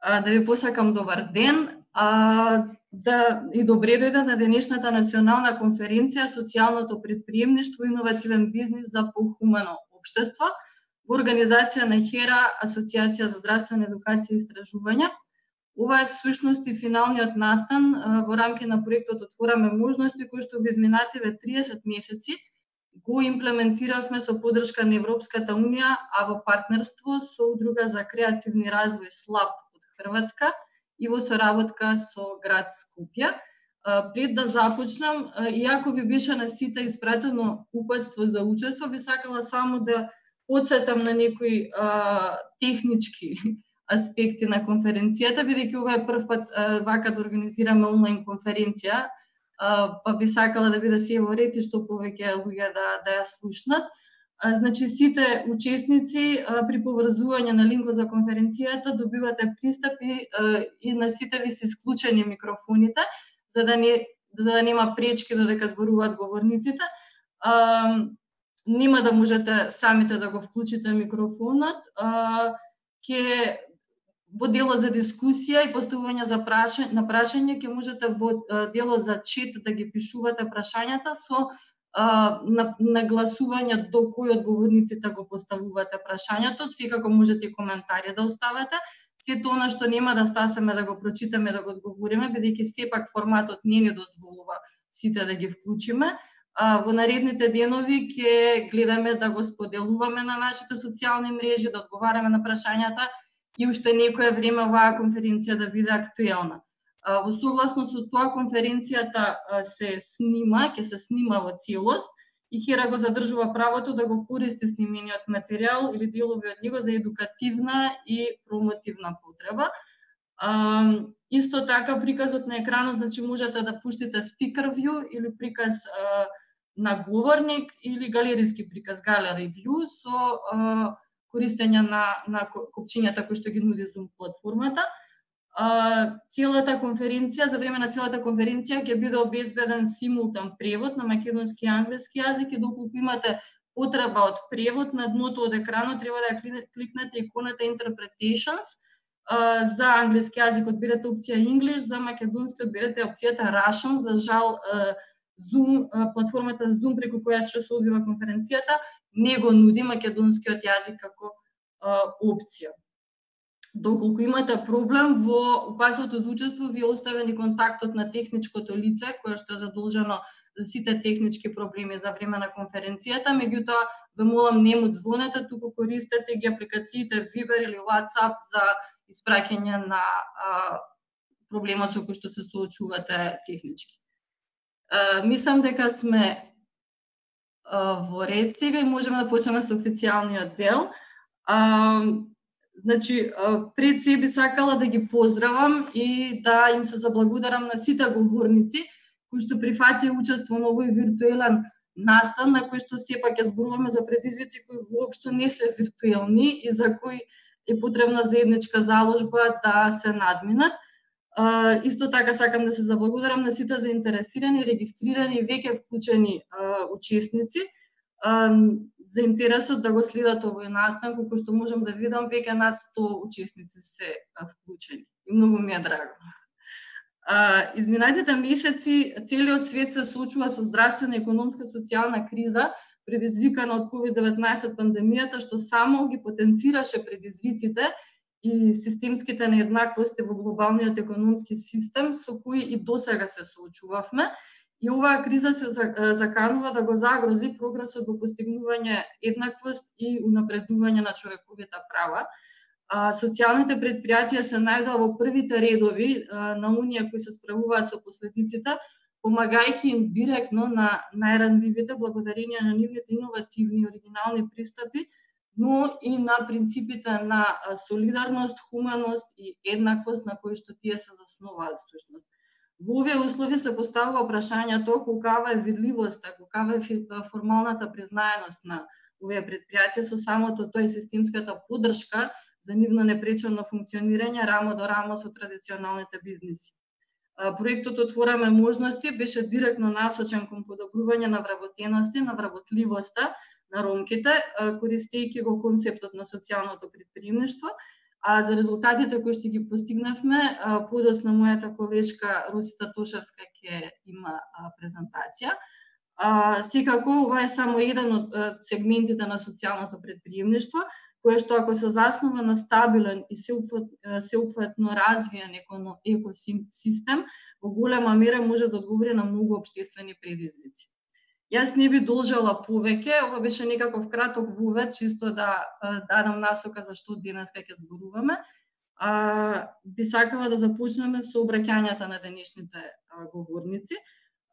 Да ви посакам добар ден, и добре дојде на денешната национална конференција Социјалното предприемништво и иновативен бизнис за похумано општество во организација на ХЕРА, Асоцијација за здравствена едукација и истражувања. Ова е всушност и финалниот настан во рамки на проектот Отвораме можности, кој што во изминативе 30 месеци го имплементиравме со поддршка на Европската Унија, а во партнерство со Удруга за креативни развој СЛАП од Хрватска и во соработка со град Скопје. Пред да започнам, иако ви беше на сите испратено упатство за учество, би сакала само да потсетам на некои технички аспекти на конференцијата, бидејќи ова е прв пат вака да организираме онлайн конференција, па би сакала да биде се во ред и што повеќе луѓе да ја слушнат. Значи, сите учесници при поврзување на линкот за конференцијата добивате пристап и на сите ви се исклучени микрофоните, за да нема пречки додека зборуваат говорниците. Нема да можете самите да го вклучите микрофонот. Во делот за дискусија и поставување на прашање ќе можете во делот за чет да ги пишувате прашањата со нагласување до кој од говорниците го поставувате прашањето. Секако можете и коментари да оставате. Сето она што нема да стасаме да го прочитаме, да го одговориме, бидејќи сепак форматот не ни дозволува сите да ги вклучиме. Во наредните денови ќе гледаме да го споделуваме на нашите социјални мрежи, да одговараме на прашањата и уште некое време оваа конференција да биде актуелна. Во согласно со тоа конференцијата се снима, ќе се снима во целост и ХЕРА го задржува правото да го користи снимениот материјал или делови од него за едукативна и промотивна потреба. Исто така приказот на екранот, значи можете да пуштите speaker view или приказ на говорник или галериски приказ gallery view со користење на копчињата кои што ги нуди Zoom платформата. За време на целата конференција ќе биде обезбеден симултан превод на македонски и англиски јазик и доколку имате потреба од превод, на дното од екранот треба да ја кликнете иконата Interpretations. За англиски јазик одберете опција English, за македонски одберете опцијата Russian. За жал, Zoom, платформата Zoom преку која што се одвива конференцијата, не го нуди македонскиот јазик како опција. Доколку имате проблем, во упатството за учество ви е оставен и контактот на техничкото лице, кое што е задолжено за сите технички проблеми за време на конференцијата. Меѓутоа, ве молам, не му звонете, туку користете ги апликациите Viber или WhatsApp за испраќање на проблемот со кој што се соочувате технички. Мислам дека сме во ред сега и можеме да почнеме со официјалниот дел. Значи, пред се би сакала да ги поздравам и да им се заблагодарам на сите говорници кои што прифатија учество на овој виртуелен настан, на кој што сепак ќе зборуваме за предизвици кои воопшто не се виртуелни и за кои е потребна заедничка заложба да се надминат. Исто така сакам да се заблагодарам на сите заинтересирани, регистрирани и веќе вклучени учесници за интересот да го следат овој настан, колку што можам да видам, веќе над 100 учесници се вклучени. И многу ми е драго. Изминатите месеци целиот свет се соочува со здравствена, економска, социјална криза, предизвикана од COVID-19 пандемијата, што само ги потенцираше предизвиците и системските нееднаквости во глобалниот економски систем со кои и досега се соочувавме. И оваа криза се заканува да го загрози прогресот во постигнување еднаквост и унапредување на човековите права. Социјалните предпријатија се најдоа во првите редови на оние кои се справуваат со последиците, помагајќи им директно на најранливите благодарение на нивните иновативни и оригинални пристапи, но и на принципите на солидарност, хуманост и еднаквост на кои што тие се заснуваат всушност. Во овие услови се поставува прашањето колкава е видливоста, колкава е формалната признаеност на овие предпријатија со самото тој системската поддршка за нивно непречено функционирање рамо до рамо со традиционалните бизниси. Проектот Отвораме можности беше директно насочен кон подобрување на вработености, на вработливоста на ромките, користејќи го концептот на социјалното предприемништво, А за резултатите кои што ги постигнавме, подоцна мојата колешка Росица Тошевска ќе има презентација. Секако, ова е само еден од сегментите на социјалното претприемништво, кое што ако се заснова на стабилен и сеопфатно развиен екосистем, во голема мера може да одговори на многу општествени предизвици. Јас не би должела повеќе, ова беше некаков краток вовед, чисто да дадам насока за што денес ќе зборуваме. Би сакала да започнеме со обраќањата на денешните говорници.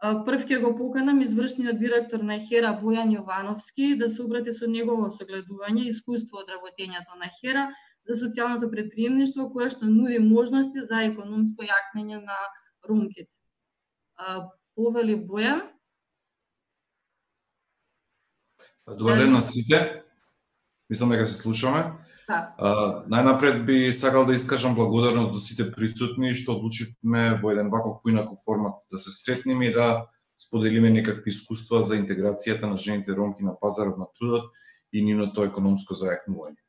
Прв ќе го поканам извршниот директор на ХЕРА Бојан Јовановски да се обрати со негово согледување и искуство од работењето на ХЕРА за социјалното претприемништво, кое што нуди можности за економско јакнење на ромките. Повели Бојан. Добар ден на сите. Мислам дека се слушаме. Најнапред би сакал да искажам благодарност до сите присутни што одлучивме во еден ваков поинаков формат да се сретнеме и да споделиме некакви искуства за интеграцијата на жените ромки на пазарот на трудот и нивното економско зајакнување.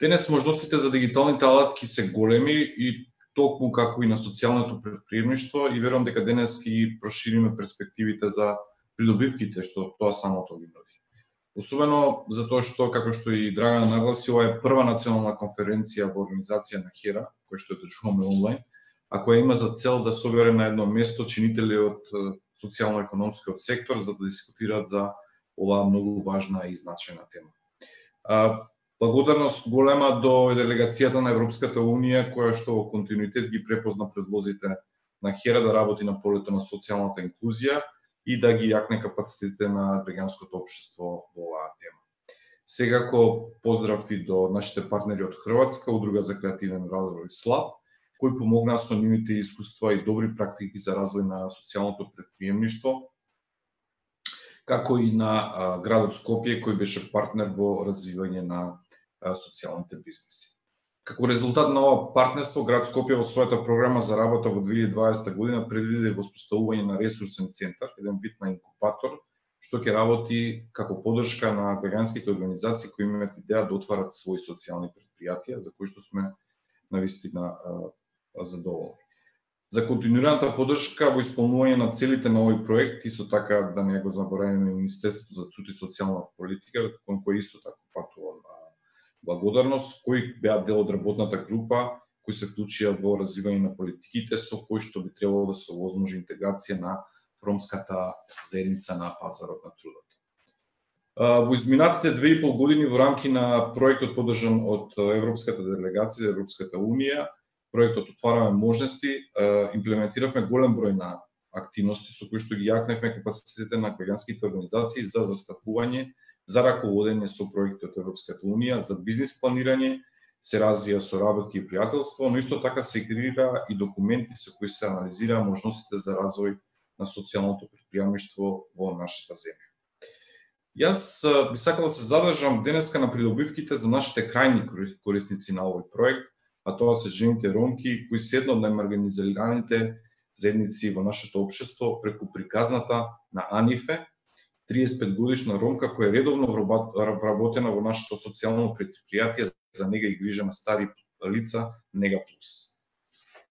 Денес можностите за дигиталните алатки се големи и токму како и на социјалното претприемништво и верувам дека денес ќе прошириме перспективите за придобивките што тоа самото ги нуди. Особено затоа што, како што и Драгана нагласи, ова е прва национална конференција во организација на ХЕРА, која што ја одржуваме онлайн, а која има за цел да собере на едно место чинители од социјално-економскиот сектор за да дискутираат за оваа многу важна и значајна тема. Благодарност голема до делегацијата на Европската Унија, која што во континуитет ги препозна предлозите на ХЕРА да работи на полето на социјалната инклузија и да ги јакне капацитетите на граѓанското општество во оваа тема. Секако поздрав и до нашите партнери од Хрватска, Удружа за креативен развој СЛАП, кои помогнаа со нивните искуства и добри практики за развој на социјалното претприемништво, како и на градот Скопје, кој беше партнер во развивање на социјалните бизнеси. Како резултат на ова партнерство, град Скопје во својата програма за работа во 2020 година предвиди воспоставување на ресурсен центар, еден вид на инкубатор, што ќе работи како поддршка на граѓанските организации кои имаат идеја да отварат своји социјални претпријатија, за кои што сме навистина задоволни. За континуираната поддршка во исполнување на целите на овој проект, исто така да не го забораваме Министерството за труд и социјална политика, кон кој исто така патува благодарност, кои беа дел од работната група, кои се вклучија во развивање на политиките со кои што би требало да се овозможи интеграција на ромската заедница на пазарот на трудот. Во изминатите 2,5 години во рамки на проектот поддржан од Европската делегација, Европската Унија, проектот Отвараме можности, имплементиравме голем број на активности со кои што ги јакневме капацитетите на граѓанските организации за застапување, за раководење со проекти од Европската Унија, за бизнис планирање, се развија соработки и пријателство, но исто така се креира и документи со кои се анализира можностите за развој на социјалното претприемништво во нашата земја. Јас би сакал да се задржам денеска на придобивките за нашите крајни корисници на овој проект, а тоа се жените ромки, кои се едно од најмаргинизираните заедници во нашето општество преку приказната на Анифе, 35 годишна ромка која е редовно вработена во нашето социјално претпријатие за нега и грижа на стари лица Нега Плюс.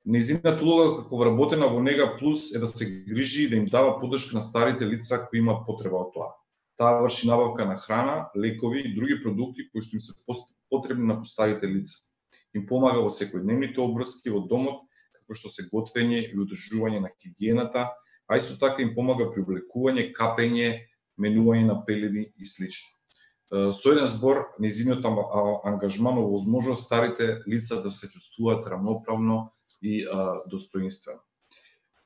Нејзината улога како вработена во Нега Плюс е да се грижи и да им дава поддршка на старите лица кои имаат потреба од тоа. Таа врши набавка на храна, лекови и други продукти кои што им се потребни на постарите лица. Им помага во секојдневните обврски во домот, како што се готвење и одржување на хигиената, а исто така им помага при облекување, капење, менување на пелени и слично. Со еден збор, нејзиниот ангажман овозможува старите лица да се чувствуваат рамноправно и достоинствено.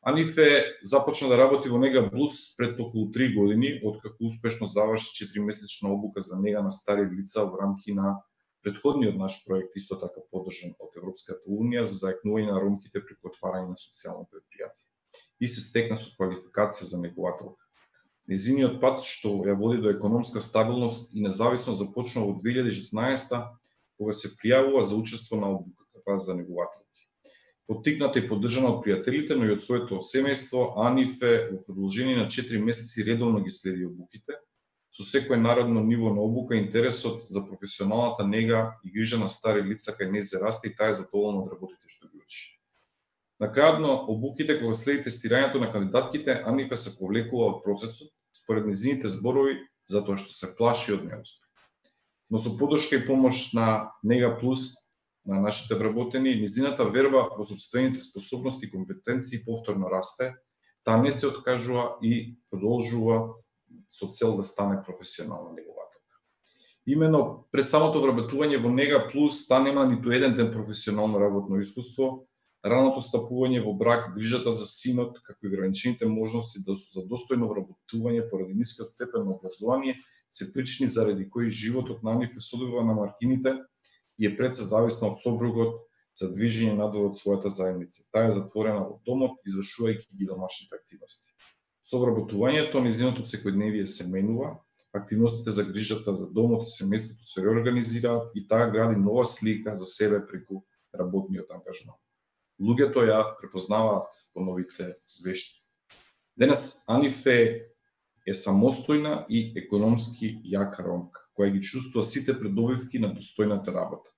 Анифе започна да работи во Нега Плюс пред околу 3 години, откако успешно заврши 4-месечна обука за нега на стари лица во рамки на претходниот наш проект, исто така поддржан од Европската Унија за зајакнување на ромките преку отварање на социјално претпријатие. И се стекна со квалификација за негувателка. Нејзиниот пат што ја води до економска стабилност и независност започна во 2016 кога се пријавува за учество на обуката за негувателки. Поттикната и поддржана од пријателите, но и од своето семејство, Анифе во продолжение на 4 месеци редовно ги следи обуките, со секој наредно ниво на обука, интересот за професионалната нега и грижа на стари лица кај нејзе расте и таа е задоволна од работите што ги учи. На крајот на обуките, кога следи тестирањето на кандидатките, Анифе се повлекува од процесот, според незините зборови, затоа што се плаши од неуспех. Но со поддршка и помош на Нега Плюс на нашите вработени, незината верба во сопствените способности и компетенции повторно расте, таа не се откажува и продолжува со цел да стане професионална негователка. Именно пред самото вработување во Нега Плюс таа нема ниту еден ден професионално работно искуство, раното стапување во брак, грижата за синот, како и ограничените можности за достојно вработување поради нискиот степен на образование се причини заради кои животот на Анифе се одвива на маргините и е пред се зависна од собругот за движење надвор од својата заедница. Таа е затворена во домот, извршувајќи ги домашните активности. Со вработувањето незиното секојдневие се менува, активностите за грижата за домот и семејството се реорганизираат и таа гради нова слика за себе преку работниот ангажман. Луѓето ја препознаваат по новите вешти. Денес Анифе е самостојна и економски јака ромка, која ги чувствува сите придобивки на достојната работа.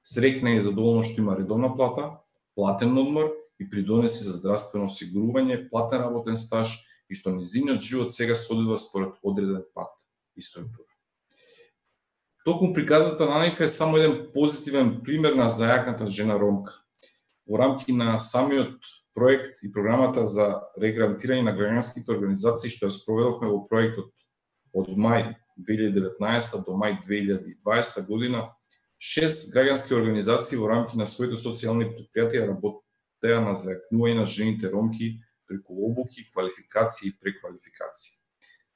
Среќна и задоволна што има редовна плата, платен одмор и придонеси за здравствено осигурување, платен работен стаж и што низиниот живот сега се одвива според одреден пат и структура. Токму приказата на Анифе е само еден позитивен пример на зајакната жена ромка. Во рамки на самиот проект и програмата за реграментирање на граѓанските организации што ја спроведовме во проектот од мај 2019 до мај 2020 година, 6 граѓански организации во рамки на своите социјални предпријатија работеа на зајакнување на жените ромки преку обуки, квалификации и преквалификации.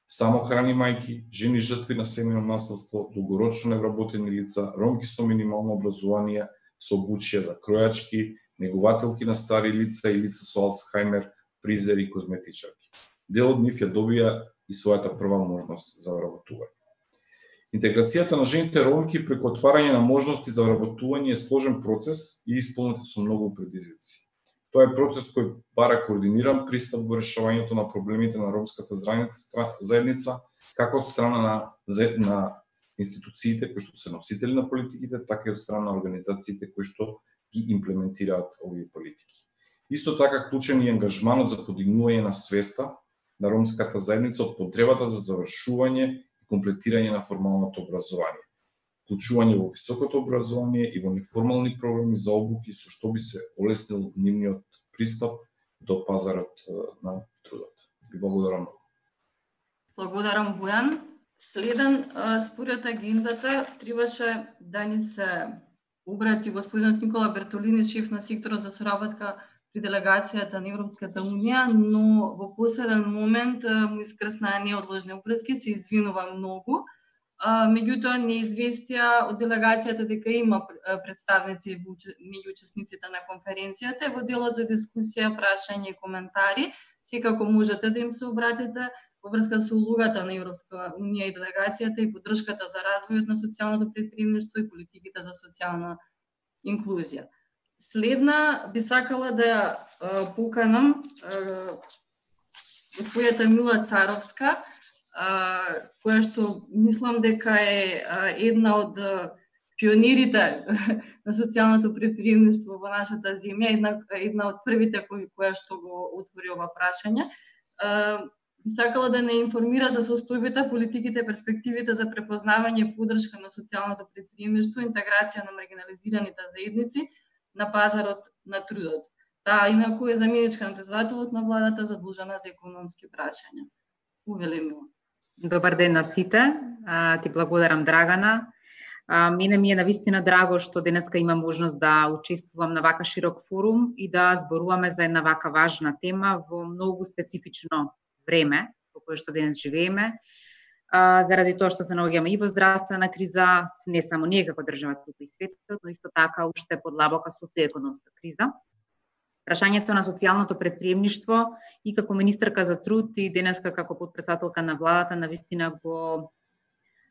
Самохрани мајки, жени жртви на семејно насилство, долгорочно невработени лица, ромки со минимално образование, со обучија за кројачки, негователки на стари лица и лица со Алцхаймер, фризери и козметичарки. Дел од нив ја добија и својата прва можност за вработување. Интеграцијата на жените ромки преку отварање на можности за вработување е сложен процес и исполнет со многу предизвици. Тоа е процес кој бара координиран пристап во решавањето на проблемите на ромската заедница, како од страна на институциите кои што се носители на политиките, така и од страна на организациите кои што ги имплементираат овие политики. Исто така клучен и ангажманот за подигнување на свеста на ромската заедница од потребата за завршување и комплетирање на формалното образование, вклучување во високото образование и во неформални програми за обуки со што би се олеснил нивниот пристап до пазарот на трудот. Ви благодарам многу. Благодарам, Бојан. Следен според агендата требаше да ни се обрати господинот Никола Бертолини, шеф на секторот за соработка при делегацијата на Европската унија, но во последен момент му искрсна неодложни опрески, се извинува многу. Меѓутоа не известија од делегацијата дека има представници меѓу учесниците на конференцијата. Во делот за дискусија, прашање и коментари, секако можете да им се обратите во врска со улогата на Европска унија и делегацијата и поддршката за развојот на социјалното претприемништво и политиките за социјална инклузија. Следна би сакала да ја поканам господјата Мила Царовска, која што мислам дека е една од пионирите на социјалното претприемништво во нашата земја, една од првите која што го отвори ова прашање. Би сакала да не информира за состојбите, политиките, перспективите за препознавање и поддршка на социјалното претприемништво, интеграција на маргинализираните заедници на пазарот на трудот. Таа инаку е заменичка на председателот на владата задолжена за економски прашања. Увели Мила. Добар ден на сите. Ти благодарам, Драгана. Мене ми е навистина драго што денеска има можност да учествувам на вака широк форум и да зборуваме за една вака важна тема во многу специфично време во кое што денес живееме, заради тоа што се наоѓаме и во здравствена криза, не само ние како држава туку и светот, но исто така уште подлабока социјоекономска криза. Прашањето на социјалното претприемништво и како министерка за труд и денеска како потпредседателка на владата навистина го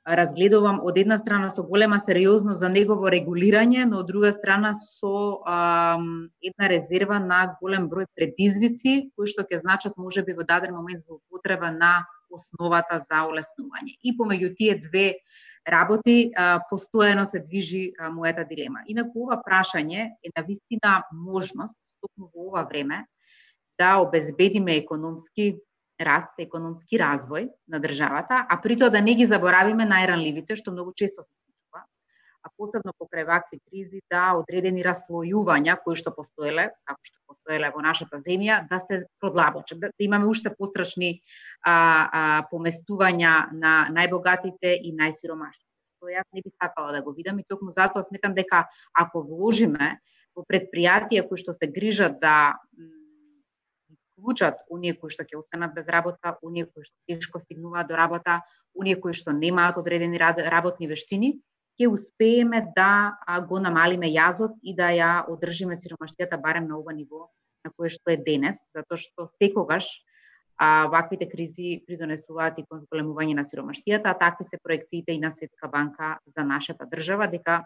разгледувам од една страна со голема сериозност за негово регулирање, но од друга страна со една резерва на голем број предизвици кои што ќе значат можеби во даден момент за употреба на основата за олеснување. И помеѓу тие две работи постојано се движи мојата дилема. Инаку ова прашање е навистина можност токму во ова време да обезбедиме економски раст, економски развој на државата, а при тоа да не ги заборавиме најранливите, што многу често се случува, а посебно покрај вакви кризи, да одредени раслојувања кои што постоеле, како што постоеле во нашата земја, да се продлабочат, да имаме уште пострашни поместувања на најбогатите и најсиромашните. Тоа јас не би сакала да го видам и токму затоа сметам дека ако вложиме во предпријатија кои што се грижат да вклучат оние кои што ќе останат без работа, оние кои што тешко стигнуваат до работа, оние кои што немаат одредени работни вештини, ќе успееме да го намалиме јазот и да ја одржиме сиромаштијата барем на ова ниво на кое што е денес, затоа што секогаш ваквите кризи придонесуваат и кон зголемување на сиромаштијата, а такви се проекциите и на Светска банка за нашата држава, дека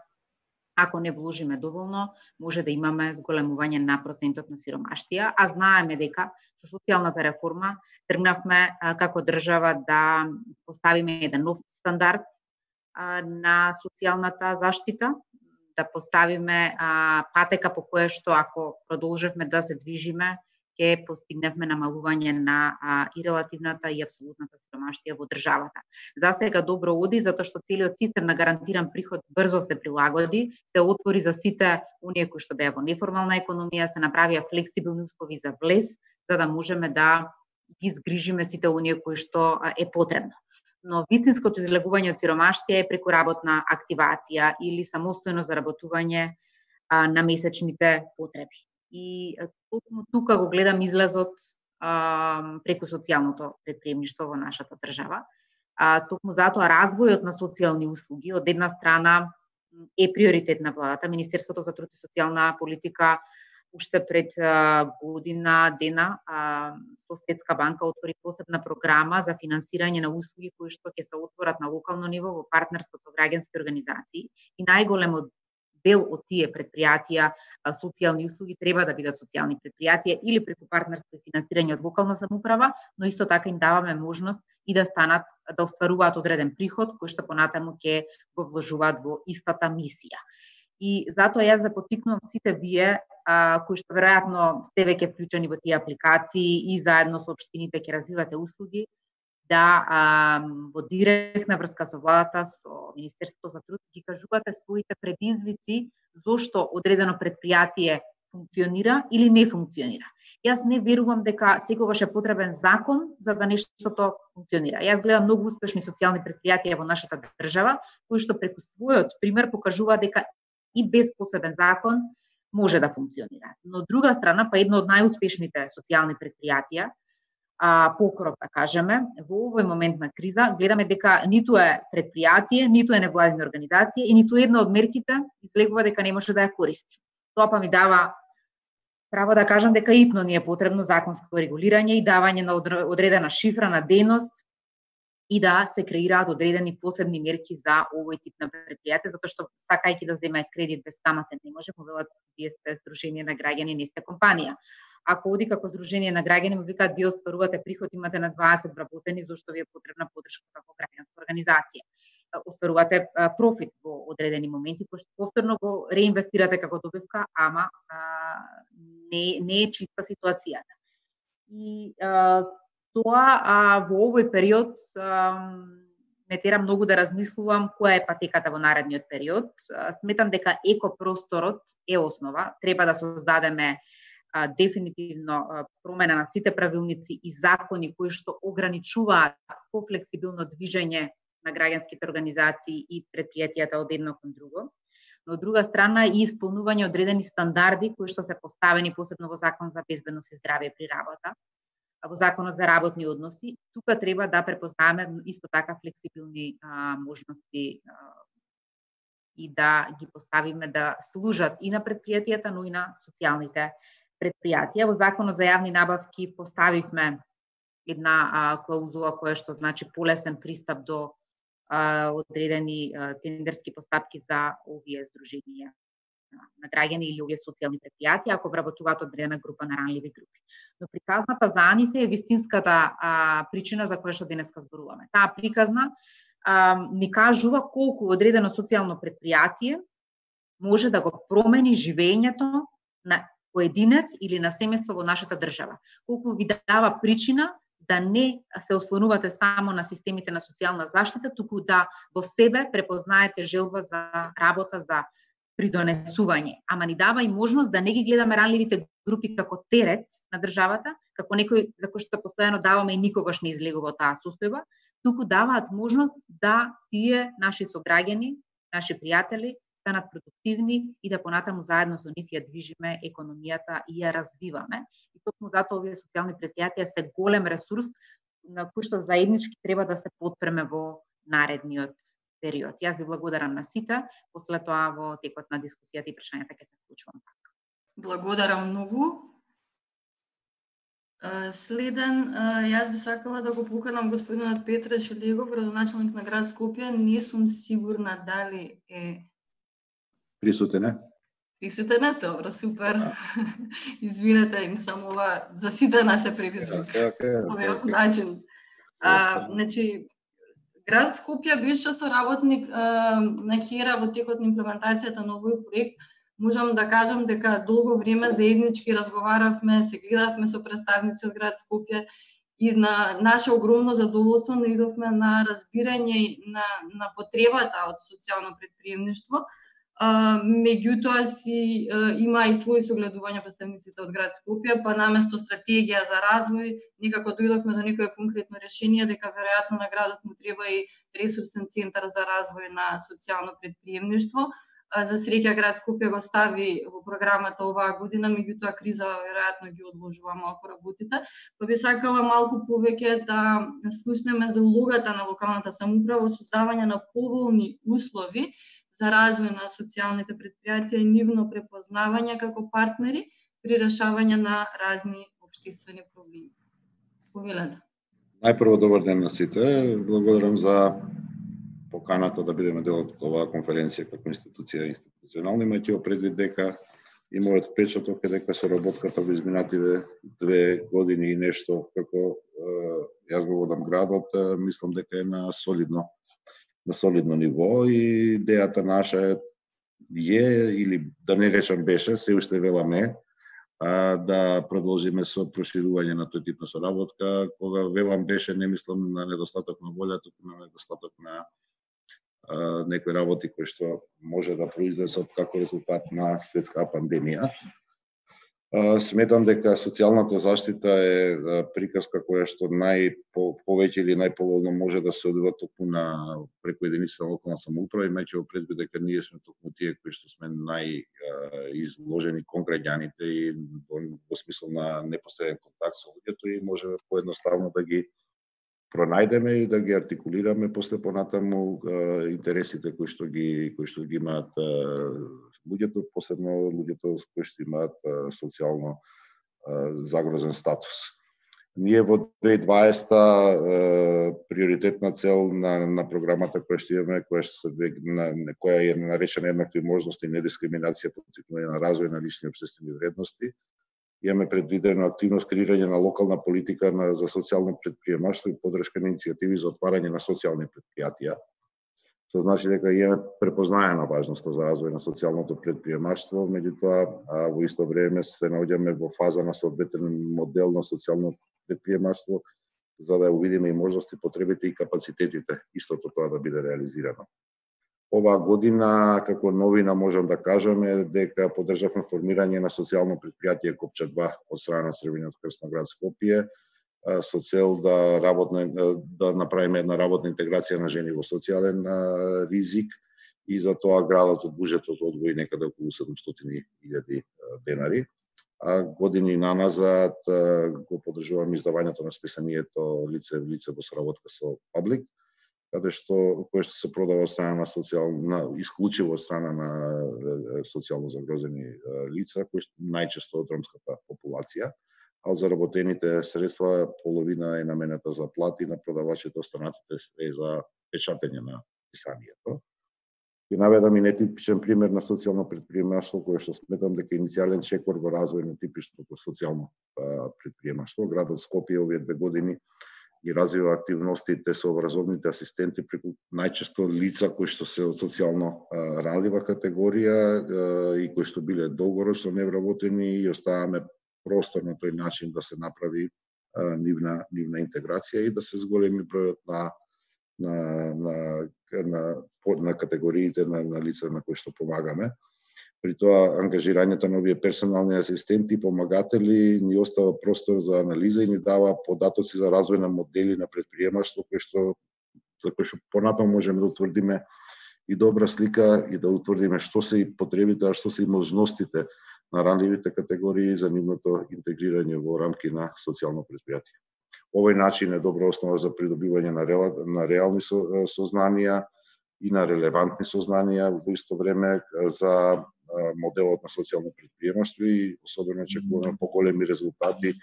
ако не вложиме доволно, може да имаме зголемување на процентот на сиромаштија, а знаеме дека со социјалната реформа тргнавме како држава да поставиме еден нов стандард на социјалната заштита, да поставиме патека по која што ако продолжевме да се движиме, ќе постигневме намалување на и релативната и апсолутната сиромаштија во државата. За сега добро оди, затоа што целиот систем на гарантиран приход брзо се прилагоди, се отвори за сите оние кои што беа во неформална економија, се направија флексибилни услови за влез, за да можеме да ги згрижиме сите оние кои што е потребно. Но вистинското излегување од сиромаштија е преку работна активација или самостојно заработување на месечните потреби. И токму тука го гледам излезот преку социјалното предприемништво во нашата држава. Токму затоа развојот на социјални услуги од една страна е приоритет на владата. Министерството за труд и социјална политика уште пред година дена со Светска банка отвори посебна програма за финансирање на услуги кои што ќе се отворат на локално ниво во партнерство со граѓански организации и најголемот дел од тие предпријатија, социјални услуги треба да бидат социјални предпријатија или преку партнерство и финансирање од локална самоуправа, но исто така им даваме можност и да станат, да остваруваат одреден приход кој што понатаму ќе го вложуваат во истата мисија. И затоа јас да поттикнувам сите вие кои што веројатно сте веќе вклучени во тие апликации и заедно со општините ќе развивате услуги, да во директна врска со владата, со Министерството за труд, ги кажувате своите предизвици зошто одредено предпријатие функционира или не функционира. Јас не верувам дека секогаш е потребен закон за да нештото функционира. Јас гледам многу успешни социјални предпријатија во нашата држава, кои што преку својот пример покажуваат дека и без посебен закон може да функционира. Но од друга страна, па едно од најуспешните социјални предпријатија, покров, да кажеме, во овој момент на криза, гледаме дека ниту е предпријатие, ниту е невладина организација и ниту една од мерките излегува дека не може да ја користи. Тоа па ми дава право да кажам дека итно ни е потребно законско регулирање и давање на одредена шифра на дејност и да се креираат одредени посебни мерки за овој тип на предпријатие, затоа што сакајќи да земе кредит без камата не може, повелат вие сте Сдружение на граѓани, не сте компанија. Ако оди како Сдружение на граѓани, му викаат вие остварувате приход, имате на 20 вработени, зашто ви е потребна подршка како граѓанска организација. Остварувате профит во одредени моменти, кој што повторно го реинвестирате како добивка, ама не е чиста ситуацијата. И тоа во овој период ме тера многу да размислувам која е патеката во наредниот период. Сметам дека екопросторот е основа, треба да создадеме дефинитивно промена на сите правилници и закони кои што ограничуваат пофлексибилно движење на граѓанските организации и предпријатијата од едно кон друго. Но од друга страна и исполнување одредени стандарди кои што се поставени посебно во Закон за безбедност и здравје при работа, во Законот за работни односи. Тука треба да препознаеме исто така флексибилни можности и да ги поставиме да служат и на предпријатијата, но и на социјалните предпријатија. Во Законот за јавни набавки поставивме една клаузула која што значи полесен пристап до одредени тендерски постапки за овие здруженија на граѓани или овие социјални претпријатија ако вработуваат одредена група на ранливи групи. Но приказната за нив е вистинската причина за која што денеска зборуваме. Таа приказна ни кажува колку одредено социјално претпријатие може да го промени живењето на поединец или на семејство во нашата држава. Колку ви дава причина да не се ослонувате само на системите на социјална заштита, туку да во себе препознаете желба за работа, за придонесување. Ама ни дава и можност да не ги гледаме ранливите групи како терет на државата, како некој за кој што постојано даваме и никогаш не излегува од таа состојба, туку даваат можност да тие наши сограѓани, наши пријатели станат продуктивни и да понатаму заедно со нив ја движиме економијата и ја развиваме. И токму затоа овие социјални претпријатија се голем ресурс на кој што заеднички треба да се потпреме во наредниот период. Јас ви благодарам на сите, после тоа во текот на дискусијата и прашањата ќе се вклучувам пак. Благодарам многу. Следен, јас би сакала да го поканам господинот Петре Шелегов, градоначелник на град Скопје. Не сум сигурна дали е присутен е. Присутен е, добро, супер. Извинете, им само ова за сите нас е предизвик. Овој начин. Значи, град Скопје беше соработник на ХЕРА во текот на имплементацијата на овој проект. Можам да кажам дека долго време заеднички разговаравме, се гледавме со представници од град Скопје и на наше огромно задоволство наидовме на разбирање на потребата од социјално претприемништво. Меѓутоа си има и своји согледувања представниците од град Скопје, па наместо стратегија за развој, некако дојдовме до некое конкретно решение дека веројатно на градот му треба и ресурсен центар за развој на социјално претприемништво. За среќа град Скопје го стави во програмата оваа година, меѓутоа криза веројатно ги одложува малку работите. Па би сакала малку повеќе да слушнеме за улогата на локалната самоуправа во создавање на поволни услови за развој на социјалните претпријатија и нивно препознавање како партнери при решавање на разни општествени проблеми. Повелете. Најпрво добар ден на сите. Благодарам за поканата да бидеме дел од оваа конференција како институција институционална, имајќи предвид дека и мојот впечаток е дека соработката во изминативе 2 години и нешто како јас го водам градот, мислам дека е на солидно ниво и идејата наша е или да не речам беше, се уште веламе, да продолжиме со проширување на тој тип на соработка. Кога велам беше, не мислам на недостаток на волја, туку на недостаток на некои работи кои што може да произлезат како резултат на светска пандемија. Сметам дека социјалната заштита е приказка која што повеќе или најповолно може да се одвива токму на преку единицата на локална самоуправа, имајќи во предвид дека ние сме токму тие кои што сме најизложени кон граѓаните и во смисла на непосреден контакт со луѓето и можеме поедноставно да ги пронајдеме и да ги артикулираме после понатаму интересите кои што ги имаат луѓето, посебно луѓето кои што имаат социјално загрозен статус. Ние во 2020 приоритетна цел на програмата која што имаме, која е наречена еднакви можности и недискриминација по потикнување на развој на лични општествени вредности, имаме предвидено активност креирање на локална политика за социјално претприемаштво и поддршка на иницијативи за отварање на социјални претпријатија. Што значи дека имаме препознаена важноста за развој на социјалното претприемаштво, меѓутоа во исто време се наоѓаме во фаза на соодветен модел на социјално претприемаштво за да увидиме и можности, потребите и капацитетите истото тоа да биде реализирано. Оваа година, како новина можам да кажам е дека поддржавме формирање на социјално претпријатие Копча 2 од страна на Црвениот крст на град Скопје со цел да направиме една работна интеграција на жени во социјален ризик и за тоа градот од буџетот одвои некаде околу 700.000 денари. А години наназад го поддржуваме издавањето на списанието лице в лице во соработка со Паблик, кое што се продава од страна на исклучиво од страна на социјално загрозени лица, кои најчесто од ромската популација, а од заработените средства половина е наменета за плати на продавачите, останатите е за печатење на писанието. Ќе наведам и нетипичен пример на социјално претприемаштво, кој што сметам дека иницијален чекор во развој на типичното социјално претприемаштво. Градот Скопје овие 2 години ги развива активностите со образовните асистенти преку најчесто лица кои што се од социјално ранлива категорија и кои што биле долгорочно невработени, и оставаме простор на тој начин да се направи нивна интеграција и да се зголеми бројот на категориите на лица на кои што помагаме. При тоа, ангажирањето на овие персонални асистенти и помагатели ни остава простор за анализа и ни дава податоци за развој на модели на претприемаштво за кои што понатаму можеме да утврдиме и добра слика и да утврдиме што се и потребите, а што се и можностите на ранливите категории за нивното интегрирање во рамки на социјално претпријатие. Овој начин е добра основа за придобивање на реални сознанија и на релевантни сознанија во исто време за моделот на социјално претприемаштво и особено очекуваме поголеми резултати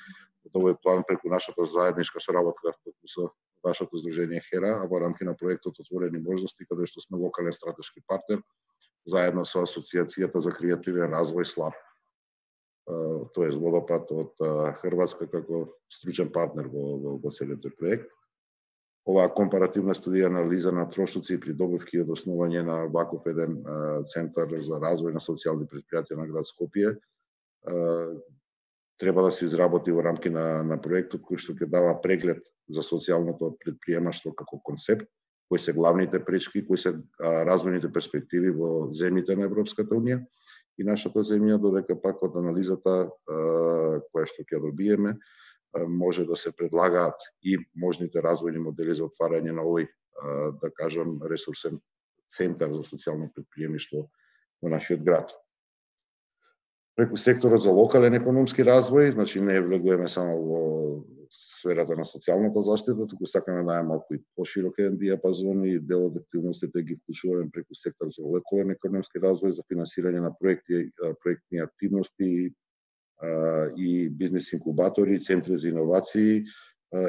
од овој план преку нашата заедничка соработка со вашето здружение ХЕРА, а во рамки на проектот Отворени можности, каде што сме локален стратешки партнер, заедно со Асоциацијата за креативен развој СЛАП, тоест Водопад од Хрватска како стручен партнер во целиот тој проект. Оваа компаративна студија анализа на трошоци и придобивки од основање на ваков еден центар за развој на социјални претпријатија на град Скопје треба да се изработи во рамки на проектот кој што ќе дава преглед за социјалното претприемаштво како концепт, кои се главните пречки, кои се развојните перспективи во земјите на Европската унија и нашата земја, додека пак од анализата која што ќе добиеме може да се предлагаат и можните развојни модели за отварање на овој, да кажам, ресурсен центар за социјално претприемништво во нашиот град. Преку секторот за локален економски развој, значи не влегуваме само во сферата на социјалната заштита, туку сакаме да малку и поширок еден диапазон и дел од активностите ги вклучуваме преку сектор за локален економски развој, за финансирање на проектни активности и бизнес инкубатори, центри за иновации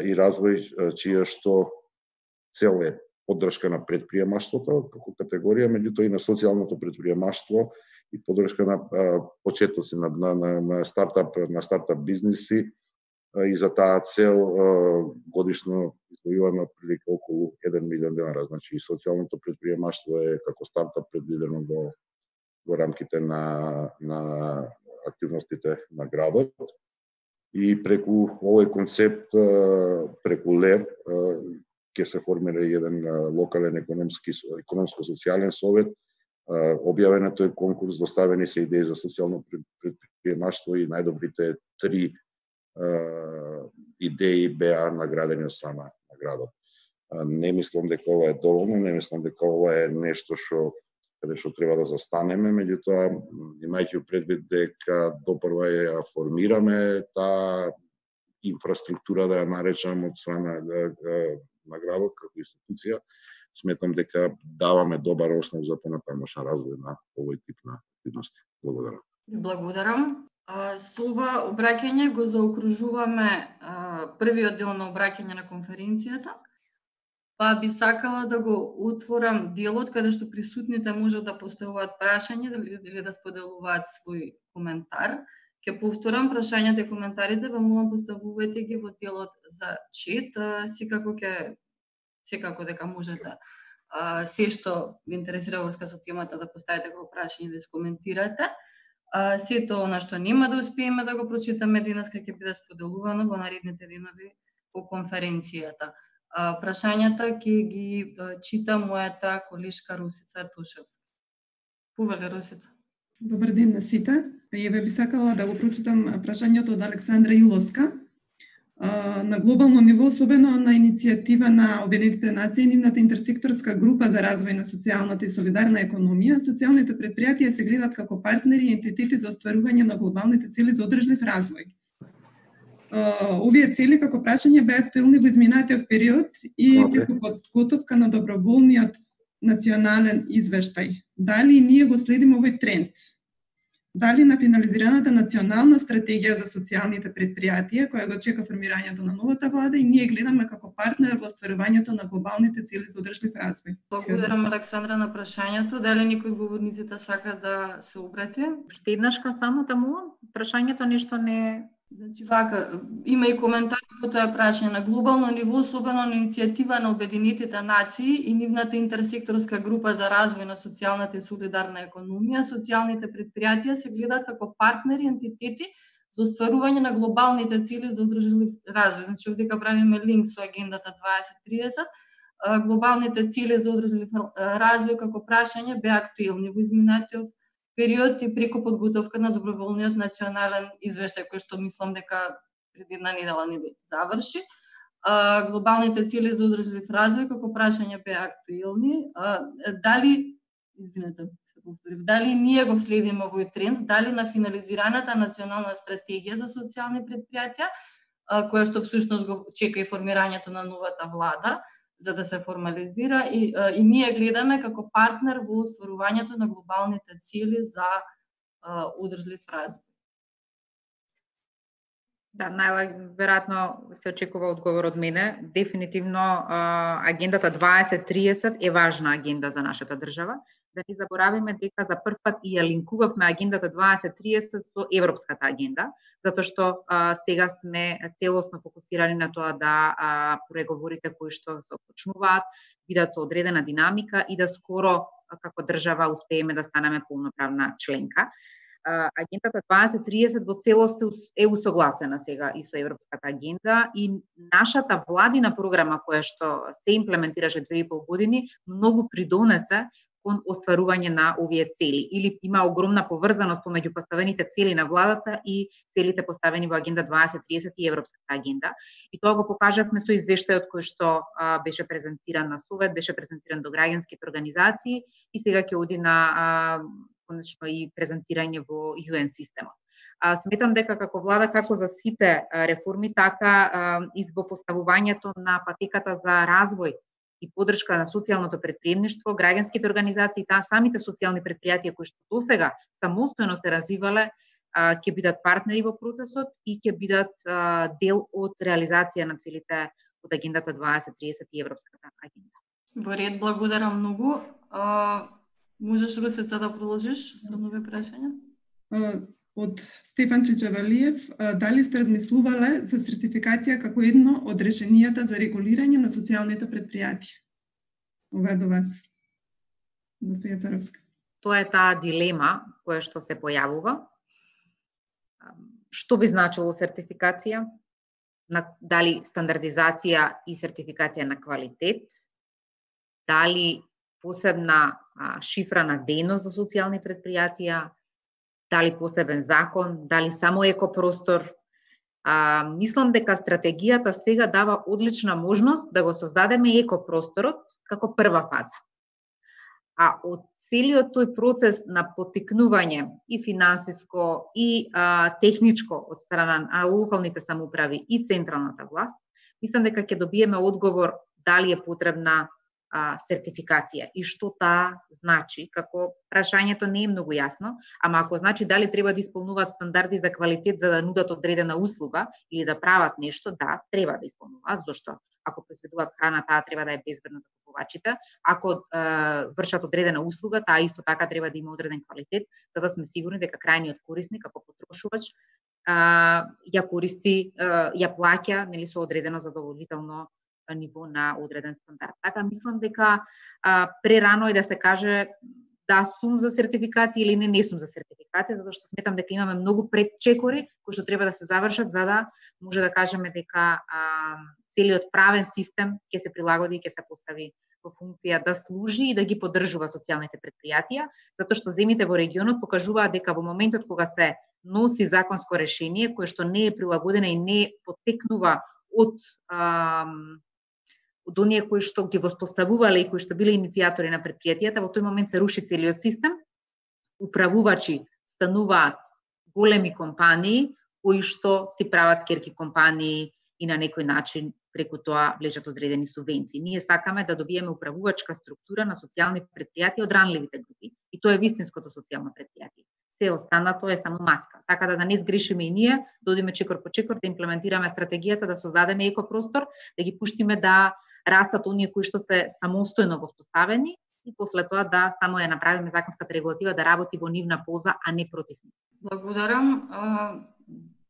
и развој, чија што цел е поддршка на претприемаштвото како категорија, меѓутоа и на социјалното претприемаштво и поддршка на почетоци на стартап бизнеси, и за таа цел годишно издвојуваме прилика околу 1 милион денари. Значи и социјалното претприемаштво е како стартап предвидено во рамките на активностите на градот. И преку овој концепт, преку ЛЕР, ќе се формира еден локален економско-социјален совет. Објавен е тој конкурс, доставени се идеи за социјално претприемаштво и најдобрите 3 идеи беа наградени од страна на градот. Не мислам дека ова е доволно, не мислам дека ова е нешто каде што треба да застанеме, меѓутоа, имајќи предвид дека допрва ја формираме таа инфраструктура, да ја наречам, од страна на градот како институција, сметам дека даваме добар основ за понатамошен развој на овој тип на активности. Благодарам. Благодарам. Со ова обраќање го заокружуваме првиот дел на обраќање на конференцијата, па би сакала да го отворам делот каде што присутните можат да поставуваат прашање или да споделуваат свој коментар. Ќе повторам прашањата и коментарите, ве молам поставувајте ги во делот за чет, секако дека можете се што ви интересира врска со темата да поставите го прашање да искоментирате. Сето она што нема да успееме да го прочитаме денеска ќе биде споделувано во наредните денови по конференцијата. Прашањата ќе ги чита мојата колешка Русица Тушевска. Повеле, Русица. Добар ден на сите. Еве би сакала да го прочитам прашањето од Александра Јуловска. На глобално ниво, особено на иницијатива на Обединетите нации, нивната интерсекторска група за развој на социјалната и солидарна економија, социјалните претпријатија се гледат како партнери и ентитети за остварување на глобалните цели за одржлив развој. Овие цели како прашање беа актуелни во изминатиот период и преку подготовка на доброволниот национален извештај. Дали ние го следиме овој тренд? Дали на финализираната национална стратегија за социјалните предпријатија, која го чека формирањето на новата влада и ние гледаме како партнер во остварувањето на глобалните цели за одржлив развој? Благодарам, Александра, на прашањето. Дали некој од говорниците сака да се обрати? Уште еднашка само таму, прашањето нешто не... Значи, вака, има и коментар по тоа прашање. На глобално ниво, особено на иницијатива на Обединетите нации и нивната интерсекторска група за развој на социјалната и солидарна економија, социјалните предпријатија се гледаат како партнери, ентитети за остварување на глобалните цели за одржлив развој. Значи, овдека правиме линк со агендата 2030. Глобалните цели за одржлив развој како прашање беа актуелни во изминатиот период и преку подготовка на доброволниот национален извештај, кој што мислам дека преди една недела не заврши. Глобалните цели за одржлив развој како прашање беа актуелни. Дали ние го следиме овој тренд, дали на финализираната национална стратегија за социјални предпријатија, која што всушност го чека и формирањето на новата влада, за да се формализира и ние гледаме како партнер во остварувањето на глобалните цели за одржлив развој. Да, најверојатно се очекува одговор од мене. Дефинитивно агендата 2030 е важна агенда за нашата држава. Да не заборавиме дека за прв пат и ја линкувавме агендата 2030 со европската агенда, затоа што сега сме целосно фокусирани на тоа да преговорите кои што се почнуваат бидат со одредена динамика и да скоро како држава успееме да станеме полноправна членка. Агендата 2030 во целост е усогласена сега и со европската агенда и нашата владина програма која што се имплементираше 2,5 години многу придонесе кон остварување на овие цели или има огромна поврзаност помеѓу поставените цели на владата и целите поставени во агенда 2030 и европската агенда. И тоа го покажавме со извештајот кој што беше презентиран на Совет, беше презентиран до граѓанските организации и сега ќе оди на конечно и презентирање во UN системот. Сметам дека како влада, како за сите реформи, така и во поставувањето на патеката за развој и поддршка на социјалното предприемништво, граѓанските организации, самите социјални предпријатија кои што досега самостојно се развивале, ќе бидат партнери во процесот и ќе бидат дел од реализација на целите од агендата 2030 и европската агенда. Во ред, благодарам многу. Можеш, Русица, да продолжиш со нови прашања? Од Стефан Чичавалиев, дали сте размислувале за сертификација како едно од решенијата за регулирање на социјалните предпријатија? Ова е до вас, госпоѓа Царовска. Тоа е таа дилема која што се појавува. Што би значило сертификација? Дали стандардизација и сертификација на квалитет? Дали посебна шифрана дејност за социјални предпријатија? Дали посебен закон, дали само екопростор. Мислам дека стратегијата сега дава одлична можност да го создадеме екопросторот како прва фаза. А од целиот тој процес на поттикнување и финансиско и техничко од страна на локалните самоуправи и централната власт, мислам дека ќе добиеме одговор дали е потребна сертификација и што таа значи, како прашањето не е многу јасно, ама ако значи дали треба да исполнуваат стандарди за квалитет за да нудат одредена услуга или да прават нешто, да, треба да исполнуваат, зашто ако произведуваат храна, таа треба да е безбедна за купувачите, ако вршат одредена услуга, таа исто така треба да има одреден квалитет, за да сме сигурни дека крајниот корисник како потрошувач ја користи, ја плаќа, нели, со одредено задоволително ниво на одреден стандард. Така мислам дека прерано е да се каже да сум за сертификација или не сум за сертификација, затоа што сметам дека имаме многу предчекори кои што треба да се завршат за да може да кажеме дека целиот правен систем ќе се прилагоди и ќе се постави во функција да служи и да ги поддржува социјалните предпријатија, затоа што земите во регионот покажуваат дека во моментот кога се носи законско решение кое што не е прилагодено и не поттекнува од оние кои што ги воспоставувале и кои што биле иницијатори на предпријатијата, во тој момент се руши целиот систем, управувачи стануваат големи компании кои што си прават керки компании и на некој начин преку тоа влечат одредени субвенции. Ние сакаме да добиеме управувачка структура на социјални предпријатија од ранливите групи и тоа е вистинското социјално предпријатие. се останато е само маска. Така да не сгрешиме и ние, да одиме чекор по чекор, да имплементираме стратегијата, да создадеме екопростор, да ги пуштиме да растат оние кои што се самостојно воспоставени и после тоа да само ја направиме законската регулатива да работи во нивна полза, а не против нив. Благодарам.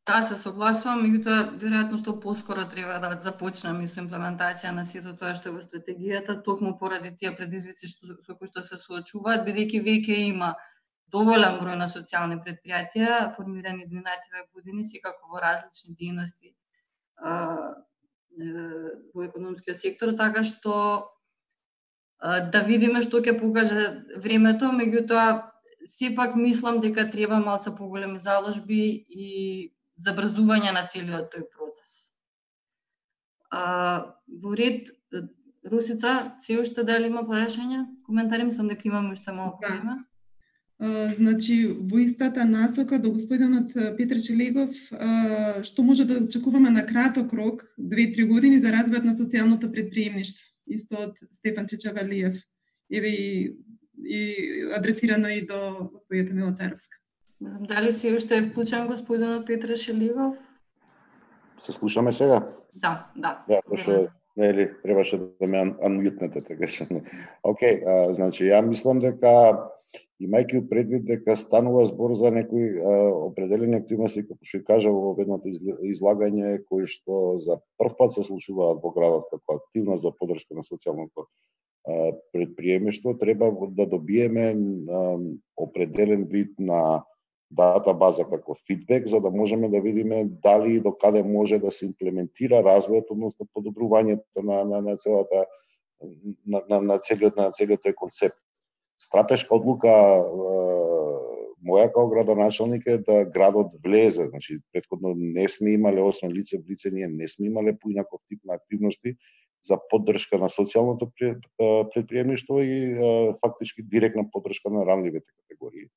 Да, се согласувам, меѓутоа веројатно што поскоро треба да започнеме со имплементација на сето тоа што е во стратегијата, токму поради тие предизвици со кои што се соочуваат, бидејќи веќе има доволен број на социјални претпријатија формирани изминативе години, секако во различни дејности во економскиот сектор, така што да видиме што ќе покаже времето, меѓутоа сепак мислам дека треба малце поголеми заложби и забрзување на целиот тој процес. Во ред, Русица, се уште дали има прашања? Коментари, мислам дека имаме уште малку време. Значи, во истата насока до господинот Петар Шелегов, што може да очекуваме на краток рок, 2-3 години за развојот на социјалното претприемништво, исто од Стефан Чечавалиев, еве и адресирано и до господината Мила Царовска. Дали се уште е вклучен господинот Петар Шелегов? Се слушаме сега? Да. Да, пошто нели требаше да ме анмјутнете, така што. Океј, значи ја мислам дека имајќи предвид дека станува збор за некои определени активности, како што кажа во ведното излагање, кои што за прв пат се случуваат во градот како активност за поддршка на социјалното претприемништво, треба да добиеме определен вид на дата база како фидбек, за да можеме да видиме дали и до каде може да се имплементира развојот, односно подобрувањето на целата на целиот тој концепт. Стратешка одлука моја како градоначалник е да градот влезе, значи претходно не сме имале, освен лице в лице, ние не сме имале поинаков тип на активности за поддршка на социјалното претприемништво и фактички директна поддршка на ранливите категории.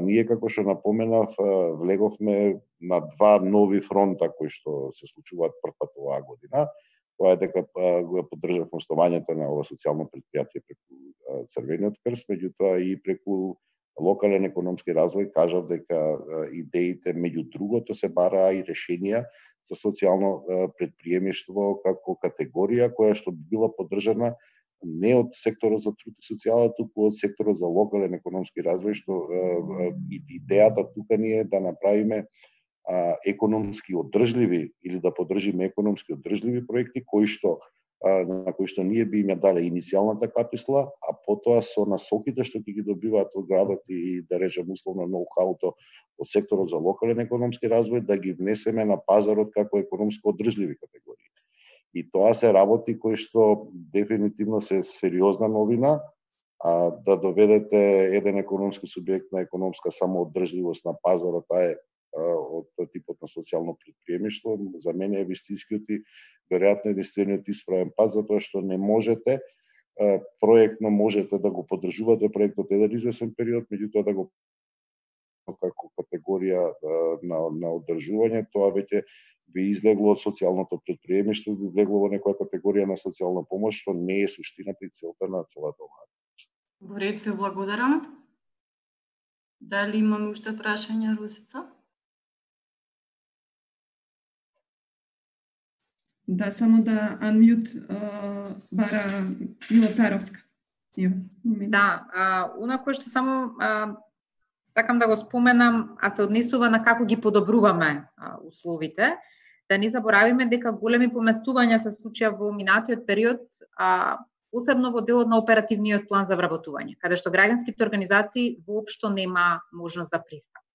Ние, како што напоменав, влеговме на 2 нови фронта кои што се случуваат првпат оваа година. Тоа е дека го поддржавме основањето на ова социјално претпријатие преку Црвениот крст, меѓутоа и преку локален економски развој кажав дека идеите меѓу другото се бараа и решенија за социјално претприемништво како категорија која што би била поддржана не од секторот за труд и социјала, туку од секторот за локален економски развој, што идејата тука ни е да направиме економски одржливи или да поддржиме економски одржливи проекти на кои што ние би им ја дале иницијалната каписла, а потоа со насоките што ќе ги добиваат од градот и да речем условно ноу-хауто од секторот за локален економски развој да ги внесеме на пазарот како економско одржливи категории. И тоа се работи кои што дефинитивно се сериозна новина, да доведете еден економски субјект на економска самоодржливост на пазарот, таа е од типот на социјално претприемништво, за мене е вистинскиот и веројатно единствениот исправен пат, затоа што не можете проектно можете да го поддржувате проектот еден извесен период, меѓутоа да го како категорија на одржување, тоа веќе би излегло од социјалното претприемништво, би влегло во некоја категорија на социјална помош, што не е суштината и целта на целата оваа. Во ред, ви благодарам. Дали имаме уште прашања, Русица? Да, само да анмјут бара Мила Царовска. Да, она кое што само сакам да го споменам, а се однесува на како ги подобруваме условите, да не заборавиме дека големи поместувања се случија во минатиот период, посебно во делот на оперативниот план за вработување, каде што граѓанските организации воопшто нема можност за пристап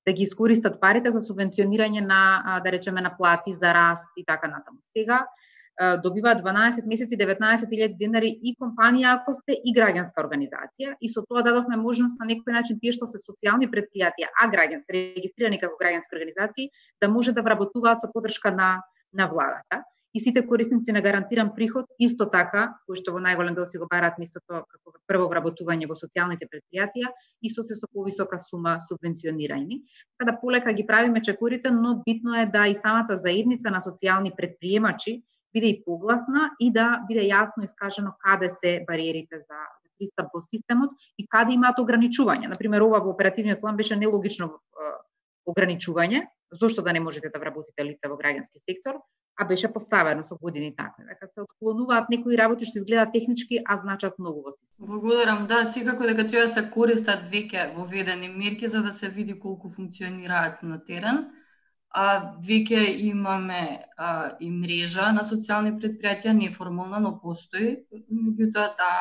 да ги искористат парите за субвенционирање на, да речеме, на плати за раст и така натаму. Сега добиваат 12 месеци 19.000 денари и компанија ако сте и граѓанска организација, и со тоа дадовме можност на некој начин тие што се социјални претпријатија, а граѓански регистрирани како граѓански организации, да може да вработуваат со поддршка на владата. И сите корисници на гарантиран приход исто така, кои што во најголем дел си го бараат местото како прво вработување во социјалните претпријатија, исто се со повисока сума субвенционирани. Така да полека ги правиме чекорите, но битно е да и самата заедница на социјални претприемачи биде и погласна и да биде јасно искажено каде се бариерите за пристап во системот и каде имаат ограничувања. Например, ова во оперативниот план беше нелогично ограничување, зошто да не можете да вработите лица во граѓански сектор, а беше поставено со години така. Дека се отклонуваат некои работи што изгледаат технички, а значат многу во системот. Благодарам. Да, секако дека треба да се користат веќе воведени мерки за да се види колку функционираат на терен. Веќе имаме и мрежа на социјални предпријатија, неформална, но постои. Меѓутоа, да,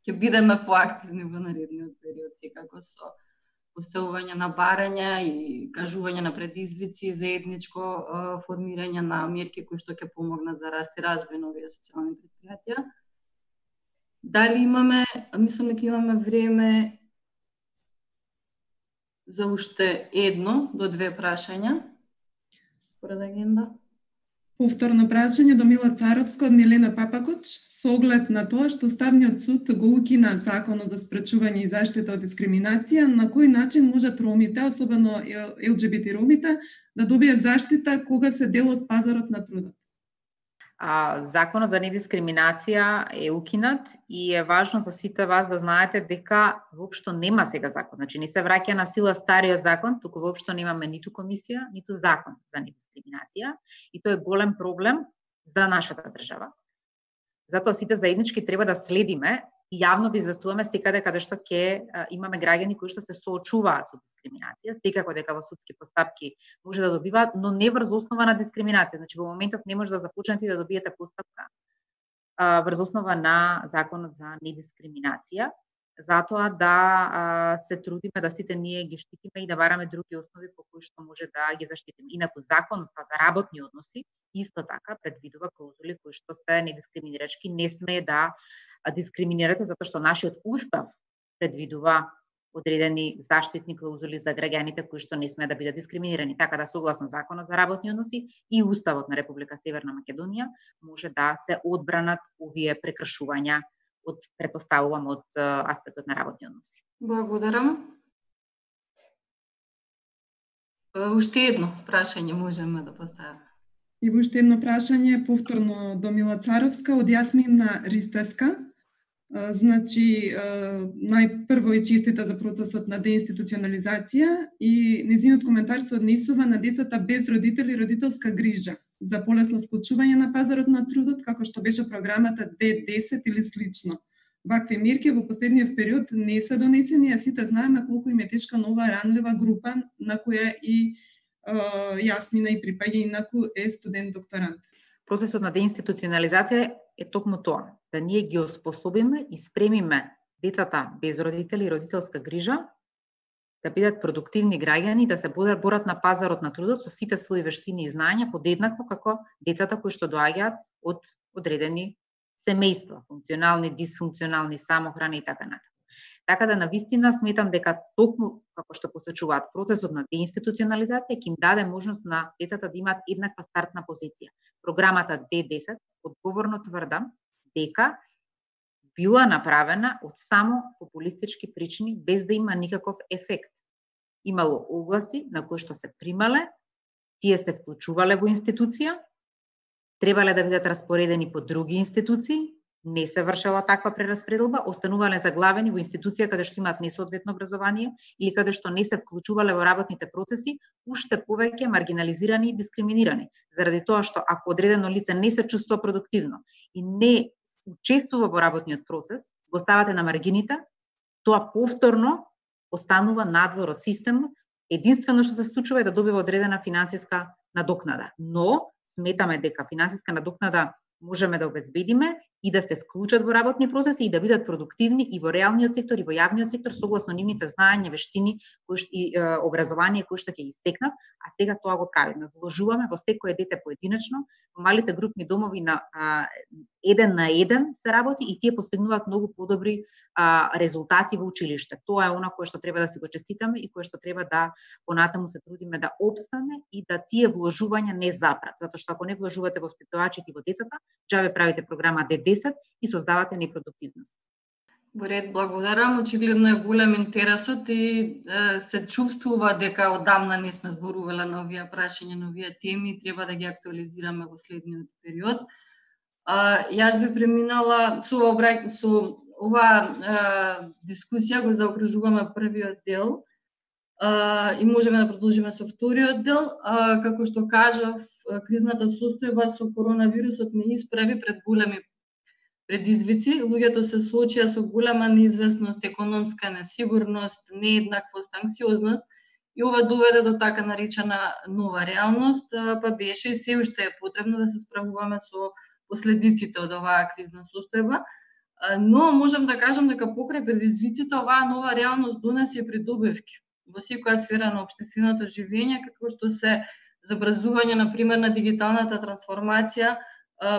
ќе бидеме поактивни во наредниот период, секако со поставување на барања и кажување на предизвици, заедничко формирање на мерки кои што ќе помогнат за раст и развој на овие социјални предпријатија. Дали имаме, мислам дека имаме време за уште 1 до 2 прашања според агенда. Повторно прашање до Мила Царовска од Милена Папакоч со оглед на тоа што Уставниот суд го укина Законот за спречување и заштита од дискриминација, на кој начин можат ромите, особено ЛГБТ ромите, да добијат заштита кога се дел од пазарот на трудот? Законот за недискриминација е укинат и е важно за сите вас да знаете дека воопшто нема сега закон. Значи не се враќа на сила стариот закон, туку воопшто немаме ниту комисија, ниту закон за недискриминација и тоа е голем проблем за нашата држава. Затоа сите заеднички треба да следиме и јавно да известуваме секаде каде што ќе имаме граѓани кои што се соочуваат со дискриминација, секако дека во судски постапки може да добиваат, но не врз основа на дискриминација. Значи во моментов не може да започнете да добиете постапка врз основа на Законот за недискриминација. Затоа да се трудиме да сите ние ги штитиме и да бараме други основи по кои што може да ги заштитиме. Инаку Законот за работни односи исто така предвидува клаузули кои што се недискриминирачки, не смее да дискриминирате затоа што нашиот устав предвидува одредени заштитни клаузули за граѓаните кои што не смеат да бидат дискриминирани. Така да согласно Законот за работни односи и Уставот на Република Северна Македонија може да се одбранат овие прекршувања од претпоставувам од аспектот на работни односи. Благодарам. Уште едно прашање можеме да поставиме. И уште едно прашање повторно до Мила Царовска од Јасмина Ристеска. Значи, најпрво и честита за процесот на деинституционализација и незиниот коментар се однесува на децата без родители и родителска грижа за полесно вклучување на пазарот на трудот, како што беше програмата D10 или слично. Вакви мерки во последниот период не се донесени, а сите знаеме колку им е тешка на оваа ранлива група на која и Јасмина и припаѓа, инаку е студент-докторант. Процесот на деинституционализација е токму тоа, да ние ги оспособиме и спремиме децата без родители и родителска грижа да бидат продуктивни граѓани, да се борат на пазарот на трудот со сите своји вештини и знаења подеднакво како децата кои што доаѓаат од одредени семејства, функционални, дисфункционални, самохрани и така натаму. Така да навистина сметам дека токму како што посочуваат процесот на деинституционализација ќе им даде можност на децата да имаат еднаква стартна позиција. Програмата D10 одговорно тврдам дека била направена од само популистички причини без да има никаков ефект. Имало огласи на кои што се примале, тие се вклучувале во институција, требале да бидат распоредени по други институции, не се вршела таква прераспределба, останувале заглавени во институција каде што имаат несоодветно образование или каде што не се вклучувале во работните процеси, уште повеќе маргинализирани и дискриминирани, заради тоа што ако одредено лице не се чувствува продуктивно и не учествува во работниот процес, го ставате на маргините, тоа повторно останува надвор од системот, единствено што се случува е да добива одредена финансиска надокнада. Но сметаме дека финансиска надокнада можеме да обезбедиме и да се вклучат во работни процеси и да бидат продуктивни и во реалниот сектор и во јавниот сектор согласно нивните знаења, вештини и образование кои што ќе ги стекнат, а сега тоа го правиме. Вложуваме во секое дете поединечно, во малите групни домови на 1 на 1 се работи и тие постигнуваат многу подобри резултати во училиште. Тоа е она кое што треба да си го честитаме и кое што треба да понатаму се трудиме да обстане и да тие вложувања не запрат, затоа што ако не вложувате во воспитувачите и во децата, џабе правите програма D10 и создавате непродуктивност. Во ред, благодарам. Очигледно е голем интересот и се чувствува дека одамна не сме зборувале на овие прашања, на овие теми, треба да ги актуализираме во следниот период. Јас би преминала со оваа дискусија го заокружуваме првиот дел и можеме да продолжиме со вториот дел. Како што кажав, кризната состојба со коронавирусот не исправи пред големи предизвици. Луѓето се соочија со голема неизвестност, економска несигурност, нееднаквост, анксиозност и ова доведе до така наречена нова реалност, па беше и се уште е потребно да се справуваме со последиците од оваа кризна состојба. Но можам да кажам дека покрај предизвиците оваа нова реалност донесе придобивки во секоја сфера на општественото живење, како што се забрзување, например, на дигиталната трансформација,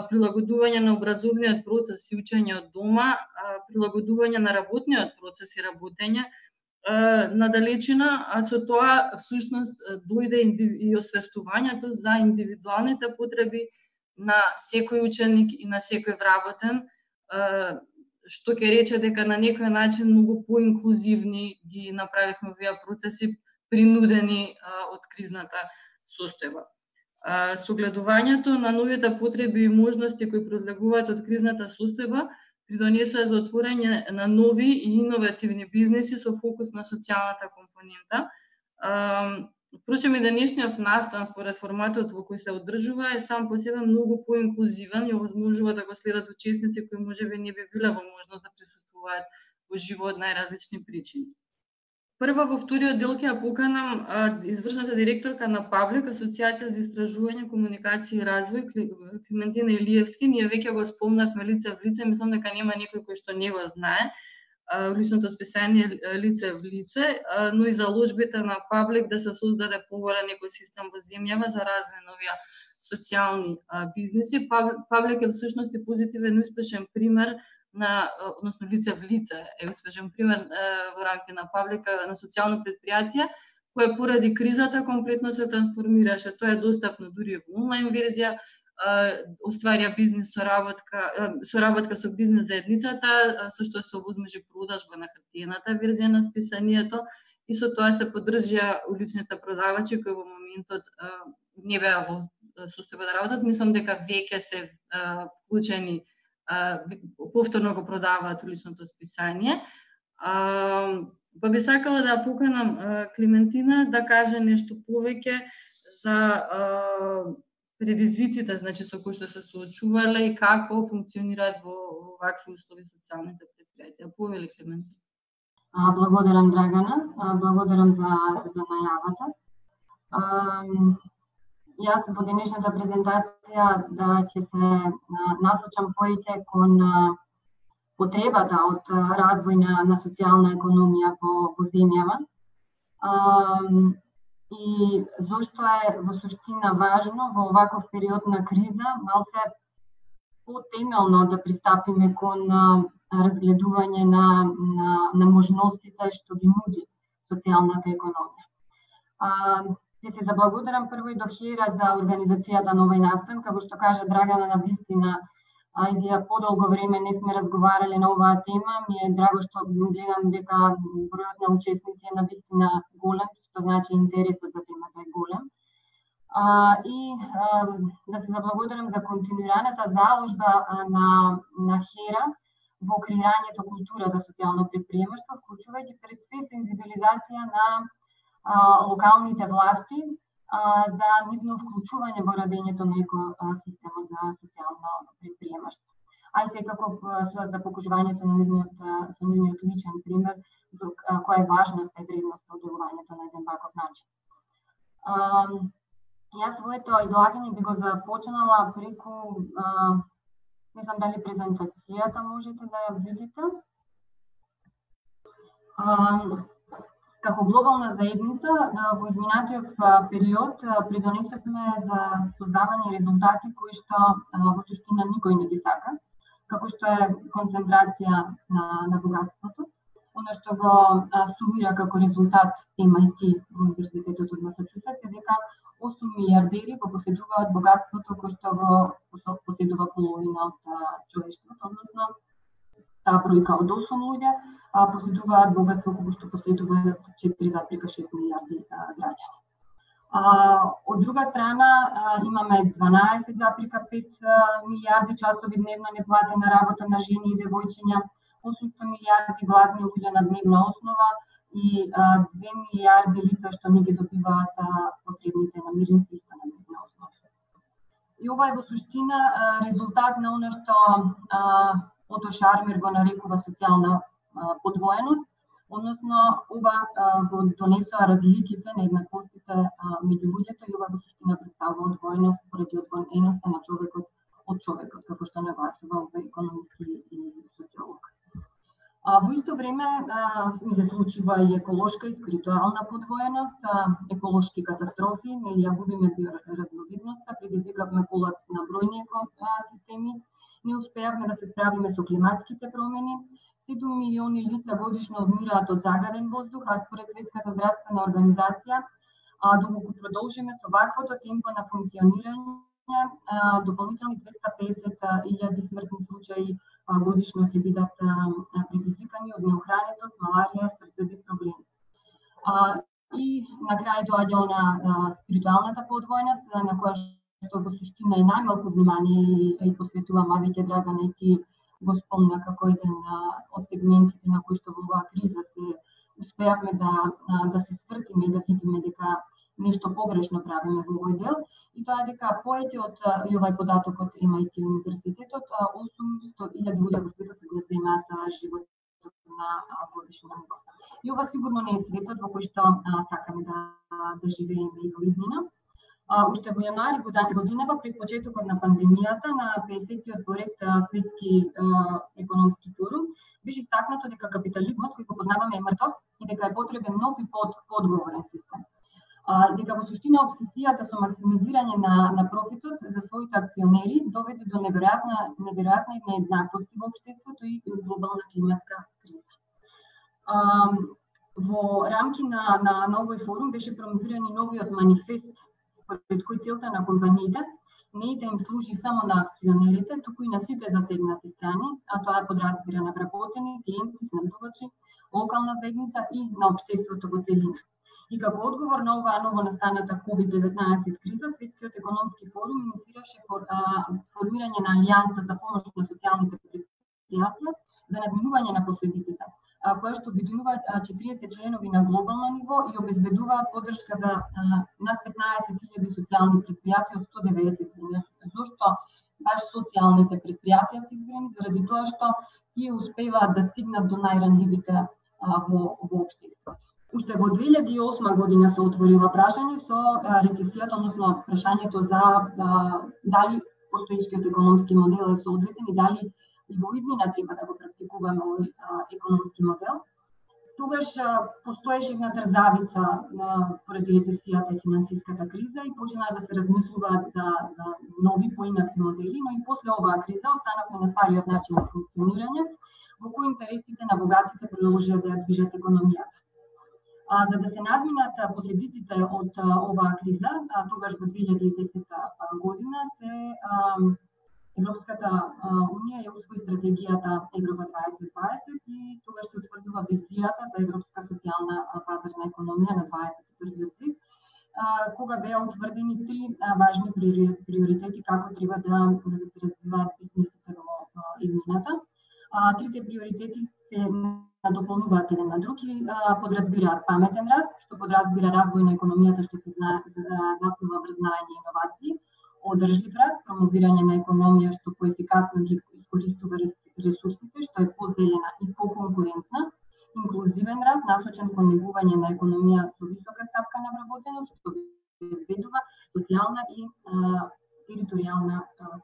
прилагодување на образовниот процес и учење од дома, прилагодување на работниот процес и работење на далечина, а со тоа всушност дојде и освестувањето за индивидуалните потреби на секој ученик и на секој вработен, што ќе рече дека на некој начин многу поинклузивни ги направивме овие процеси, принудени од кризната состојба. Согледувањето на новите потреби и можности кои произлегуваат од кризната состојба придонесува за отворање на нови и иновативни бизнеси со фокус на социјалната компонента. Впрочем, и денешниот настан според форматот во кој се одржува е сам по себе многу поинклузивен и овозможува да го следат учесници кои можеби не би биле во можност да присуствуваат во живо од најразлични причини. Прва во вториот дел ќе ја поканам извршната директорка на Паблик, Асоцијација за истражување, комуникација и развој, Климентина Илиевски. Ние веќе го спомнавме лице в лице, мислам дека нема некој кој што не го знае личното списание лице в лице, но и заложбите на Паблик да се создаде поголем екосистем во земјава за развој на овие социјални бизнеси. Паблик е всушност и позитивен успешен пример односно лице в лице е успешен пример во рамки на Паблика на социјално предпријатие кое поради кризата комплетно се трансформираше. Тоа е достапно дури во онлайн верзија, остварја бизнес соработка со бизнес заедницата, со што се овозможи продажба на хартиената верзија на списанието и со тоа се поддржија уличните продавачи кои во моментот не беа во состојба да работат. Мислам дека веќе се вклучени, повторно го продаваат уличното списание. Па би сакала да поканам Климентина да каже нешто повеќе за предизвиците, значи со кои што се соочувале и како функционираат во вакви услови социјалните предпријатија. Повели, Климентина. Благодарам, Драгана. Благодарам за најавата. Јас во денешната презентација ќе се насочам повеќе кон потребата од развој на социјална економија во земјава. И зошто е во суштина важно во оваков период на криза малце потемелно да пристапиме кон разгледување на можностите што ги нуди социјалната економија. Ќе се заблагодарам прво и до ХЕРА за организацијата на овој настан, како што кажа Драгана, на вистина и подолго време не сме разговарале на оваа тема. Ми е драго што гледам дека бројот на учесници е на вистина голем, што значи интересот за темата е голем. И да се заблагодарам за континуираната заложба на ХЕРА во креирањето култура за социјално предприемаштво, вклучувајќи пред се сензибилизација на локалните власти за нивно вклучување во радењето на екосистемот за социјално предприемаштво. А и секако за покажувањето на нивниот личен пример, која е важноста и вредноста од делувањето на еден ваков начин. Јас своето излагање би го започнала преку, не знам дали презентацијата можете да ја видите. Како глобална заедница, во изминатиот период придонесовме за создавање резултати кои што во суштина никој не ги сака, како што е концентрација на богатството. Оно што го сумира како резултат MIT во Универзитетот од Масачусетс е дека 8 милиардери го поседуваат богатството кој што го поседува половина од човештвото, односно таа бројка од 8 луѓе поседуваат богатство кога што поседуваат 4,6 милиарди граѓани. Од друга страна имаме 12,5 милиарди часови дневно неплатена работа на жени и девојчиња, 800 милиарди гладни луѓе на дневна основа и 2 милиарди лица што не ги добиваат потребните намирници исто на дневна основа. И ова е во суштина резултат на она што Ото Шармер го нарекува социјална подвоеност, односно ова го донесоа разликите, нееднаквостите меѓу луѓето и ова во суштина представува одвоеност поради одвоеноста на човекот од човекот, како што нагласува овој економиски и социолог. Во исто време се случува и еколошка и спиритуална подвоеност, еколошки катастрофи, не ја губиме биоразновидноста, предизвикавме колапс на бројни екосистеми, не успеавме да се справиме со климатските промени, 7 милиони лица годишно одмираат од загаден воздух, а според Светската здравствена организација, доколку продолжиме со ваквото темпо на функционирање, дополнителни 250.000 смртни случаи годишно ќе бидат предизвикани од неохранетост, маларија, срцеви проблеми. И на крај доаѓа она спиритуалната подвојност, на која што во суштина е најмалку внимание и посветува Мавиќе Драгана и ти го спомна како еден од сегментите на кои што во оваа криза се успеавме да се свртиме и да видиме дека нешто погрешно правиме во овој дел, и тоа е дека поети од и овај податок од MIT универзитетот, 800.000 луѓе во светот се го земаат животот на годишно ниво. И ова сигурно не е светот во кој што сакаме да живееме и во иднина. Уште во јануари годинава, пред почетокот на пандемијата, на 50-тиот поред светски економски форум, беше истакнато дека капитализмот кој го познаваме е мртов и дека е потребен нов и подговорен систем. Дека во суштина обсесијата со максимизирање на профитот за своите акционери доведе до неверојатни нееднаквости во општеството и глобална климатска криза. Во рамки на овој форум беше промовиран и новиот манифест, според кој целта на компаниите не е да им служи само на акционерите, туку и на сите засегнати страни, а тоа подразбира на вработени, клиенти, снабдувачи, локална заедница и на општеството во целина. И како одговор на оваа новонастаната COVID-19 криза, Светскиот економски форум инициираше формирање на алијанса за помош на социјалните предпријатија за надминување на последиците, која што обединува 40 членови на глобално ниво и обезбедуваат поддршка за над 15.000 социјални предпријатија од 190 земји. Зошто баш социјалните предпријатија се избрани? Заради тоа што тие успеваат да стигнат до најранливите во општеството. Уште во 2008 година се отвори ова прашање со рецесијата, односно прашањето за дали постоечкиот економски модел е соодветен и дали и во иднина треба да го практикуваме овој економски модел. Тогаш постоеше една трзавица поради рецесијата и финансиската криза и почнаа да се размислуваат за нови поинакви модели, но и после оваа криза останавме на стариот начин на функционирање, во кој интересите на богатите продолжија да ја движат економијата. За да се надминат последиците од оваа криза, тогаш во 2010 година Европската унија ја усвои стратегијата Европа 2020 и тогаш се утврдува визијата за европска социјална пазарна економија на 21 век, кога беа утврдени 3 важни приоритети како треба да се развиваат бизнисите во иднината. Трите приоритети се надополнуваат еден на друг и подразбираат паметен раст, што подразбира развој на економијата што се заснува врз знаење и иновации, одржлив раст, промовирање на економија што поефикасно ги искористува ресурсите, што е позелена и поконкурентна, инклузивен раст, насочен кон негување на економија со висока стапка на вработеност, што обезбедува социјална и територијална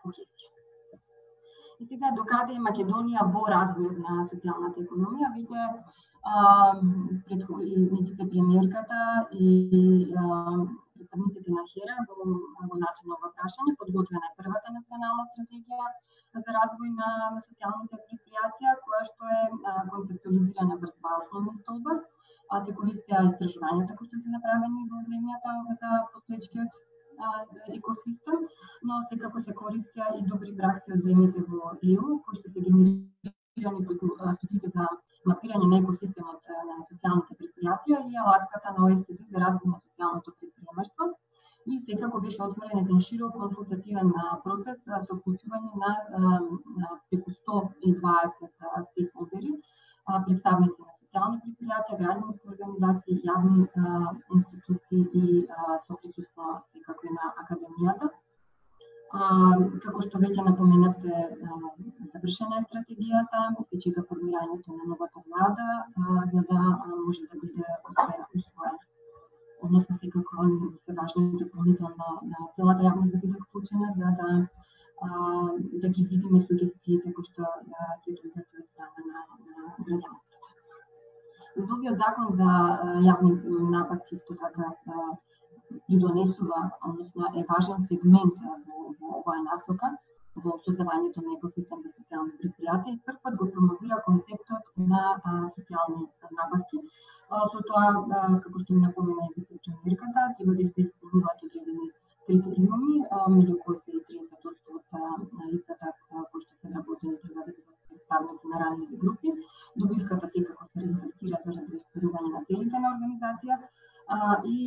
кохезија. И сега, докаде е Македонија во развојот на социјалната економија, веќе медиците премиерката и представниците на ХЕРА во начин на ова прашање, подготвена е првата национална стратегија за развој на социјалните предпријатија, која што е концептуализирана врз два основни столба, се користеа истражувањата кои што се направени во земјата за постоечкиот екосистем, но секако се користеа и добри пракси од земјите во ЕУ, кои што се генерирани преку студиите за мапирање на екосистемот на социјалните предпријатија и алатката на ОЕСД за развој на социјалното предприемаштво. И секако беше отворен еден широк консултативен процес со вклучување на преку 120 стейкхолдери, представници на социјални предпријатија, граѓански организации, јавни институции и со присуство секако и на академијата. Како што веќе напоменавте, завршена е стратегијата, се чека формирањето на новата влада, за да може да биде усвоена. Односно, секако се важно дополнително на целата јавност да биде вклучена, за да ги видиме сугестиите кои што ќе дојдат од страна на граѓанството. Новиот закон за јавни нападки исто така придонесува, односно е важен сегмент во оваа насока, во создавањето на екосистем за социјални предпријатија и првпат го промовира концептот на социјални нападки. Со тоа, како што ми напомена и вице-премиерката, треба да се исполнуваат одредени критериуми, меѓу кои се и 30% од лицата кои што се вработени треба да бидат представници на ранливи групи. Добивката секако се респектира заради оспорување на целите на организација и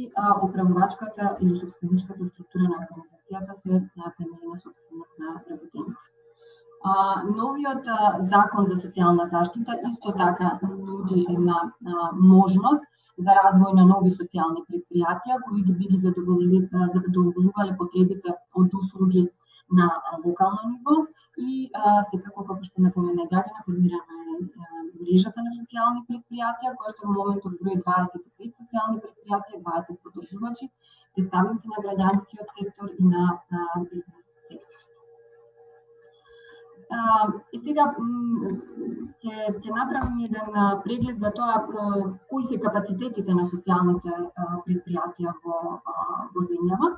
управувачката или собственичката структура на организацијата се темели на собственост на вработените. Новиот закон за социјална заштита исто така нуди една можност за развој на нови социјални предпријатија кои би ги задоволувале потребите од услуги на локално ниво и секако, како што напомена Драгана, формирана е мрежата на социјални предпријатија, која што во моментот брои 25 социјални предпријатија, 20 поддржувачи, представници на граѓанскиот сектор и на бизнес сектор. И сега ќе направим еден преглед за тоа кои се капацитетите на социјалните предпријатија во земјава.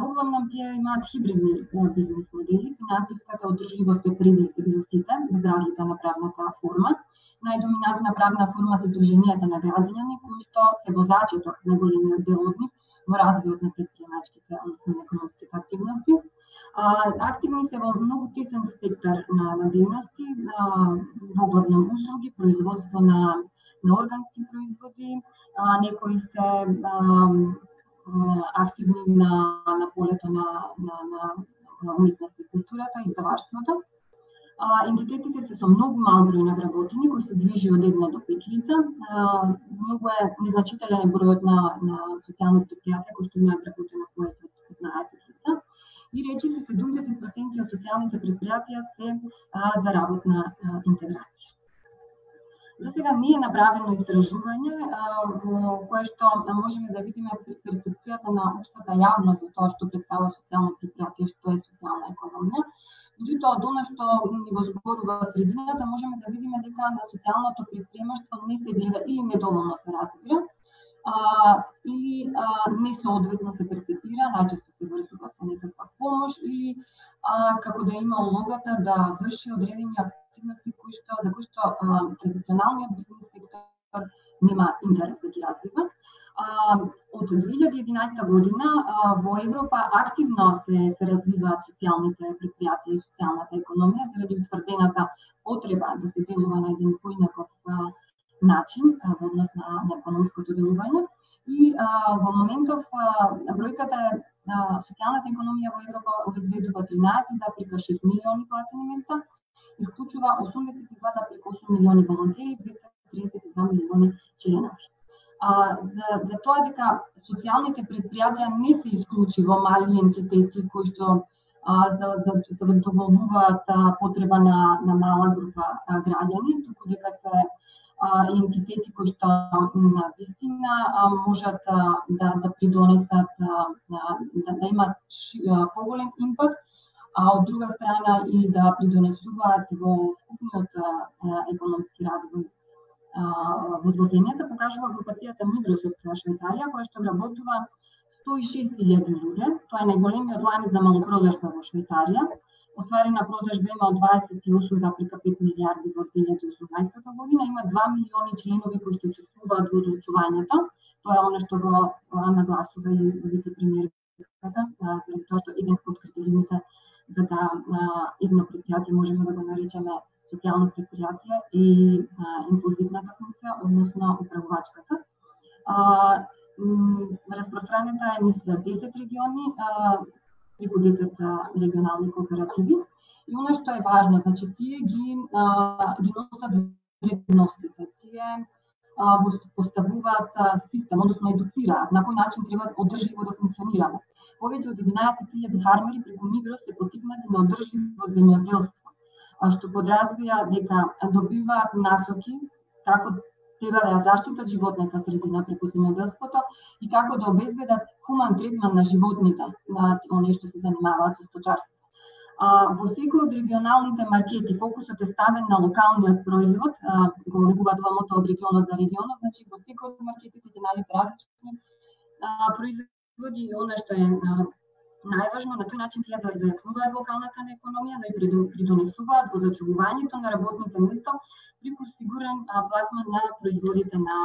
Воглавном тие имаат хибридни бизнес модели, финансиската одржливост е пред сите, без разлика на правната форма. Најдоминантна правна форма се Сдруженијата на граѓани, кои што се возачето на големиот дел од нив во развојот на претприемачките, односно на економските активности. Активни се во многу тесен спектар на дејности, воглавном услуги, производство на органски производи, некои се активни на полето на уметност и културата и издаваштвото. Ентитетите се со многу мал број на вработени, кои се движи од 1 до 5 лица. Многу е незначителен бројот на социјални предпријатија кои што имаат вработено повеќе од 15 лица. И речи се 70% од социјалните предпријатија се за работна интеграција. До сега не е направено истражување во кое што можеме да видиме перцепцијата на општата јавност за тоа што представува социјално предпријатие, што е социјална економија. Меѓутоа, од она што ни го зборува средината, можеме да видиме дека на социјалното предприемаштво не се гледа или недоволно се разбира, или несоодветно се перцепира, најчесто се врзува со некаква помош или како да има улогата да врши одредени активности за кои што традиционалниот бизнес сектор нема интерес да ги развива. Од 2011 година во Европа активно се развиваат социјалните предпријатија и социјалната економија заради утврдената потреба да се делува на еден поинаков начин во однос на економското делување. И во моментов бројката е социјалната економија во Европа обезбедува 13,6 милиони платени места и вклучува 82,8 милиони волонтери и 232 милиони членови. За тоа дека социјалните предпријатија не се исклучиво мали ентитети кои што задоволуваат потреба на мала група граѓани, туку дека се ентитети кои што на вистина можат да придонесат да имат поголем импакт, а од друга страна и да придонесуваат во вкупниот економски развој во земјата, покажува групацијата Мигрос од Швајцарија, која што вработува 106.000 луѓе. Тоа е најголемиот ланец за малопродажба во Швајцарија. Остварена продажба има од 28,5 милијарди во 2018 година. Има 2 милиони членови кои што учествуваат во одлучувањето. Тоа е оно што го нагласува и вице-премиерката, заради тоа што еден од критериумите за да едно предпријатие можеме да го наречеме социјално предпријатие и инклузивната функција, односно управувачката. Распространета е низ 10 региони, преку 10 регионални кооперативи И она што е важно, значи тие ги носат вредностите, тие поставуваат систем, односно едуцираат на кој начин треба одржливо да функционираме. Повеќе од 11.000 фармери преку Мигрос се поттикнати на одржливо земјоделство, што подразбира дека добиваат насоки како треба да ја заштитат животната средина преку земјоделството и како да обезбедат хуман третман на животните, на оние што се занимаваат со сточарство. Во секој од регионалните маркети фокусот е ставен на локалниот производ, го негуваат мото од регионот за регионот, значи во секој од маркетите ќе најдете различни производи и она што е најважно, на тој начин ќе да зајакнуваат локалната економија, но и придонесуваат во зачувувањето на работните места преку сигурен пласман на производите на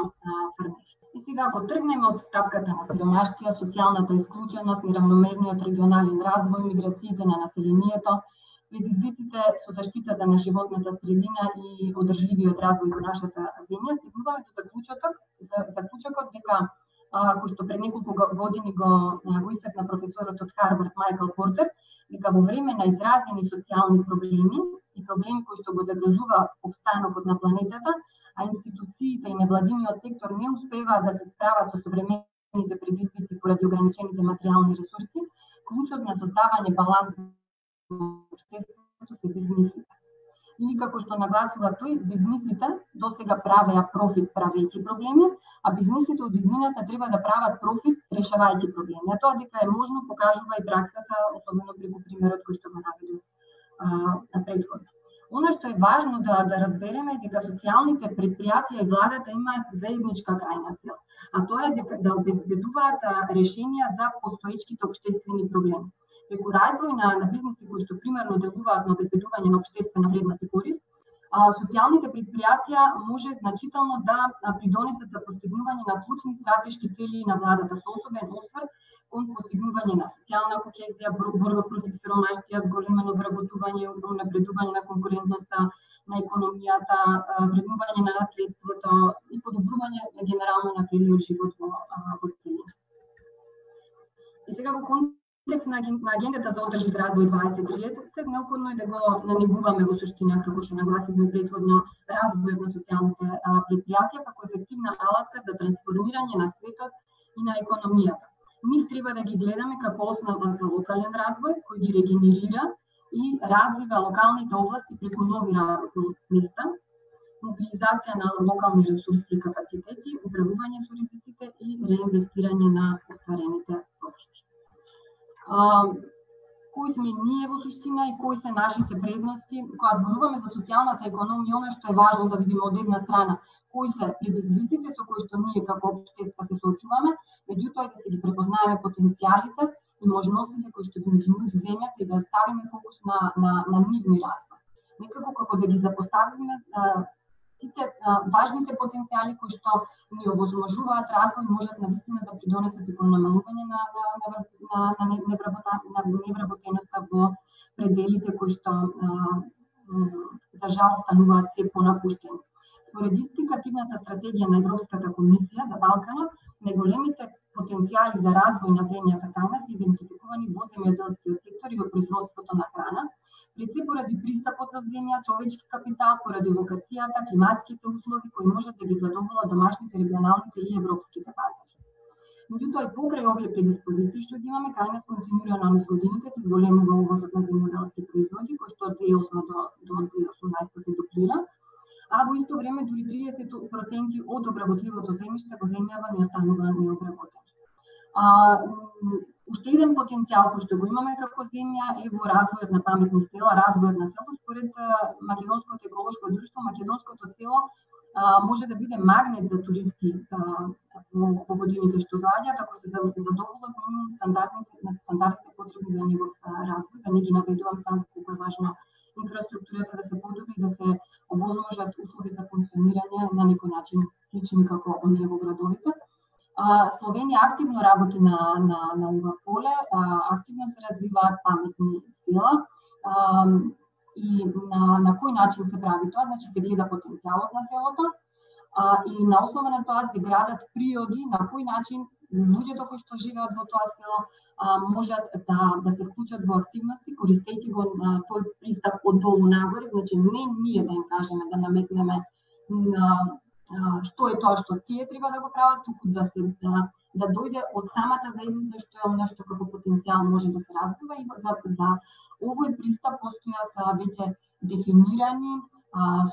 фермери. И сега ако тргнеме од стапката на сиромаштија, социјалната исклученост, неравномерниот регионален развој, миграциите на населението, предизвиците со заштитата на животната средина и одржливиот развој во нашата земја, стигнуваме до заклучокот дека кој што пред неколку години го истакна професорот од Харвард Майкл Портер, дека во време на изразени социјални проблеми и проблеми кои што го загрозуваат опстанокот на планетата, а институциите и невладиниот сектор не успеваат да се справат со современите предизвици поради ограничените материјални ресурси, клучот на создавање баланс во општеството се бизнисите. Или како што нагласува тој, бизнисите досега правеа профит правејќи проблеми, а бизнисите од иднината треба да прават профит решавајќи проблеми. А тоа дека е можно покажува и праксата, особено преку примерот кој што го наведов претходно. Она што е важно да разбереме е дека социјалните предпријатија и владата имаат заедничка крајна цел, а тоа е дека да обезбедуваат решенија за постоечките општествени проблеми. Преку развој на бизниси кои што примерно делуваат на обезбедување на општествена вредност и корист, социјалните предпријатија може значително да придонесат за постигнување на клучни стратешки цели на владата со особен осврт кон постигнување на социјална кохезија, борба против сиромаштија, зголемено вработување, унапредување на конкурентноста на економијата, вреднување на наследството и подобрување генерално на целиот живот во целина. И сега во контекст на агендата за одржлив развој 2030, неопходно е да го нанегуваме во суштина, како што нагласивме претходно, развојот на социјалните предпријатија како ефективна алатка за трансформирање на светот и на економијата. Нив треба да ги гледаме како основа за локален развој, кој ги регенерира и развива локалните области преку нови работни места, мобилизација на локални ресурси и капацитети, управување со ризиците и реинвестирање на остварените профити. Кои сме ние во суштина и кои се нашите предности? Кога зборуваме за социјалната економија, она што е важно да видиме од една страна кои се предизвиците со кои што ние како општество се соочуваме, меѓутоа да се ги препознаеме потенцијалите и можностите кои што ги нуди земјата и да ставиме фокус на нивни развој. Некако како да ги запоставиме сите важните потенцијали кои што ни овозможуваат развој, можат навистина да придонесат и кон намалување на невработеноста во пределите кои што за жал стануваат се понапуштени. Според индикативната стратегија на Европската комисија за Балканот, најголемите потенцијали за развој на земјата кај нас идентификувани во земјоделскиот сектор и во производството на храна, пред се поради пристапот до земја, човечки капитал, поради локацијата, климатските услови кои можат да ги задоволат домашните, регионалните и европските пазари. Меѓутоа и покрај овие предиспозиции што ги имаме, кај нас континуирано низ годините се зголемува увозот на земјоделски производи, кој што од 2008 до 2018 се дуплира, а во исто време дури 30% од обработливото земјиште во земјава не останува необработено. Уште еден потенцијал кој што го имаме како земја е во развојот на паметни села, развојот на село. Според Македонското еколошко друштво, македонското село може да биде магнет за туристи во годините што доаѓаат, ако се задоволат стандардните потреби за негов развој, да не ги наведувам само колку е важно инфраструктурата да се подобри, да се овозможат услови за функционирање на некој начин слични како оние во градовите. Словенија активно работи на ова поле, активно се развиваат паметни села и на кој начин се прави тоа, значи се гледа потенцијалот на селото и на основа на тоа се градат приоди на кој начин луѓето кои што живеат во тоа село можат да се вклучат во активности, користејќи го тој пристап од долу нагоре, значи не ние да им кажеме, да наметнеме што е тоа што тие треба да го прават, туку да дојде од самата заедница што е она што како потенцијал може да се развива и за овој пристап постојат веќе дефинирани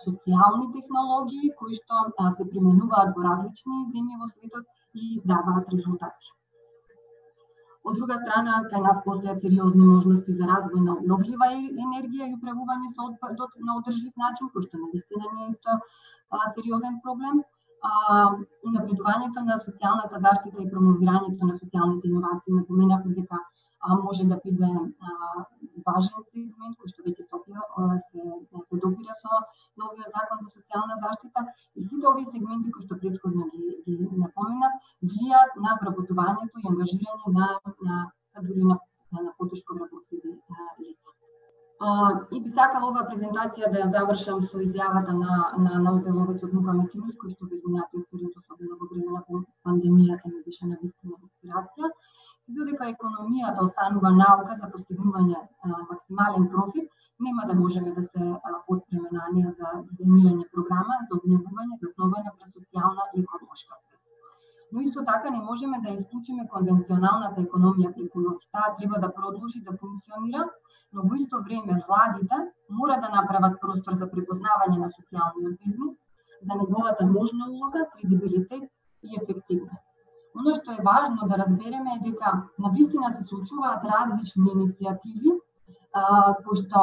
социјални технологии кои што се применуваат во различни земји во светот и даваат резултати. Од друга страна, кај нас постојат сериозни можности за развој на обновлива енергија и управување со отпадот на одржлив начин, кој што навистина не е исто сериозен проблем. Унапредувањето на социјалната заштита и промовирањето на социјалните иновации, напоменавме дека може да биде важен сегмент кој што веќе се допира со новиот закон за социјална заштита и сите овие сегменти кои што претходно ги напоменав влијаат на вработувањето и ангажирање на потешко вработливи лица. И би сакала оваа презентација да ја завршам со изјавата на Нобеловецот Мухамед Юнус, кој што во изминатиот период, особено во време на пандемијата, ми беше навистина инспирација. Додека економијата останува наука за постигнување максимален профит, нема да можеме да се отпреме на неа за дизајнирање програма за обновување заснована врз социјална и економска свест. Но исто така не можеме да исклучиме конвенционалната економија преку ноќ. Таа треба да продолжи да функционира, но во исто време владите мора да направат простор за препознавање на социјалниот бизнис, за неговата можна улога, кредибилитет и ефективност. Оно што е важно да разбереме е дека навистина се случуваат различни иницијативи кои што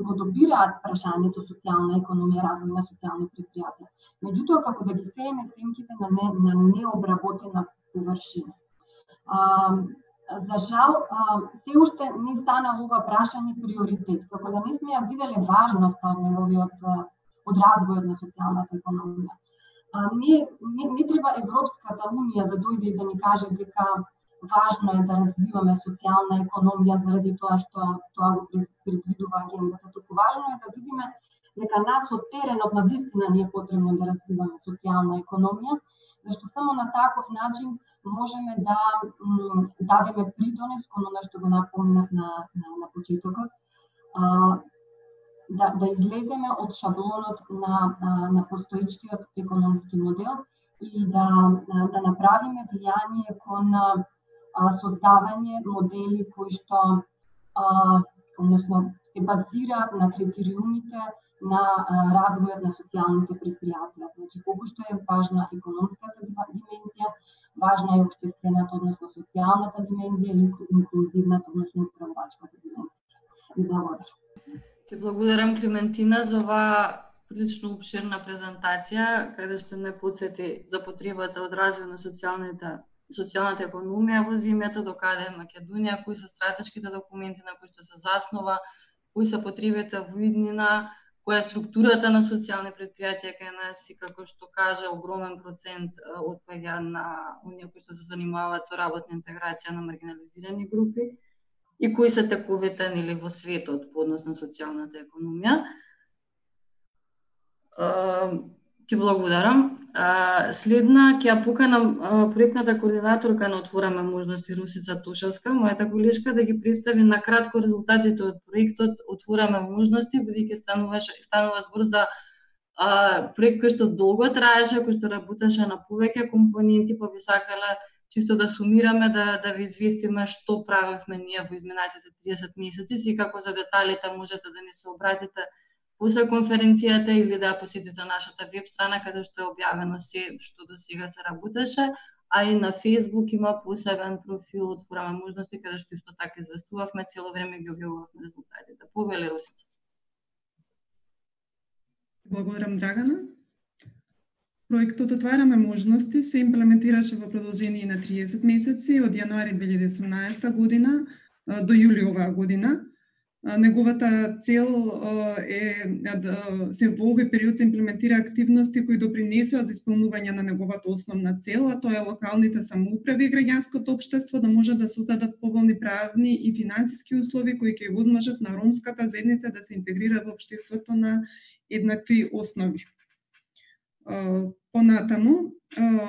го добираат прашањето социјална економија, развој на социјални предпријатија. Меѓутоа, како да ги сееме сенките на необработена површина. За жал, се уште не станало ова прашање приоритет, како да не сме ја виделе важноста од развојот на социјалната економија. Не треба Европската унија да дојде и да ни каже дека важно е да развиваме социјална економија заради тоа што тоа го предвидува агендата. Туку важно е да видиме дека нас од теренот на вистина не е потребно да развиваме социјална економија, зашто само на таков начин можеме да дадеме придонес кон она што го напомнав на почетокот, да излеземе од шаблонот на постоечкиот економски модел и да направиме влијание кон создавање модели кои што се базираат на критериумите на развојот на социјалните предпријатија. Значи, колку што е важна економската димензија, важна е општествената, односно социјалната димензија и инклузивната, односно управувачката димензија. И благодарам. Ти благодарам, Климентина, за оваа прилично обширна презентација, каде што не подсети за потребата од развој на социјалната економија во земјата, докаде е Македонија, кои се стратешките документи на кои што се заснова, кои се потребите во иднина, која е структурата на социјални предпријатија кај нас и, како што кажа, огромен процент отпаѓа на оние кои што се занимаваат со работна интеграција на маргинализирани групи и кои се тековите во светот по однос на социјалната економија. Ти благодарам. Следна ќе ја поканам проектната координаторка на Отвораме можности Русица Тошевска, мојата колешка, да ги представи на кратко резултатите од проектот Отвораме можности, бидејќи станува збор за проект кој што долго траеше, кој што работеше на повеќе компоненти, па би сакала чисто да сумираме, да ви известиме што правевме ние во изминатите 30 месеци, секако за деталите можете да ни се обратите после конференцијата или да посетите нашата веб страна каде што е објавено се што до сега се работеше, а и на Facebook има посебен профил Отвораме можности каде што исто така известувавме, цело време ги објавувавме резултатите. Повели, Русица. Благодарам, Драгана. Проектот Отвараме можности се имплементираше во продолжение на 30 месеци од јануари 2018 година до јули оваа година. Неговата цел се во овој период се имплементира активности кои допринесува за исполнување на неговата основна цел, а тоа е локалните самоуправи и граѓанското општество да може да создадат поволни правни и финансиски услови кои ќе возможат на ромската заедница да се интегрира во општеството на еднакви основи. Понатаму,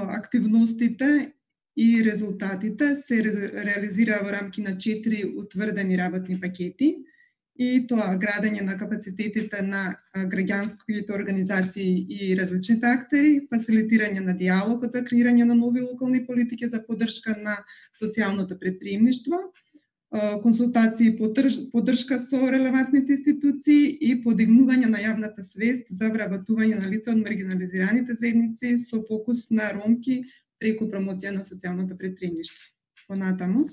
активностите и резултатите се реализира во рамки на 4 утврдени работни пакети, и тоа градење на капацитетите на граѓанските организации и различните актери, фасилитирање на диалогот за креирање на нови локални политики за поддршка на социјалното претприемништво, консултации и поддршка со релевантните институции и подигнување на јавната свест за вработување на лица од маргинализираните заедници со фокус на ромки преку промоција на социјалното претприемништво. Понатаму,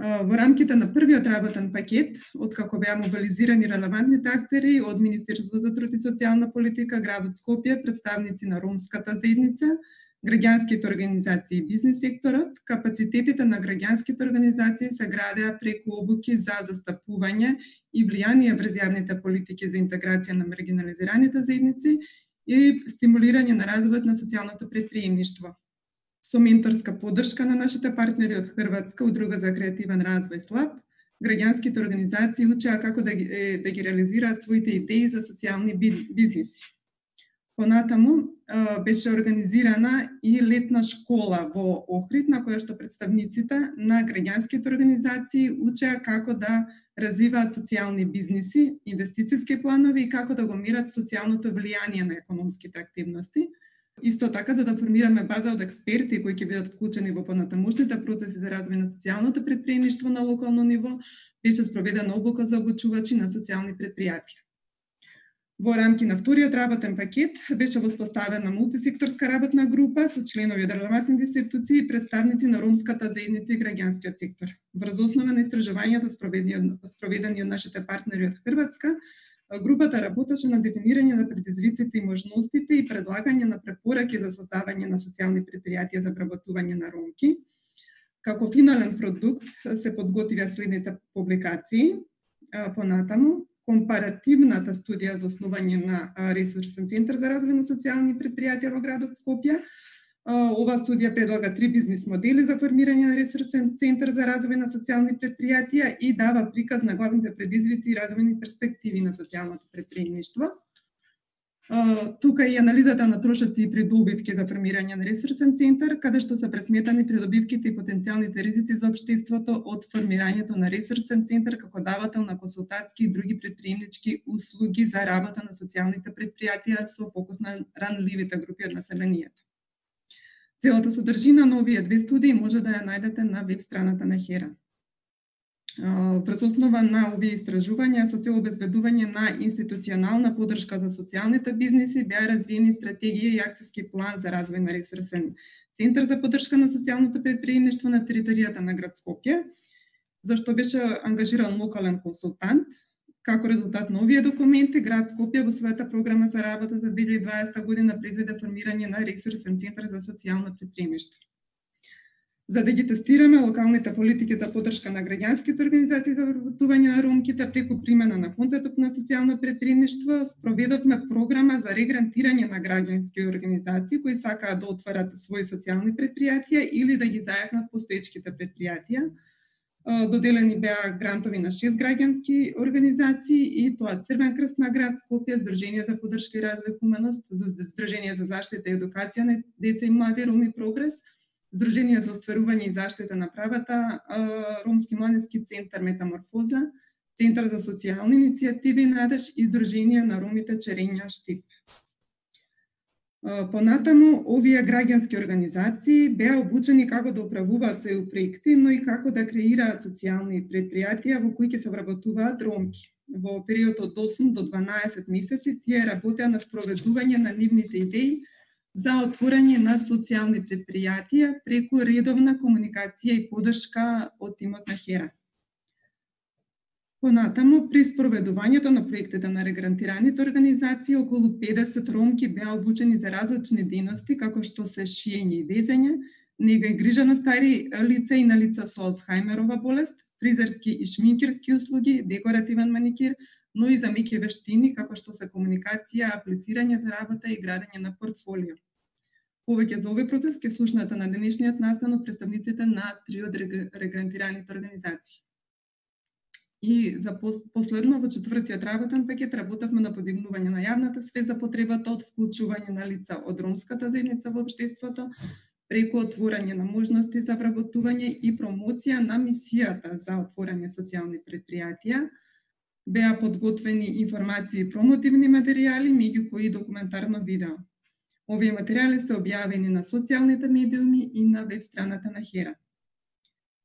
во рамките на првиот работен пакет, откако беа мобилизирани релевантните актери од Министерството за труд и социјална политика, градот Скопје, представници на ромската заедница, граѓанските организации и бизнис секторот, капацитетите на граѓанските организации се градеа преку обуки за застапување и влијание врз јавните политики за интеграција на маргинализираните заедници и стимулирање на развојот на социјалното претприемништво. Со менторска поддршка на нашите партнери од Хрватска, Удруга за креативен развој СЛАП, граѓанските организации учеа како да ги реализираат своите идеи за социјални бизниси. Понатаму беше организирана и летна школа во Охрид, на која што представниците на граѓанските организации учеа како да развиваат социјални бизниси, инвестициски планови и како да го мерат социјалното влијание на економските активности. Исто така, за да формираме база од експерти кои ќе бидат вклучени во понатамошните процеси за развој на социјалното претприемништво на локално ниво, беше спроведена обука за обучувачи на социјални претпријатија. Во рамки на вториот работен пакет беше воспоставена мултисекторска работна група со членови од релевантните институции и представници на ромската заедница и граѓанскиот сектор. Врз основа на истражувањата спроведени од нашите партнери од Хрватска, групата работеше на дефинирање на предизвиците и можностите и предлагање на препораки за создавање на социјални претпријатија за вработување на ромки. Како финален продукт се подготвија следните публикации. Понатаму, компаративната студија за основање на ресурсен центар за развој на социјални претпријатија во градот Скопје. Ова студија предлага 3 бизнис модели за формирање на ресурсен центар за развој на социјални претпријатија и дава приказ на главните предизвици и развојни перспективи на социјалното претприемништво. Тука и анализата на трошоци и придобивки за формирање на ресурсен центар, каде што се пресметани придобивките и потенцијалните ризици за општеството од формирањето на ресурсен центар како давател на консултатски и други претприемнички услуги за работа на социјалните претпријатија со фокус на ранливите групи од населението. Целата содржина на овие 2 студии може да ја најдете на веб страната на HERA. Врз основа на овие истражувања со цел обезбедување на институционална поддршка за социјалните бизниси беа развиени стратегија и акциски план за развој на ресурсен центар за поддршка на социјалното претприемништво на територијата на град Скопје, за што беше ангажиран локален консултант. Како резултат на овие документи, град Скопје во својата програма за работа за 2020 година предвиде формирање на ресурсен центар за социјално претприемништво. За да ги тестираме локалните политики за поддршка на граѓанските организации за вработување на ромките преку примена на концептот на социјално претприемништво, спроведовме програма за регрантирање на граѓански организации кои сакаат да отворат своји социјални претпријатија или да ги зајакнат постоечките претпријатија. Доделени беа грантови на 6 граѓански организации и тоа Црвен крст на град Скопје, Здружение за поддршка и развој хуманост, Здружение за заштита и едукација на деца и млади Роми Прогрес, Здружение за остварување и заштита на правата, Ромски младински центар Метаморфоза, Центар за социјални иницијативи Надеж и Здружение на ромите Черења Штип. Понатаму, овие граѓански организации беа обучени како да управуваат своји проекти, но и како да креираат социјални претпријатија во кои ќе се вработуваат ромки. Во период од 8 до 12 месеци тие работеа на спроведување на нивните идеи за отворање на социјални претпријатија преку редовна комуникација и поддршка од тимот на HERA. Понатаму, при спроведувањето на проектите на регрантираните организации, околу 50 ромки беа обучени за различни дејности, како што се шиење и везење, нега и грижа на стари лица и на лица со Алцхаймерова болест, фризерски и шминкерски услуги, декоративен маникир, но и за меки вештини, како што се комуникација, аплицирање за работа и градење на портфолио. Повеќе за овој процес ќе слушнете на денешниот настан од представниците на 3 од регрантираните организации. И за последно, во 4-тиот работен пакет, работевме на подигнување на јавната свест за потребата од вклучување на лица од ромската заедница во општеството, преку отворање на можности за вработување и промоција на мисијата за отворање социјални предпријатија. Беа подготвени информации и промотивни материјали, меѓу кои документарно видео. Овие материјали се објавени на социјалните медиуми и на веб страната на HERA.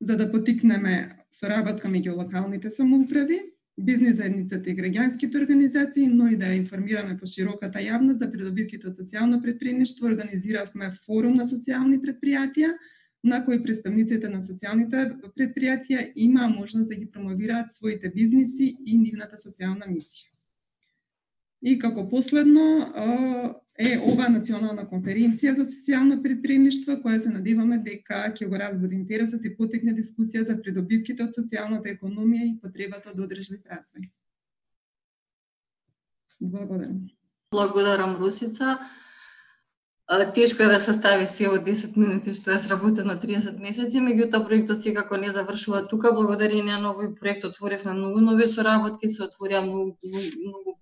За да потикнеме соработка меѓу локалните самоуправи, бизнис заедницата и граѓанските организации, но и да ја информираме по широката јавност за придобивките од социјално предприемништво, организиравме форум на социјални предпријатија, на кој представниците на социјалните предпријатија имаа можност да ги промовираат своите бизниси и нивната социјална мисија. И како последно е ова национална конференција за социјално предприемништво, која се надеваме дека ќе го разбуди интересот и потекне дискусија за придобивките од социјалната економија и потребата од одржлив развој. Благодарам. Благодарам, Русица. Тешко е да се стави се од 10 минути што е сработено 30 месеци, меѓутоа проектот секако не завршува тука. Благодарение на овој проект отворивме многу нови соработки, се отворија многу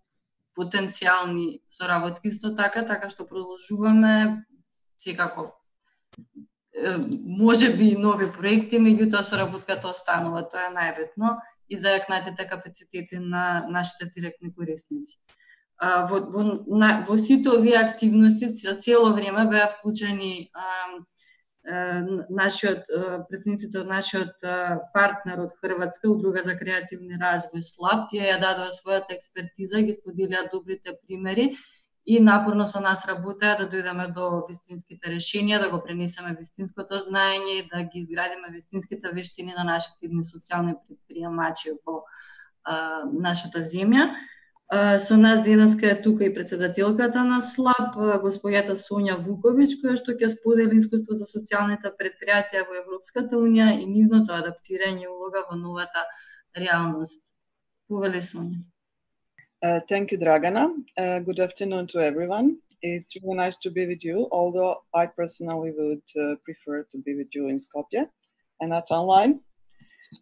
потенцијални соработки исто така што продолжуваме секако можеби и нови проекти, меѓутоа соработката останува, тоа е најбитно и зајакнатите капацитети на нашите директни корисници. Во сите овие активности за цело време беа вклучени представниците од нашиот партнер од Хрватска, Удруга за креативни развој СЛАП. Тие ја дадоа својата експертиза, ги споделија добрите примери и напорно со нас работеа да дојдеме до вистинските решенија, да го пренесеме вистинското знаење и да ги изградиме вистинските вештини на нашите социјални предприемачи во нашата земја. Со нас денеска е тука и председателката на СЛАП, господјата Сонја Вуковиќ, која што ќе сподели искуство за социјалните предпријатија во Европската унија и нивното адаптирање улога во новата реалност. Повели, Сонја. Thank you, Dragana. Good afternoon to everyone. It's really nice to be with you, although I personally would prefer to be with you in Skopje and not online.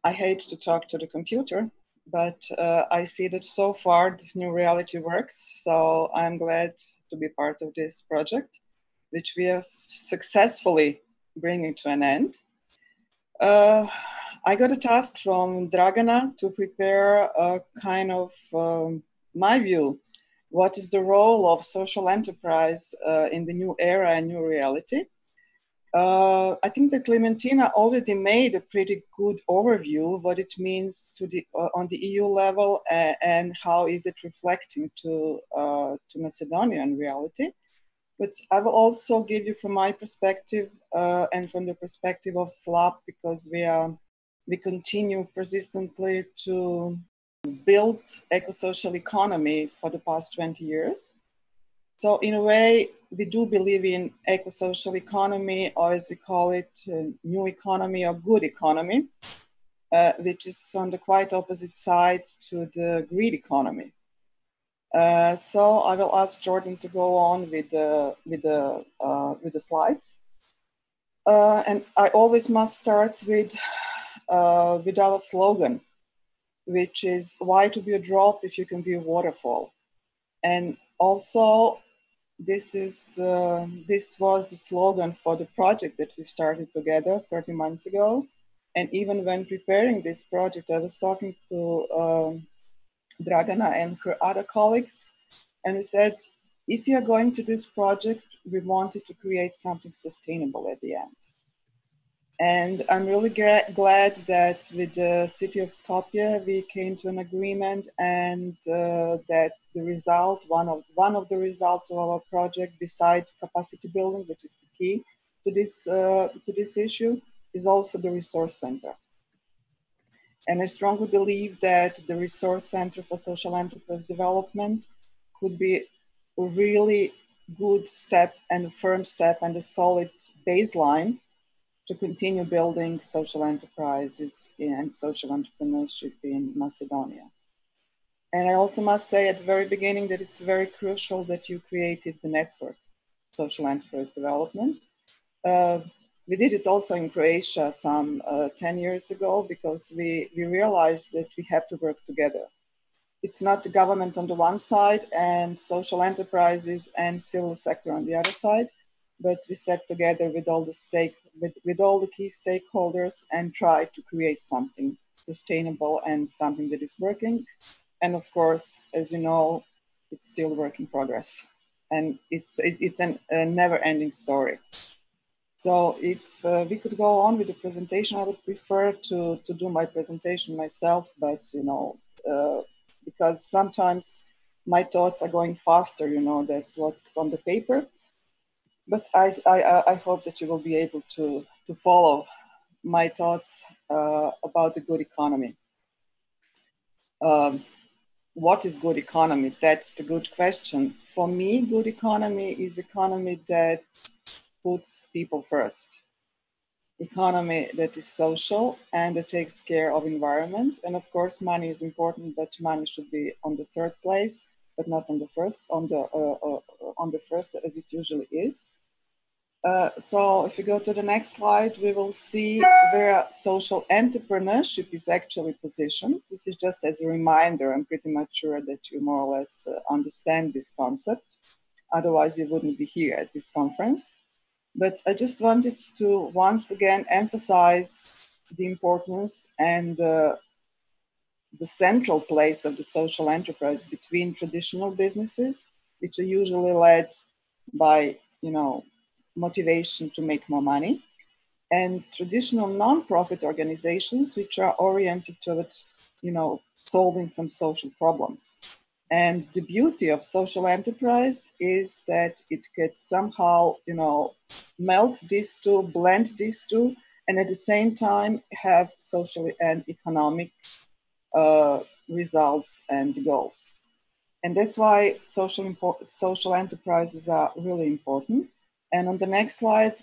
I hate to talk to the computer, but I see that so far this new reality works, so I'm glad to be part of this project, which we have successfully bringing to an end. I got a task from Dragana to prepare a kind of my view, what is the role of social enterprise in the new era and new reality. I think that Clementina already made a pretty good overview of what it means to on the EU level and how is it reflecting to Macedonian reality. But I will also give you from my perspective and from the perspective of SLAP, because we continue persistently to build eco-social economy for the past 20 years. So in a way, we do believe in eco-social economy, or as we call it, new economy or good economy, which is on the quite opposite side to the green economy. So I will ask Jordan to go on with the slides. And I always must start with our slogan, which is why to be a drop if you can be a waterfall. And also, this was the slogan for the project that we started together 30 months ago. And even when preparing this project, I was talking to Dragana and her other colleagues, and we said, if you are going to this project, we wanted to create something sustainable at the end. And I'm really glad that with the city of Skopje, we came to an agreement, and that the result, one of the results of our project, besides capacity building, which is the key to this issue, is also the resource center. And I strongly believe that the resource center for social enterprise development could be a really good step and a firm step and a solid baseline to continue building social enterprises and social entrepreneurship in Macedonia. And I also must say at the very beginning that it's very crucial that you created the network, social enterprise development. We did it also in Croatia some 10 years ago, because we realized that we have to work together. It's not the government on the one side and social enterprises and civil sector on the other side, but we sat together with all the key stakeholders and tried to create something sustainable and something that is working. And of course, as you know, it's still work in progress, and it's a never-ending story. So if we could go on with the presentation, I would prefer to do my presentation myself, but because sometimes my thoughts are going faster, that's what's on the paper. But I hope that you will be able to follow my thoughts about the good economy. What is good economy? That's the good question. For me, good economy is economy that puts people first. Economy that is social and that takes care of environment. And of course, money is important, but money should be on the third place, but not on the first, on the first as it usually is. So if you go to the next slide, we will see where social entrepreneurship is actually positioned. This is just as a reminder. I'm pretty much sure that you more or less understand this concept. Otherwise, you wouldn't be here at this conference. But I just wanted to once again emphasize the importance and the central place of the social enterprise between traditional businesses, which are usually led by, motivation to make more money, and traditional non-profit organizations, which are oriented towards, solving some social problems. And the beauty of social enterprise is that it could somehow, melt these two, blend these two, and at the same time have social and economic results and goals. And that's why social enterprises are really important. And on the next slide,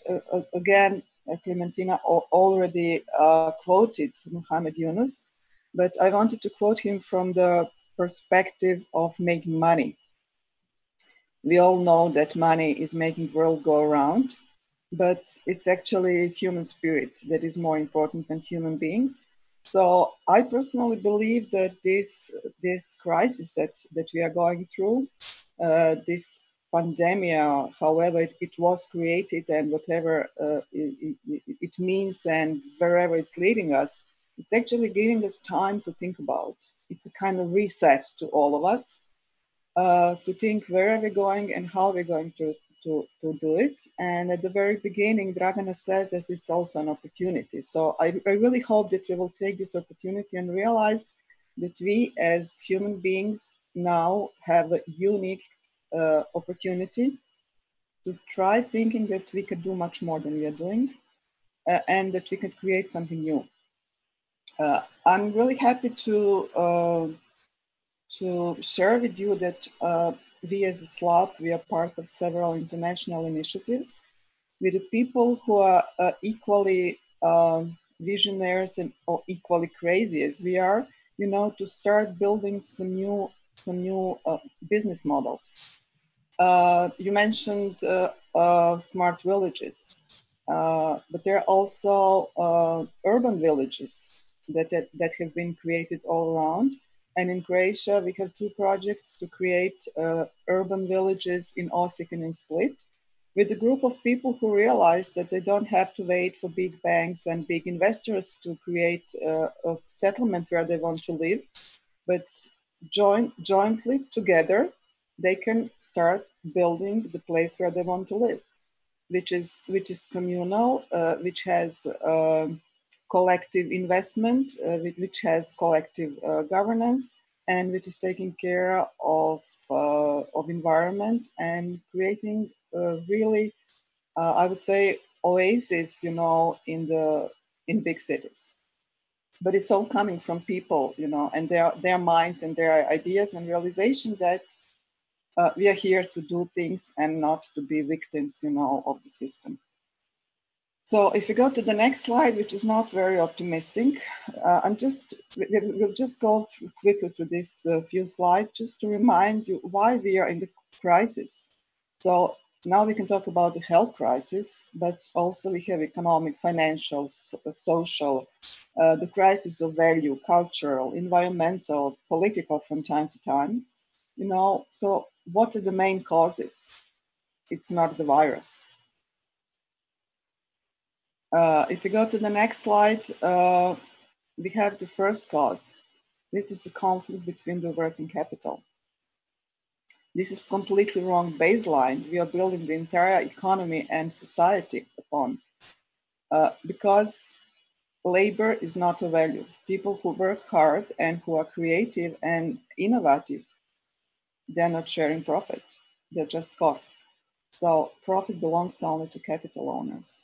again, Clementina already quoted Muhammad Yunus, but I wanted to quote him from the perspective of making money. We all know that money is making the world go around, but it's actually human spirit that is more important than human beings. So I personally believe that this crisis that we are going through, this pandemic, however it was created and whatever it means and wherever it's leading us, it's actually giving us time to think about. It's a kind of reset to all of us, to think where are we going and how we're going to do it. And at the very beginning, Dragana says that this is also an opportunity. So I really hope that we will take this opportunity and realize that we as human beings now have a unique opportunity to try thinking that we could do much more than we are doing, and that we could create something new. I'm really happy to share with you that we as a SLAP, we are part of several international initiatives with the people who are equally visionaries and or equally crazy as we are, to start building some new business models. You mentioned smart villages, but there are also urban villages that have been created all around. And in Croatia, we have 2 projects to create urban villages in Osijek and in Split, with a group of people who realize that they don't have to wait for big banks and big investors to create a settlement where they want to live, but jointly together, they can start building the place where they want to live, which is communal, which has collective investment, which has collective governance, and which is taking care of environment and creating really, I would say, oasis, in big cities. But it's all coming from people, and their minds and their ideas and realization that we are here to do things and not to be victims, of the system. So if you go to the next slide, which is not very optimistic, we'll just go quickly through this few slides just to remind you why we are in the crisis. So now we can talk about the health crisis, but also we have economic, financial, social, the crisis of value, cultural, environmental, political from time to time. So what are the main causes? It's not the virus. If we go to the next slide, we have the first cause. This is the conflict between the working capital. This is completely wrong baseline we are building the entire economy and society upon, because labor is not a value. People who work hard and who are creative and innovative, they're not sharing profit. They're just cost. So profit belongs only to capital owners.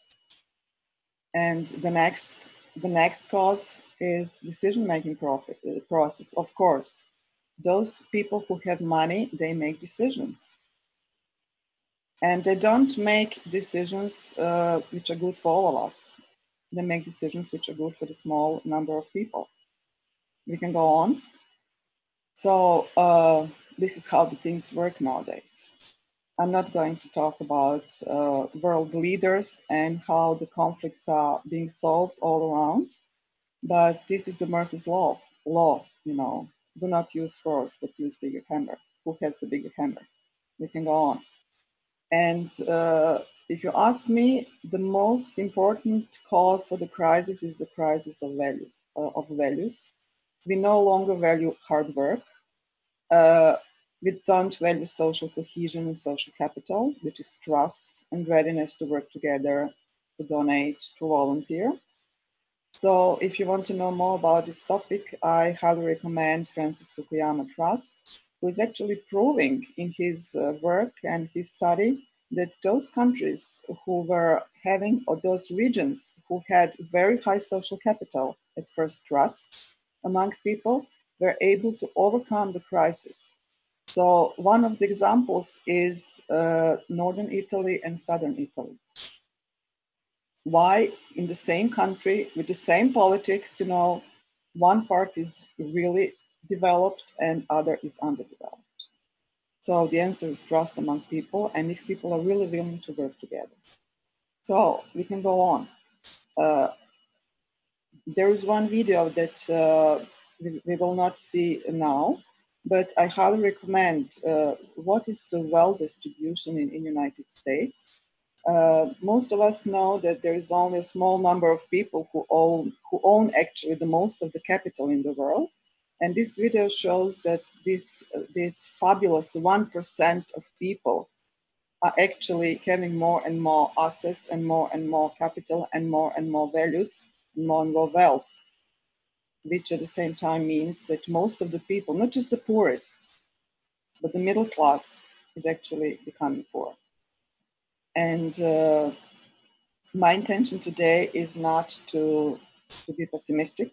And the next cause is decision-making process. Of course, those people who have money, they make decisions. And they don't make decisions which are good for all of us. They make decisions which are good for the small number of people. We can go on. So this is how the things work nowadays. I'm not going to talk about world leaders and how the conflicts are being solved all around, but this is the Murphy's Law, you know, do not use force, but use bigger hammer. Who has the bigger hammer? We can go on. And if you ask me, the most important cause for the crisis is the crisis of values. We no longer value hard work. We don't value social cohesion and social capital, which is trust and readiness to work together, to donate, to volunteer. So if you want to know more about this topic, I highly recommend Francis Fukuyama Trust, who is actually proving in his work and his study that those countries who were having, or those regions who had very high social capital, at first trust among people, were able to overcome the crisis. So one of the examples is Northern Italy and Southern Italy. Why in the same country with the same politics, you know, one part is really developed and other is underdeveloped. So the answer is trust among people, and if people are really willing to work together. So we can go on. There is one video that we will not see now, but I highly recommend what is the wealth distribution in the United States. Most of us know that there is only a small number of people who own actually the most of the capital in the world. And this video shows that this fabulous 1% of people are actually having more and more assets and more capital and more values and more wealth, which at the same time means that most of the people, not just the poorest, but the middle class is actually becoming poor. And my intention today is not to be pessimistic.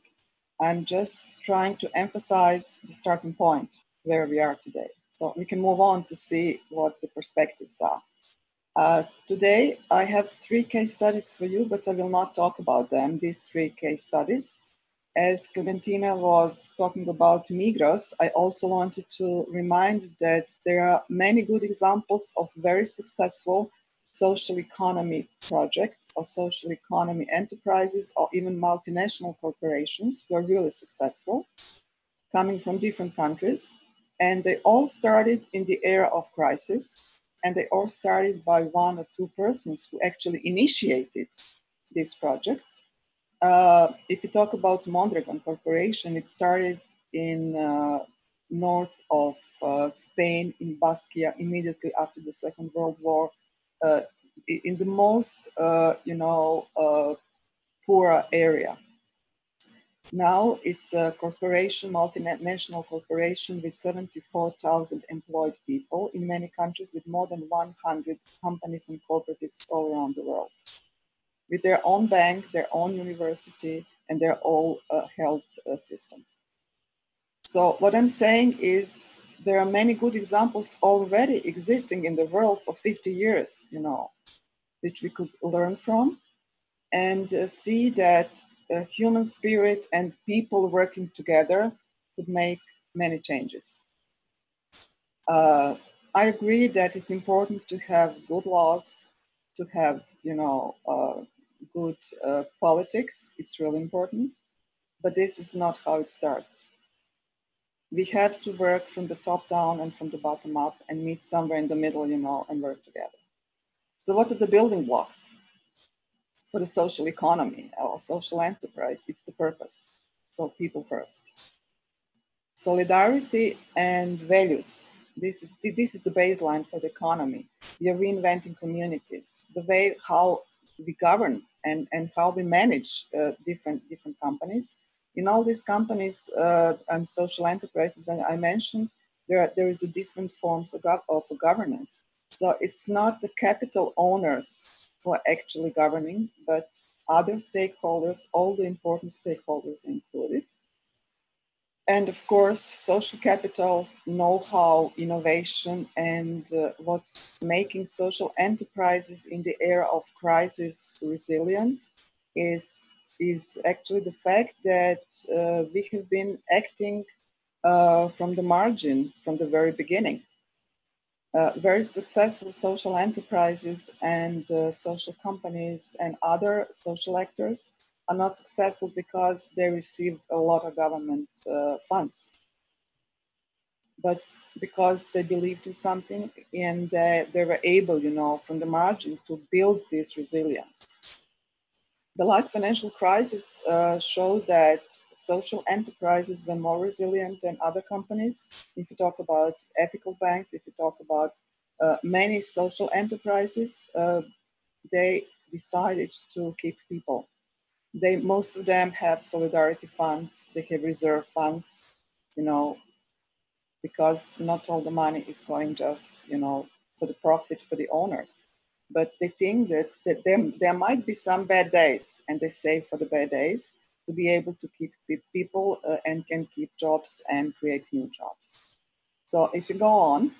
I'm just trying to emphasize the starting point where we are today. So we can move on to see what the perspectives are. Today, I have 3 case studies for you, but I will not talk about them, these 3 case studies. As Clementina was talking about Migros, I also wanted to remind that there are many good examples of very successful social economy projects or social economy enterprises or even multinational corporations who are really successful, coming from different countries. And they all started in the era of crisis, and they all started by 1 or 2 persons who actually initiated these projects. If you talk about Mondragon Corporation, it started in north of Spain, in Baskia, immediately after the Second World War, in the most, poorer area. Now it's a corporation, multinational corporation with 74,000 employed people in many countries with more than 100 companies and cooperatives all around the world, with their own bank, their own university, and their own health system. So what I'm saying is there are many good examples already existing in the world for 50 years, which we could learn from and see that human spirit and people working together could make many changes. I agree that it's important to have good laws, to have, good politics. It's really important, but this is not how it starts. We have to work from the top down and from the bottom up and meet somewhere in the middle, and work together. So what are the building blocks? for the social economy or social enterprise, it's the purpose. So people first. Solidarity and values. This is the baseline for the economy. We are reinventing communities. The way how we govern and how we manage different companies. In all these companies and social enterprises I mentioned, there is a different forms of governance. So it's not the capital owners who are actually governing, but other stakeholders, all the important stakeholders included. And of course, social capital, know-how, innovation, and what's making social enterprises in the era of crisis resilient is actually the fact that we have been acting from the margin from the very beginning. Very successful social enterprises and social companies and other social actors are not successful because they received a lot of government funds, but because they believed in something and they were able, from the margin to build this resilience. The last financial crisis showed that social enterprises were more resilient than other companies. If you talk about ethical banks, if you talk about many social enterprises, they decided to keep people. Most of them have solidarity funds, they have reserve funds, because not all the money is going just, for the profit for the owners. But they think that there might be some bad days, and they save for the bad days to be able to keep people and can keep jobs and create new jobs. So if you go on,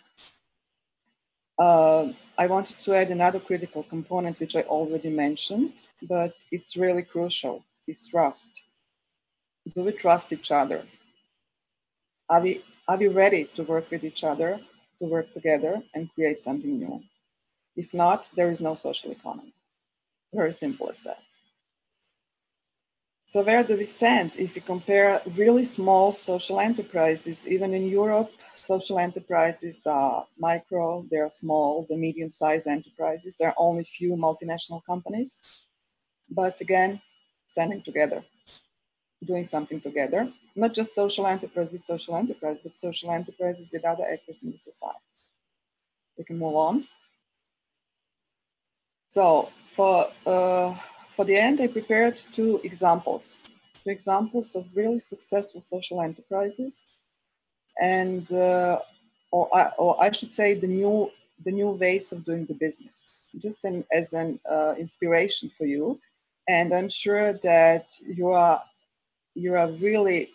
I wanted to add another critical component, which I already mentioned, but it's really crucial, is trust. Do we trust each other? Are we ready to work with each other, to work together and create something new? If not, there is no social economy. Very simple as that. So where do we stand if we compare really small social enterprises? Even in Europe, social enterprises are micro, they are small, the medium-sized enterprises. There are only few multinational companies. But again, standing together, doing something together. Not just social enterprise with social enterprise, but social enterprises with other actors in the society. We can move on. So for the end, I prepared two examples of really successful social enterprises, and or I should say the new ways of doing the business, just as an inspiration for you. And I'm sure that you are really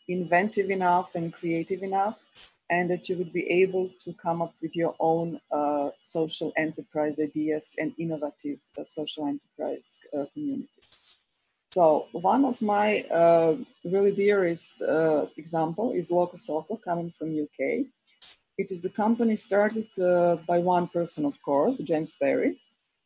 inventive enough and creative enough, and that you would be able to come up with your own social enterprise ideas and innovative social enterprise communities. So one of my really dearest example is Locosoco, coming from UK. It is a company started by one person, of course, James Perry,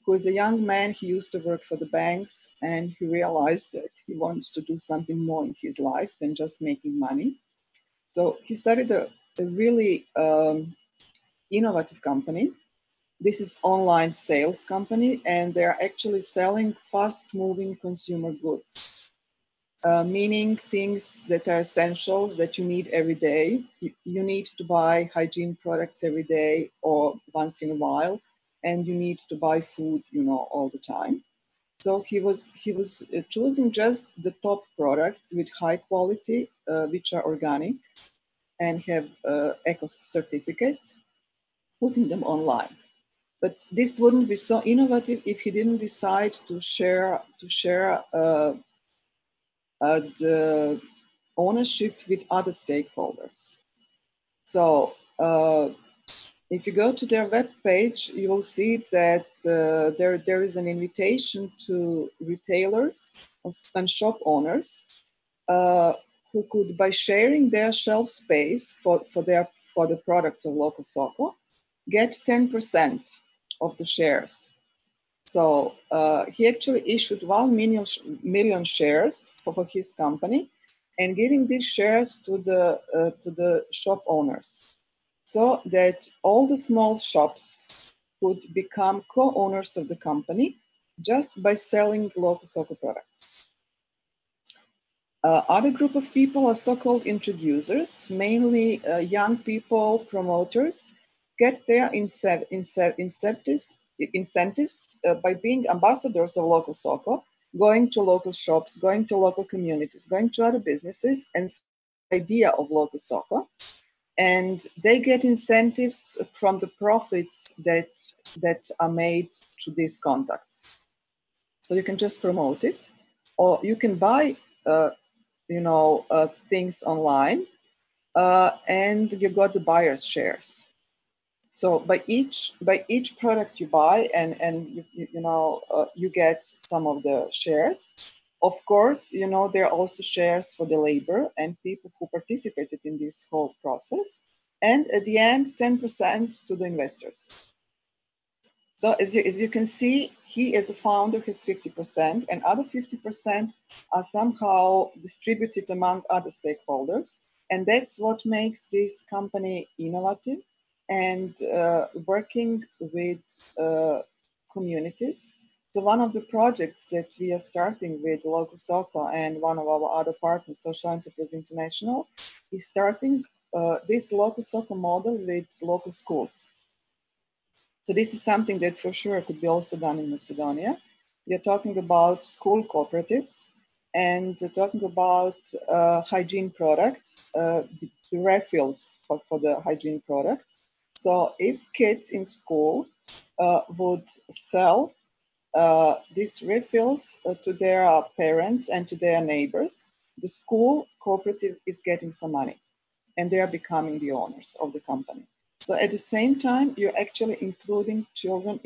who is a young man. He used to work for the banks, and he realized that he wants to do something more in his life than just making money. So he started a really innovative company. This is online sales company, and they're actually selling fast-moving consumer goods, meaning things that are essentials that you need every day. You need to buy hygiene products every day or once in a while, and you need to buy food, all the time. So he was choosing just the top products with high quality, which are organic and have eco certificates, putting them online. But this wouldn't be so innovative if he didn't decide to share the ownership with other stakeholders. So if you go to their webpage, you will see that there is an invitation to retailers and shop owners who could, by sharing their shelf space for the products of Locosoco, get 10% of the shares. So he actually issued 1 million shares for his company, and giving these shares to the shop owners, so that all the small shops could become co-owners of the company just by selling local Soko products. Other group of people are so-called introducers, mainly young people, promoters, get their incentives by being ambassadors of local Soko, going to local shops, going to local communities, going to other businesses, and the idea of local Soko. And they get incentives from the profits that are made to these contacts. So you can just promote it, or you can buy things online, and you got the buyer's shares. So by each product you buy, and you get some of the shares. Of course, there are also shares for the labor and people who participated in this whole process, and at the end, 10% to the investors. So as you can see, he as a founder has 50%, and other 50% are somehow distributed among other stakeholders. And that's what makes this company innovative and working with communities. So one of the projects that we are starting with Local Soko and one of our other partners, Social Enterprise International, is starting this Local Soko model with local schools. So this is something that for sure could be also done in Macedonia. We are talking about school cooperatives and talking about hygiene products, the refills for the hygiene products. So if kids in school would sell these refills to their parents and to their neighbors, the school cooperative is getting some money and they are becoming the owners of the company. So at the same time, you're actually including children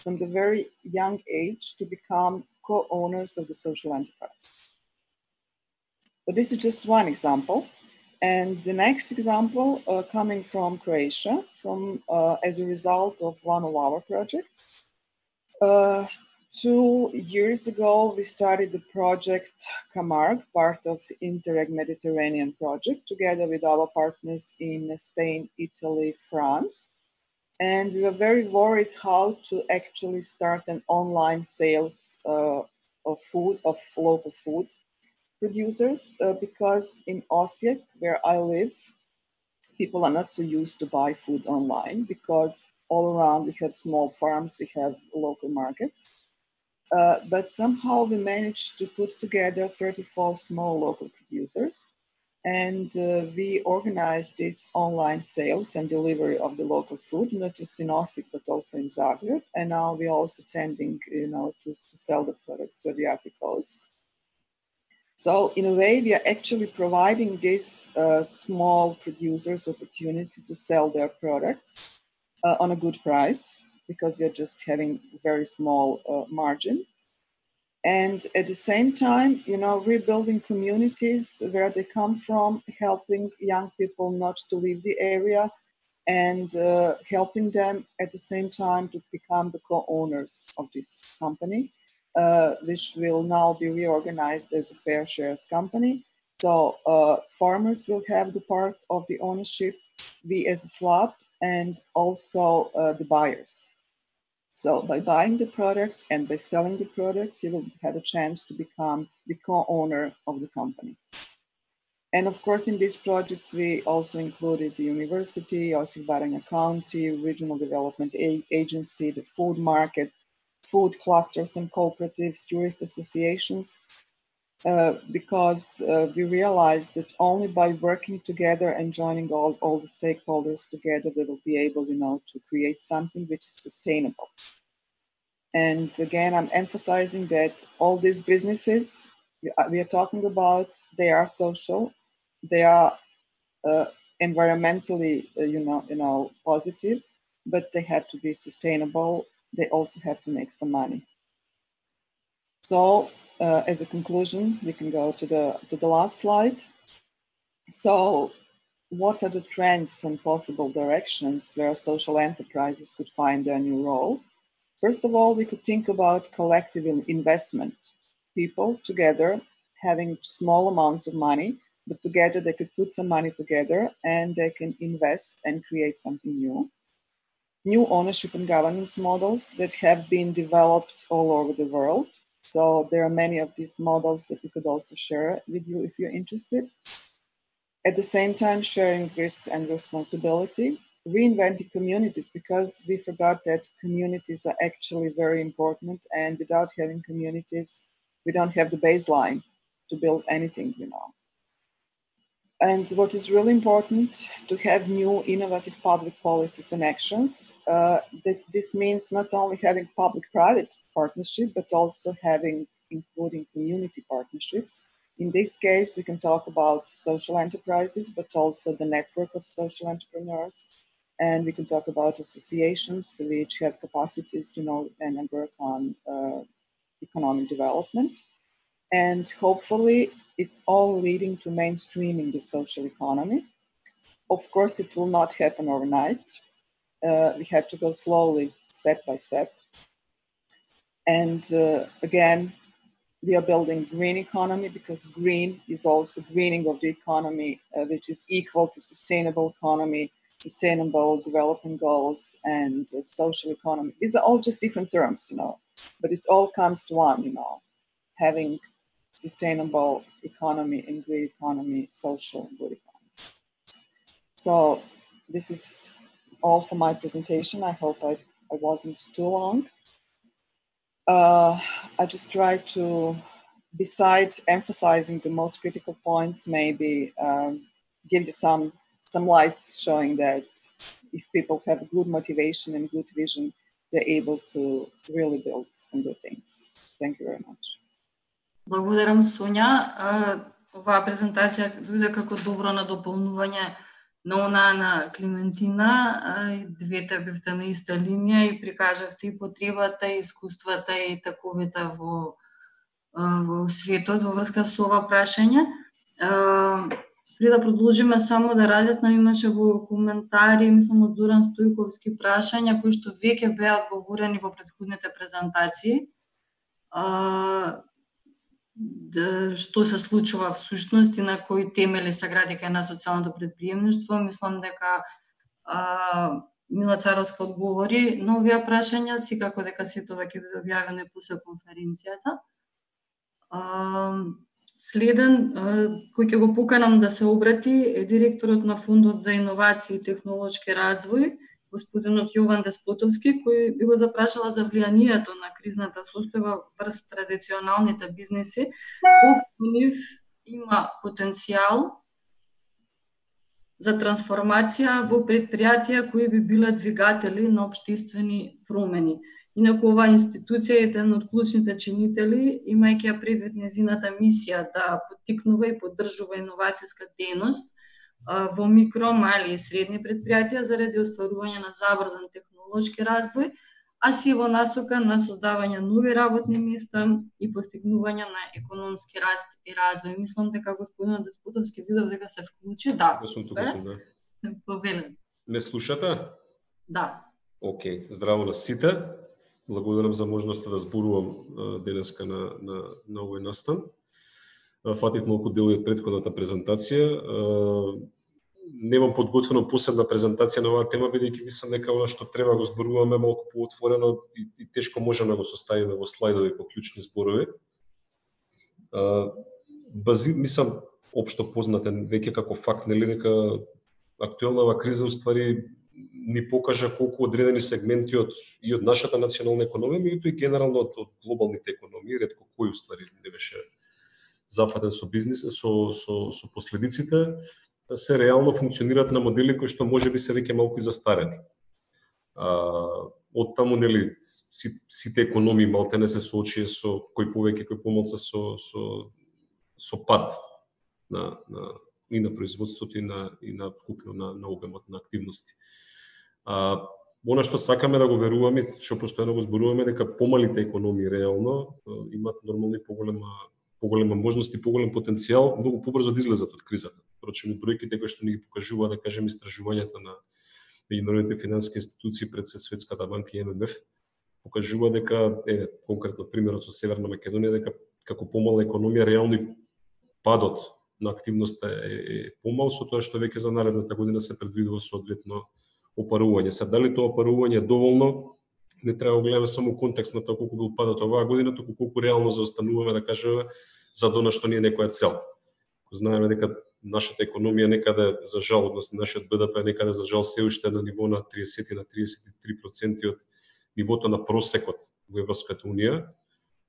from the very young age to become co-owners of the social enterprise. But this is just one example. And the next example coming from Croatia, as a result of one of our projects. 2 years ago, we started the project Camargue, part of Interreg Mediterranean project, together with our partners in Spain, Italy, France. And we were very worried how to actually start an online sales of local food producers, because in Osijek, where I live, people are not so used to buy food online, because all around we have small farms, we have local markets. But somehow we managed to put together 34 small local producers, and we organized this online sales and delivery of the local food, not just in Osijek, but also in Zagreb. And now we're also tending, to sell the products to the Adriatic coast. So in a way, we are actually providing these small producers opportunity to sell their products on a good price, because we are just having very small margin. And at the same time, rebuilding communities where they come from, helping young people not to leave the area, and helping them at the same time to become the co-owners of this company, which will now be reorganized as a fair shares company. So farmers will have the part of the ownership, we as a SLAP, and also the buyers. So by buying the products and by selling the products, you will have a chance to become the co-owner of the company. And of course, in these projects, we also included the university, Osijek Baranja County, Regional Development Agency, the food market, food clusters and cooperatives, tourist associations, because we realized that only by working together and joining all the stakeholders together, we will be able, to create something which is sustainable. And again, I'm emphasizing that all these businesses we are talking about, they are social, they are environmentally, positive, but they have to be sustainable. They also have to make some money. So, as a conclusion, we can go to the last slide. So, what are the trends and possible directions where social enterprises could find their new role? First of all, we could think about collective investment. People together having small amounts of money, but together they could put some money together and they can invest and create something new. new ownership and governance models that have been developed all over the world. So there are many of these models that we could also share with you if you're interested. At the same time, sharing risk and responsibility, reinventing communities, because we forgot that communities are actually very important, and without having communities, we don't have the baseline to build anything, you know. And what is really important, to have new innovative public policies and actions. That this means not only having public-private partnership, but also including community partnerships. In this case, we can talk about social enterprises, but also the network of social entrepreneurs. And we can talk about associations which have capacities to know and work on economic development. And hopefully, it's all leading to mainstreaming the social economy. Of course, it will not happen overnight. We have to go slowly, step by step. And again, we are building green economy, because green is also greening of the economy, which is equal to sustainable economy, sustainable development goals, and social economy. These are all just different terms, you know, but it all comes to one, you know, having sustainable economy and green economy, social and good economy. So this is all for my presentation. I hope I wasn't too long. I just tried to, besides emphasizing the most critical points, maybe give you some lights showing that if people have good motivation and good vision, they're able to really build some good things. Thank you very much. Благодарам, Сонја. Оваа презентација дојде како добро надополнување на онаа на Климентина. Двете бевте на иста линија и прикажавте и потребата, и искуствата, и таковите во светот во врска со ова прашање. Пред да продолжиме, само да разјаснам, имаше во коментари, мислам, од Зоран Стојковски прашања кои што веќе беа одговорени во претходните презентации. Што се случува всушност и на кои темели се гради кај на социјалното претприемништво. Мислам дека Мила Царовска одговори на овие прашања, секако дека сето ќе биде објавено и после конференцијата. Следен, кој ќе го поканам да се обрати, е директорот на Фондот за иновации и технолошки развој, господинот Јован Деспотовски, кој би го запрашала за влијанието на кризната состојба врз традиционалните бизнеси, колку нив има потенцијал за трансформација во предпријатија кои би биле двигатели на општествени промени. Инаку оваа институција е еден од клучните чинители, имајќи ја предвид нејзината мисија да поттикнува и поддржува иновацијска дејност во микро, мали и средни предпријатија заради остварување на забрзан технолошки развој, а си во насока на создавање нови работни места и постигнување на економски раст и развој. Мислам дека господинот Деспотовски видов дека се вклучи. Да. Да. Повелен. Ме слушате? Да. Океј, здраво на сите. Благодарам за можноста да зборувам денеска на овој настан. Фатив малку дел од претходната презентација. Немам подготвено посебна презентација на оваа тема, бидејќи мислам дека она што треба го зборуваме малку поотворено и тешко можеме да го составиме во слайдови по клучни зборови. Мислам, општо познатен веќе како факт, нели, дека актуелната криза уствари ни покажа колку одредени сегменти од нашата национална економија, меѓутоа и генерално од глобалните економии, ретко кој уствари не беше зафатен со бизнис, со последиците, се реално функционираат на модели кои што можеби се веќе малку и застарени. Од таму, нели, сите економии малтене се соочија со кој повеќе, кој помалку со пад и на производството и на вкупно на обемот на активности. Она што сакаме да го веруваме, што постојано го зборуваме, дека помалите економии реално имаат нормално и поголема можност и поголем потенцијал многу побрзо да излезат од кризата. Впрочем, бројките кои што ни ги покажуваат, да кажем, истражувањата на меѓународните финансиски институции пред Светската банка и ММФ, покажува дека конкретно примерот со Северна Македонија, дека како помала економија реално падот на активноста е помал, со тоа што веќе за наредната година се предвидува соодветно опарување. Сега дали тоа опарување е доволно, не треба да гледаме само контекст на тоа колку бил падот оваа година, туку колку реално заостануваме, да кажеме, за она што ни е некоја цел. Знаеме дека нашата економија некаде, за жал, односно нашиот БДП е некаде за жал се уште на ниво на 30 на 33% од нивото на просекот во Европската унија.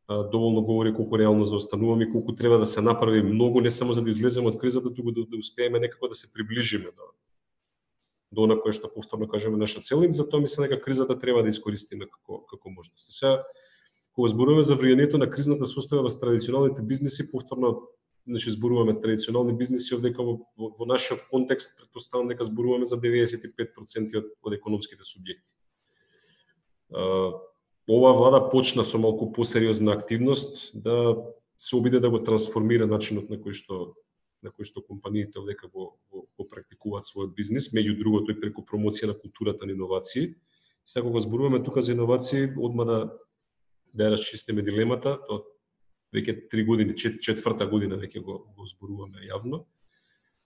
Доволно говори колку реално заостануваме и колку треба да се направи многу, не само за да излеземе од кризата, туку да успееме некако да се приближиме до она кое што повторно кажеме наша цел, и затоа мислам дека кризата треба да искористиме како можност. Сега, кога зборуваме за влијанието на кризната состојба во традиционалните бизниси, повторно зборуваме традиционални бизниси, дека во нашиот контекст претпоставам дека зборуваме за 95% од економските субјекти. Оваа влада почна со малку посериозна активност да се обиде да го трансформира начинот на кој што компаниите овдека го практикуваат својот бизнис, меѓу другото и преку промоција на културата на иновации. Сега кога зборуваме тука за иновации, одма да расчистиме дилемата, тоа веќе 3 години, четврта година веќе го зборуваме јавно,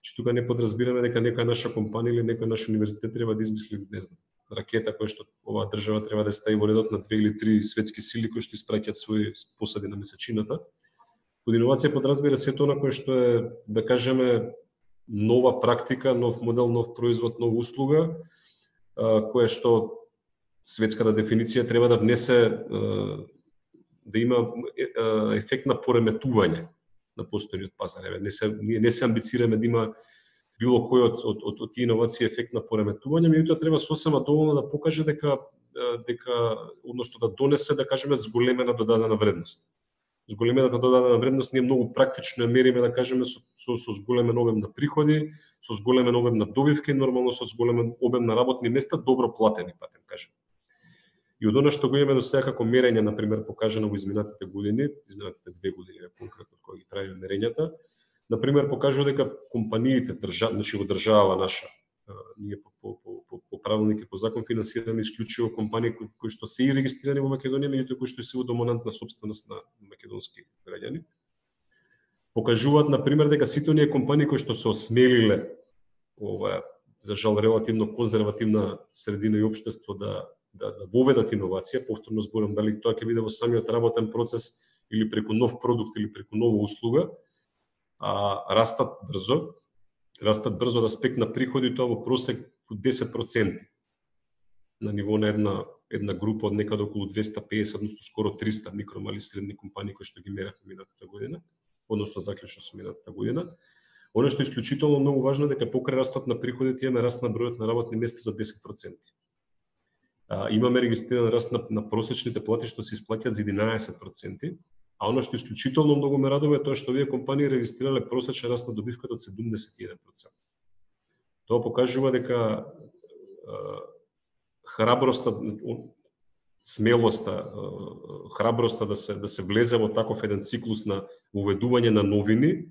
че тука не подразбираме дека некоја наша компанија или некој наш универзитет треба да измисли, не знам, ракета која што оваа држава треба да стави во редот на 2 или 3 светски сили кои што испраќаат своји посади на месечината. Под иновација подразбира сето она кое што е, да кажеме, нова практика, нов модел, нов производ, нова услуга, која што светската дефиниција треба да внесе, да има ефект на пореметување на постојниот пазар. Ние не се амбицираме да има било кој од тие иновации ефект на пореметување, меѓутоа треба сосема доволно да покаже дека односно да донесе, да кажеме, зголемена додадена вредност. Зголемената додадена вредност ние многу практично ја мериме, да кажеме, со зголемен обем на приходи, со зголемен обем на добивки, нормално со зголемен обем на работни места, добро платени, патем кажем. И од она што го имаме до сега како мерење, например, покажано во изминатите години, изминатите 2 години конкретно кога ги правиме мерењата, например, покажува дека компаниите, значи во држава наша, ние по правилник и по закон финансираме исклучиво компании кои што се и регистрирани во Македонија, меѓутоа кои што се во доминантна сопственост на македонски граѓани. Покажуваат, например, дека сите оние компании кои што се осмелиле ова, за жал, релативно конзервативна средина и општество да воведат иновација, повторно зборам дали тоа ќе биде во самиот работен процес или преку нов продукт или преку нова услуга, растат брзо да спекна приходи, тоа во просек во 10% на ниво на една група од некаде околу 250, односно скоро 300 микро, мали, средни компании кои што ги меравме минатата година, односно заклучно со минатата година. Оно што е исклучително многу важно е дека покрај растот на приходите имаме раст на бројот на работни места за 10%. Имаме регистриран раст на просечните плати што се исплаќаат за 11%, а оно што исклучително многу ме радува е тоа што овие компании регистрирале просечен раст на добивката од 71%. Тоа покажува дека храброста, смелоста, храброста да се влезе во таков еден циклус на уведување на новини,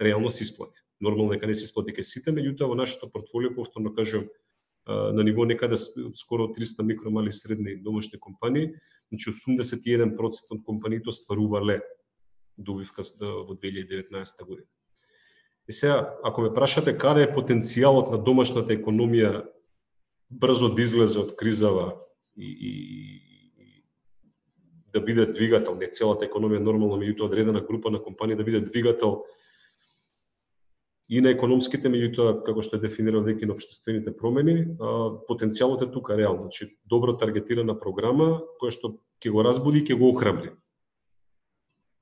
реално се исплати. Нормално дека не се исплати кај сите, меѓутоа во нашето портфолио, повторно кажувам, на ниво некаде скоро 300 микро, мали, средни домашни компании, значи 81% од компаниите остварувале добивка во 2019 година. И сега, ако ме прашате каде е потенцијалот на домашната економија брзо да излезе од кризава и да биде двигател, не целата економија нормално, меѓутоа одредена група на компании да биде двигател и на економските, меѓутоа како што е дефинирал веќе на општествените промени, потенцијалот е тука реално, значи добро таргетирана програма која што ќе го разбуди и ќе го охрабри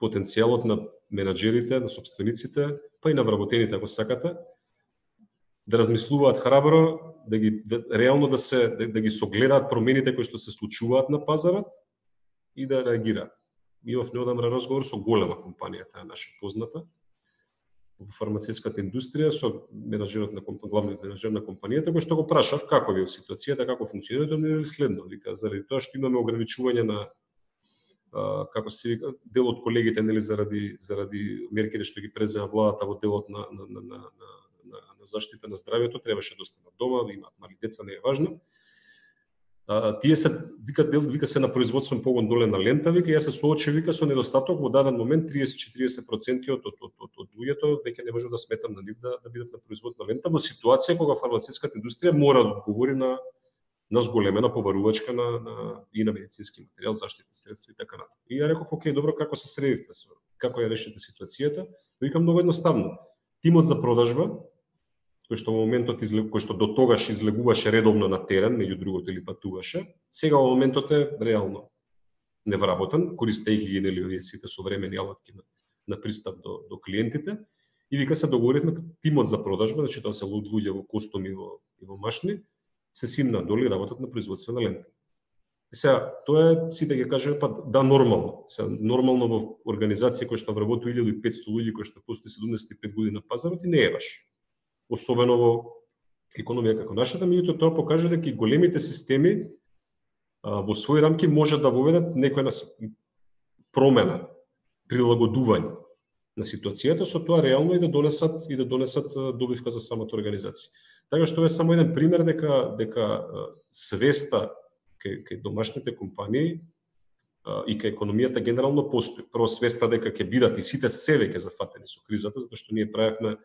потенцијалот на менаџерите, на сопствениците, па и на вработените, ако сакате, да размислуваат храбро, реално да ги согледаат промените кои што се случуваат на пазарот и да реагираат. Имав неодамна разговор со голема компанија, таа наша позната, во фармацевската индустрија, со главниот менаџер на компанијата, кој што го прашав како ви е ситуацијата, како функционира, тоа ми е следно. Вика, заради тоа што имаме ограничување на како се вика, дел од колегите, нели, заради мерките што ги презема владата во делот на заштита на здравјето, требаше да останат дома, имаат мали деца, не е важно. Тие се вика се на производствен погон доле на лента, вика, ја се соочи, вика, со недостаток во даден момент 30-40% од луѓето веќе не можам да сметам на нив да бидат на производна лента во ситуација кога фармацевската индустрија мора да одговори на на зголемена побарувачка и на медицински материјал, заштитни средства и така натаму. И ја реков, окей, добро, како се средивте, како ја решите ситуацијата? Викам многу едноставно. Тимот за продажба, кој што во моментот кој што до тогаш излегуваше редовно на терен, меѓу другото или патуваше, сега во моментот е реално невработен, користејќи ги нели овие сите современи алатки на пристап до клиентите. И вика се договоривме тимот за продажба, значи тоа се луѓе во костуми и во машни, се симна доли работат на производствена лента. И сега, тоа е, сите ќе кажеме, па да, нормално. Сега, нормално во организација која што вработува 1500 луѓе, која што постои 75 години на пазарот, и не е баш. Особено во економија како нашата, меѓутоа тоа покажа дека и големите системи во своји рамки може да воведат некоја промена, прилагодување на ситуацијата, со тоа реално и да донесат добивка за самата организација. Така што е само еден пример дека свеста кај домашните компании и кај економијата генерално постои. Прво свеста дека ќе бидат и сите себе ќе зафатени со кризата, затоа што ние правевме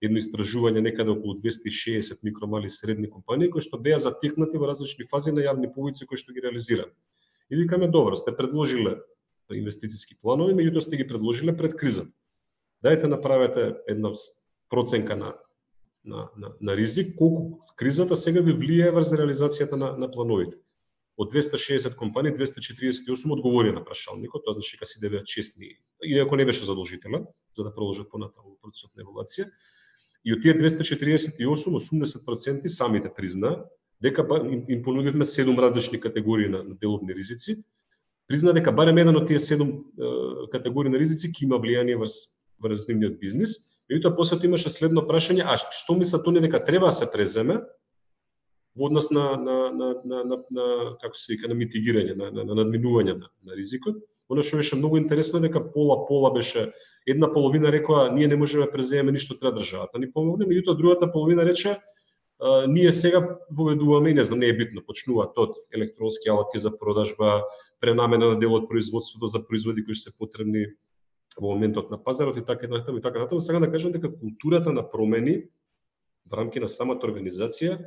едно истражување некаде околу 260 микро, мали и средни компании кои што беа затикнати во различни фази на јавни повици кои што ги реализираме. И викаме, добро, сте предложиле инвестициски планови, меѓутоа сте ги предложиле пред кризата. Дајте направете една проценка на ризик, колку кризата сега ви влијае врз реализацијата на плановите. Од 260 компании, 248 одговори на прашалникот, тоа значи дека си беа честни, иако не беше задолжителен, за да продолжат понатаму процесот на евалуација. И од тие 248, 80% самите призна дека им понудивме 7 различни категории на деловни ризици, призна дека барем еден од тие 7 категории на ризици ќе има влијание врз нивниот бизнис. Меѓутоа после тоа имаше следно прашање, а што мислат они дека треба да се преземе во однос на како се вика, на митигирање, на надминување на ризикот. Оно што беше многу интересно е дека пола беше, една половина рекоа ние не можеме преземеме ништо, треба државата ни помогне, меѓутоа другата половина рече ние сега воведуваме и не знам, не е битно, почнуваат од електронски алатки за продажба, пренамена на дел од производството за производи кои се потребни во моментот на пазарот и така натаму. Сега да кажам дека културата на промени во рамки на самата организација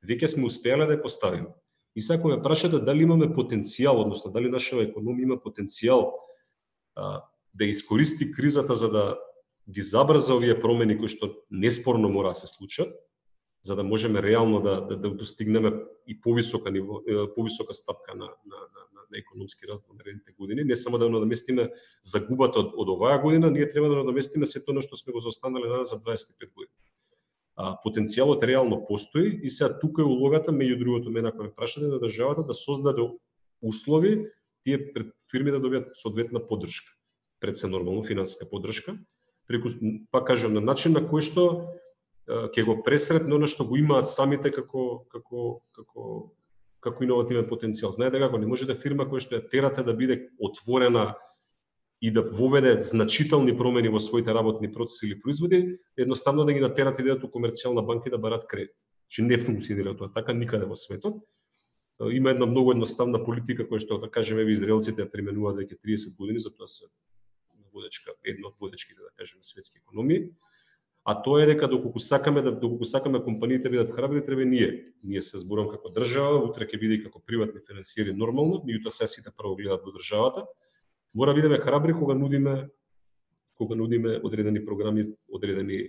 веќе сме успеале да ја поставиме. И сега кога ме прашате дали имаме потенцијал, односно дали нашата економија има потенцијал да искористи кризата за да ги забрза овие промени кои што неспорно мора да се случат, за да можеме реално да достигнеме и повисока ниво, повисока стапка на економски раст во наредните години, не само да надоместиме загубата од оваа година, ние треба да надоместиме сето она што сме го заостанале за 25 години. Потенцијалот реално постои и сега тука е улогата, меѓу другото, мене ако ме прашате, на државата да создаде услови тие фирми да добијат соодветна поддршка. Пред се нормално финансиска поддршка, преку, пак кажам, на начин на кој што ќе го пресретне оно што го имаат самите како иновативен потенцијал. Знаете како не може да фирма која што ја терате да биде отворена и да воведе значителни промени во своите работни процеси или производи, едноставно да ги натерате да идат у комерцијална банка и да барат кредит. Че не функционира тоа така никаде во светот. Има една многу едноставна политика која што, да кажеме, израелците ја применуваат веќе 30 години, затоа се водечка, една од водечките, да кажеме, светски економии. А тоа е дека доколку сакаме компаниите бидат храбри, треба ние се зборам како држава, утре ќе биде и како приватни финансиери нормално, меѓутоа се сите прво гледаат во државата. Мора да бидеме храбри кога нудиме одредени програми, одредени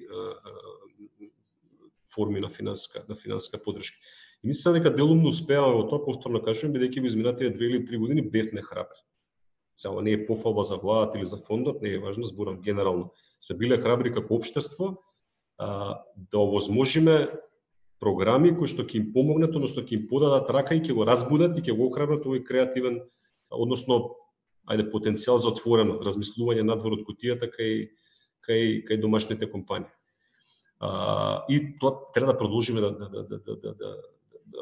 форми на финансиска поддршка. И мислам дека делумно успеаваме во тоа, повторно кажувам, бидејќи во изминатите 2 или 3 години бевме храбри. Само не е пофалба за владата или за фондот, не е важно, зборам генерално. Сме биле храбри како општество да овозможиме програми кои што ќе им помогнат, односно ќе им подадат рака и ќе го разбудат и ќе го охрабрат овој креативен, односно потенцијал за отворено размислување надвор од кутијата кај домашните компании. И тоа треба да продолжиме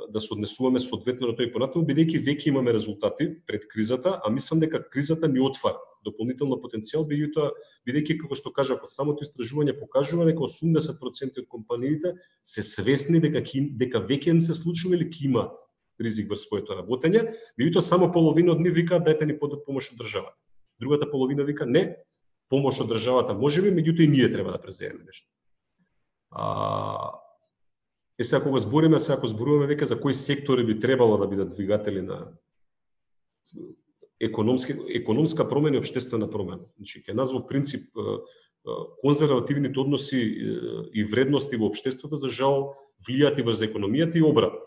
да се однесуваме соодветно на тој понатаму, бидејќи веќе имаме резултати пред кризата, а мислам дека кризата ни отвара дополнително потенцијал, бидејќи како што кажав, самото истражување покажува дека 80% од компаниите се свесни дека веќе им се случува или ќе имаат ризик врз своето работење, меѓутоа само половина од нив викаат дајте ни помош од државата. Другата половина вика не, помош од државата можеби, меѓутоа и ние треба да преземеме нешто. сега кога ако зборуваме веќе за кои сектори би требало да бидат двигатели на економска промена и општествена промена. Значи, ќе нас во принцип конзервативните односи и вредности во општеството за жал влијаат и врз економијата и обратно.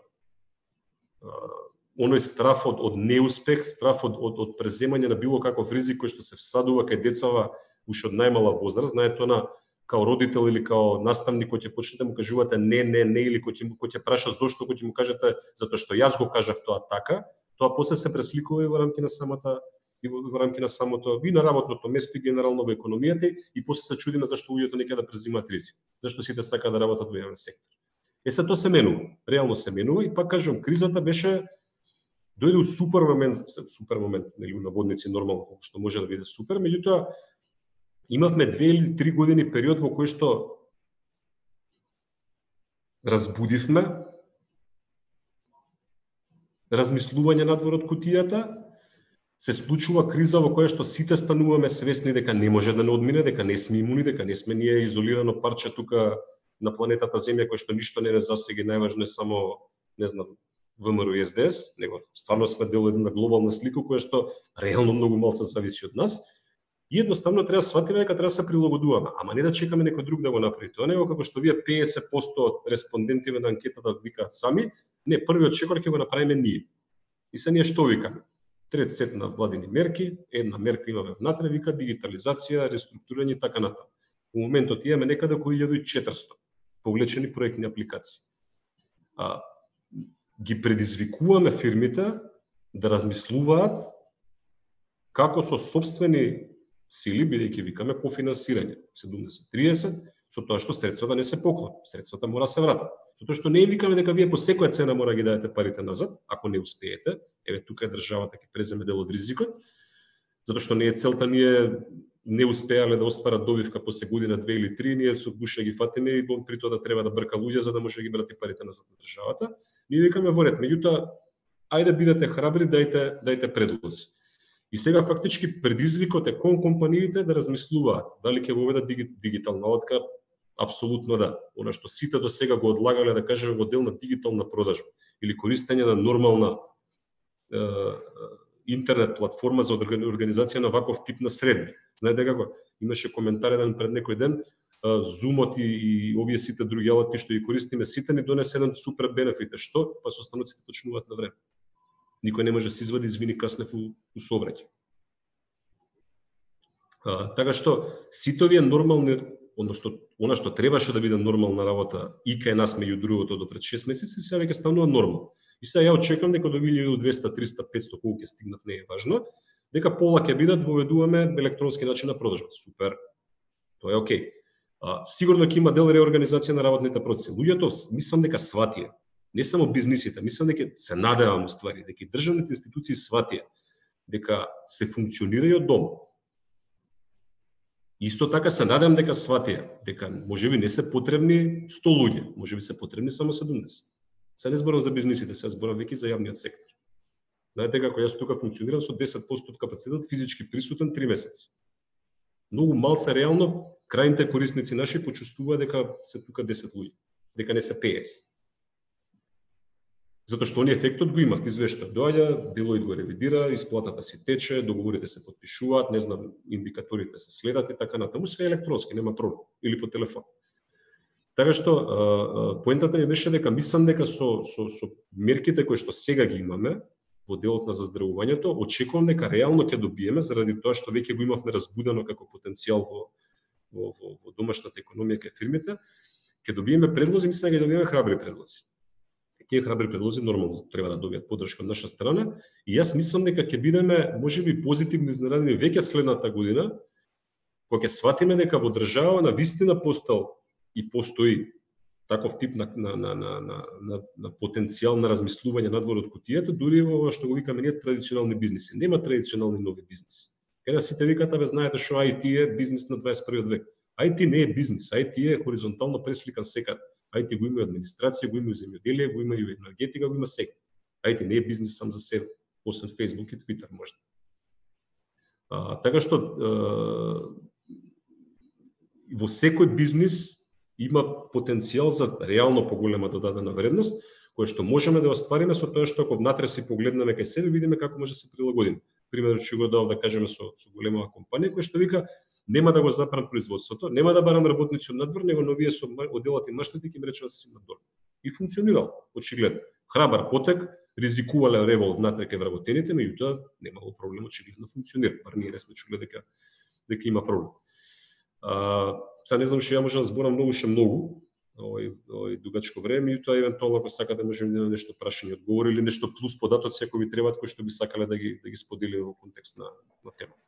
Оној страф од неуспех, страф од преземање на било каков ризик кој што се всадува кај децава уште од најмала возраст, знаете она као родител или као наставник кој ќе почнете да му кажувате не или кој ќе праша зошто, кој ќе му кажете затоа што јас го кажав тоа така, тоа после се пресликува и во рамки на самото и на работното место и генерално во економијата и после се чудиме зашто луѓето не ќе да презимаат ризик, зашто сите сакаат да работат во јавен сектор. Се тоа се менува, реално се менува и пак кажам, кризата беше дојде у супер момент, нели наводници нормално што може да биде супер, меѓутоа имавме 2 или 3 години период во кој што разбудивме размислување надвор од кутијата, се случува криза во која што сите стануваме свесни дека не може да не одмине, дека не сме имуни, дека не сме ние изолирано парче тука на планетата Земја кој што ништо не засега, најважно е само, не знам, ВМРО и СДС, него стварно сме дел една глобална слика која што реално многу малку зависи од нас. И едноставно треба да сватиме дека треба да се прилагодуваме, ама не да чекаме некој друг да го направи тоа, него како што вие 50% од респондентиве на анкетата викаат сами, не, првиот чекор ќе го направиме ние. И се ние што викаме? Трет сет на владини мерки, една мерка имаме внатре, вика дигитализација, реструктурирање и така натаму. Во моментот имаме некаде околу 1400 повлечени проектни апликации. Ги предизвикуваме фирмите да размислуваат како со сопствени сили, бидејќи викаме кофинансирање 70-30, со тоа што средствата не се поклон, средствата мора се вратат. Со тоа што не викаме дека вие по секоја цена мора ги дадете парите назад, ако не успеете, еве тука е државата ќе преземе дел од ризикот, затоа што не е целта ние не успеале да остварат добивка после година, 2 или 3, ние со гуша ги фатиме и при тоа да треба да брка луѓе за да може да ги врати парите назад на државата. Ние викаме во ред, меѓутоа ајде бидете храбри, дајте предлози. И сега фактички предизвикот е кон компаниите да размислуваат дали ќе воведат дигитална латка. Апсолутно да. Она што сите до сега го одлагале, да кажеме, во дел на дигитална продажба или користење на нормална интернет платформа за организација на ваков тип на средби. Знаете како? Имаше коментар еден пред некој ден, Zoom-от и овие сите други алати што ги користиме сите ни донесе еден супер бенефит. Што? Па состаноците почнуваат на време. Никој не може да се извади, извини, каснев у сообраќај. Така што сите овие нормални, односно она што требаше да биде нормална работа и кај нас меѓу другото до пред 6 месеци, сега веќе станува нормално. И сега ја очекувам дека до 1200, 300, 500 колку ќе стигнат, не е важно, дека пола ќе бидат воведуваме електронски начин на продажба. Супер. Тоа е окей. Сигурно ќе има дел реорганизација на работните процеси. Луѓето мислам дека сватија, не само бизнисите, мислам дека се надевам уствари дека и државните институции сватија дека се функционира и од дом. Исто така се надевам дека сватија дека можеби не се потребни 100 луѓе, можеби се потребни само 70. Се не зборам за бизнисите, се зборам веќе за јавниот сектор. Знаете како јас тука функционирам со 10% од капацитетот физички присутен 3 месеци. Многу малце реално крајните корисници наши почувствуваат дека се тука 10 луѓе, дека не се 50. Затоа што они ефектот го имат, извештај доаѓа, Делоид го ревидира, исплатата си тече, договорите се потпишуваат, не знам, индикаторите се следат и така натаму, све електронски, нема проблем, или по телефон. Така што поентата ми беше дека мислам дека со мерките кои што сега ги имаме во делот на заздравувањето, очекувам дека реално ќе добиеме заради тоа што веќе го имавме разбудено како потенцијал во домашната економија кај фирмите, ќе добиеме предлози, мислам дека ќе добиеме храбри предлози. Тие храбри предлози нормално треба да добијат поддршка од наша страна и јас мислам дека ќе бидеме можеби позитивно изненадени веќе следната година, кога ќе сватиме дека во држава на вистина и постои таков тип на потенцијал на размислување надвор од кутијата, дури во што го викаме ние традиционални бизниси. Нема традиционални нови бизниси. Каде сите викаат, абе знаете што IT е бизнис на 21 век. IT не е бизнис, IT е хоризонтално пресликан секаде. IT го има и администрација, го има и земјоделие, го има и енергетика, го има секаде. IT не е бизнис сам за себе, освен Facebook и Twitter можда. Така што во секој бизнис има потенцијал за реално поголема додадена вредност, која што можеме да оствариме со тоа што ако внатре си погледнеме кај себе, видиме како може да се прилагодиме. Пример што го дав да кажеме со голема компанија која што вика нема да го запрам производството, нема да барам работници од надвор, него новие со оделот и маштите ќе ме речат да си надвор. И функционирал, очигледно. Храбар потек, ризикувале револ внатре кај вработените, меѓутоа немало проблем, очигледно функционира. Бар ние не сме чуле дека има проблем. Сега не знам што ја може да зборам многу, овој дугачко време, и тоа евентуално ако сака да можеме да нешто прашање одговори или нешто плюс податоци ако ви требаат кои што би сакале да ги сподели во контекст на темата.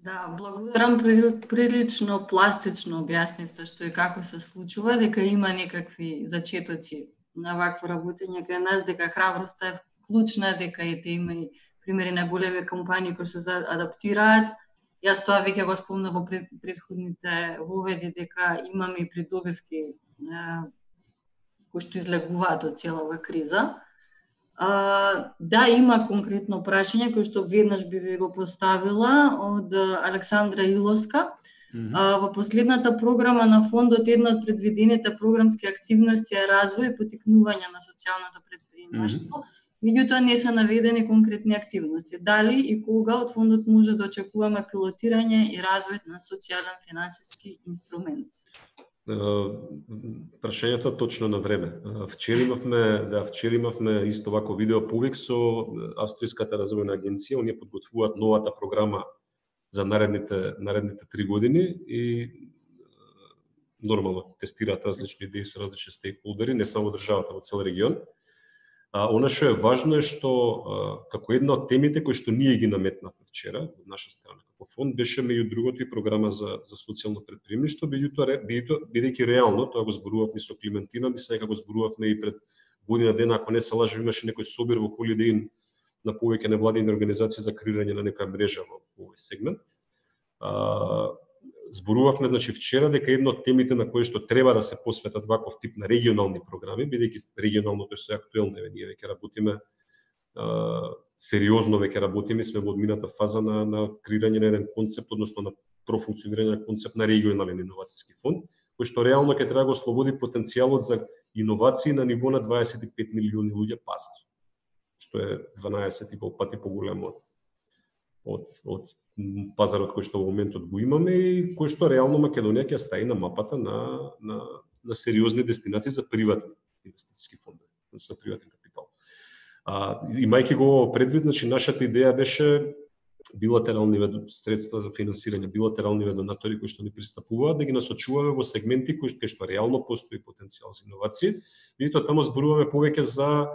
Да, благодарам, прилично пластично објаснивте што и како се случува, дека има некакви зачетоци на вакво работење кај нас, дека храброста е клучна, дека има и примери на големи компании кои се адаптираат. Јас тоа веќе го спомнав во претходните воведи дека имаме и придобивки кои што излегуваат од цела ова криза. Да, има конкретно прашање кој што веднаш би ви го поставила од Александра Илоска. Во последната програма на фондот една од предвидените програмски активности е развој и поттикнување на социјалното претприемаштво. Меѓутоа не се наведени конкретни активности. Дали и кога од фондот може да очекуваме пилотирање и развој на социјален финансиски инструмент? Прашањето точно на време. Вчера имавме исто вако видео повик со Австријската развојна агенција. Оние подготвуваат новата програма за наредните 3 години и нормално тестираат различни идеи со различни стейкхолдери, не само државата, во цел регион. Она што е важно е што како една од темите кои што ние ги наметнавме вчера од наша страна како фонд беше меѓу другото и програма за социјално претприемништво, бидејќи реално тоа го зборувавме со Климентина, мислам дека го зборувавме и пред година дена, ако не се лажам, имаше некој собир во Holiday Inn на повеќе невладини организации за креирање на некоја мрежа во овој сегмент. Зборувавме вчера дека една од темите на кои што треба да се посветат ваков тип на регионални програми, бидејќи регионалното е актуелно, ние веќе работиме сериозно, сме во одмината фаза на креирање на еден концепт, односно на профункционирање на концепт на регионален иновацијски фонд, кој што реално ќе треба да го ослободи потенцијалот за иновации на ниво на 25 милиони луѓе пазар, што е 12,5 пати поголемо од пазарот кој што во моментот го имаме и кој што реално Македонија ќе стаи на мапата на сериозни дестинации за приватни инвестициски фондови, за приватен капитал. Имајќи го предвид, нашата идеја беше билатерални средства за финансирање, билатерални донатори кои што ни пристапуваат, да ги насочуваме во сегменти кои што реално постои потенцијал за иновации. Меѓутоа таму зборуваме повеќе за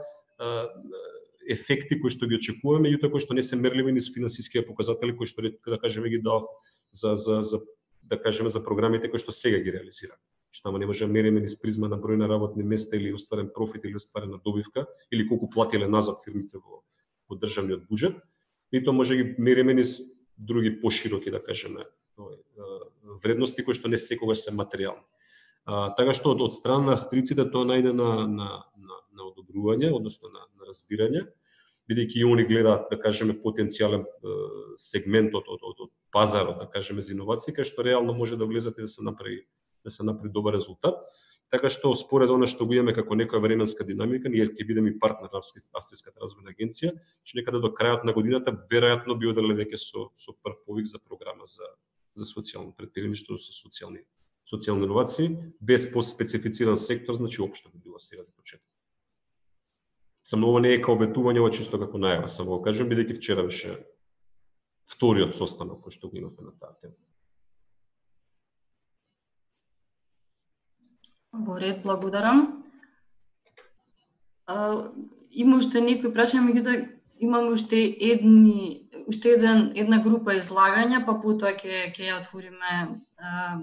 ефекти кои што ги очекуваме, меѓутоа кои што не се мерливи низ финансиските показатели кои што да кажеме ги дав за програмите кои што сега ги реализираме. Што не може да мериме низ призма на број на работни места или остварен профит или остварена добивка или колку платиле назад фирмите во државниот буџет. И тоа може да ги мериме низ други пошироки, да кажеме, вредности кои што не секогаш се материјални. Така што од страна на австриците тоа најде на одобрување, односно на разбирање, бидејќи и они гледаат, да кажеме, потенцијален сегмент од пазарот, да кажеме, за иновации, кај што реално може да влезат и да се направи добар резултат. Така што според она што го имаме како некоја временска динамика, ние ќе бидеме и партнер на Австријската развојна агенција, че некаде до крајот на годината веројатно би оделе веќе со прв повик за програма за социјално претприемништво, со социјални иновации, без поспецифициран сектор, општо би било сега за почеток. Само ова не е као обетување, ова чисто како најава, само го кажам, бидејќи вчера беше вториот состанок кој што го имавме на таа тема. Во ред, благодарам. Има уште некои прашања, меѓутоа имам уште една група излагања, па потоа ќе ја отвориме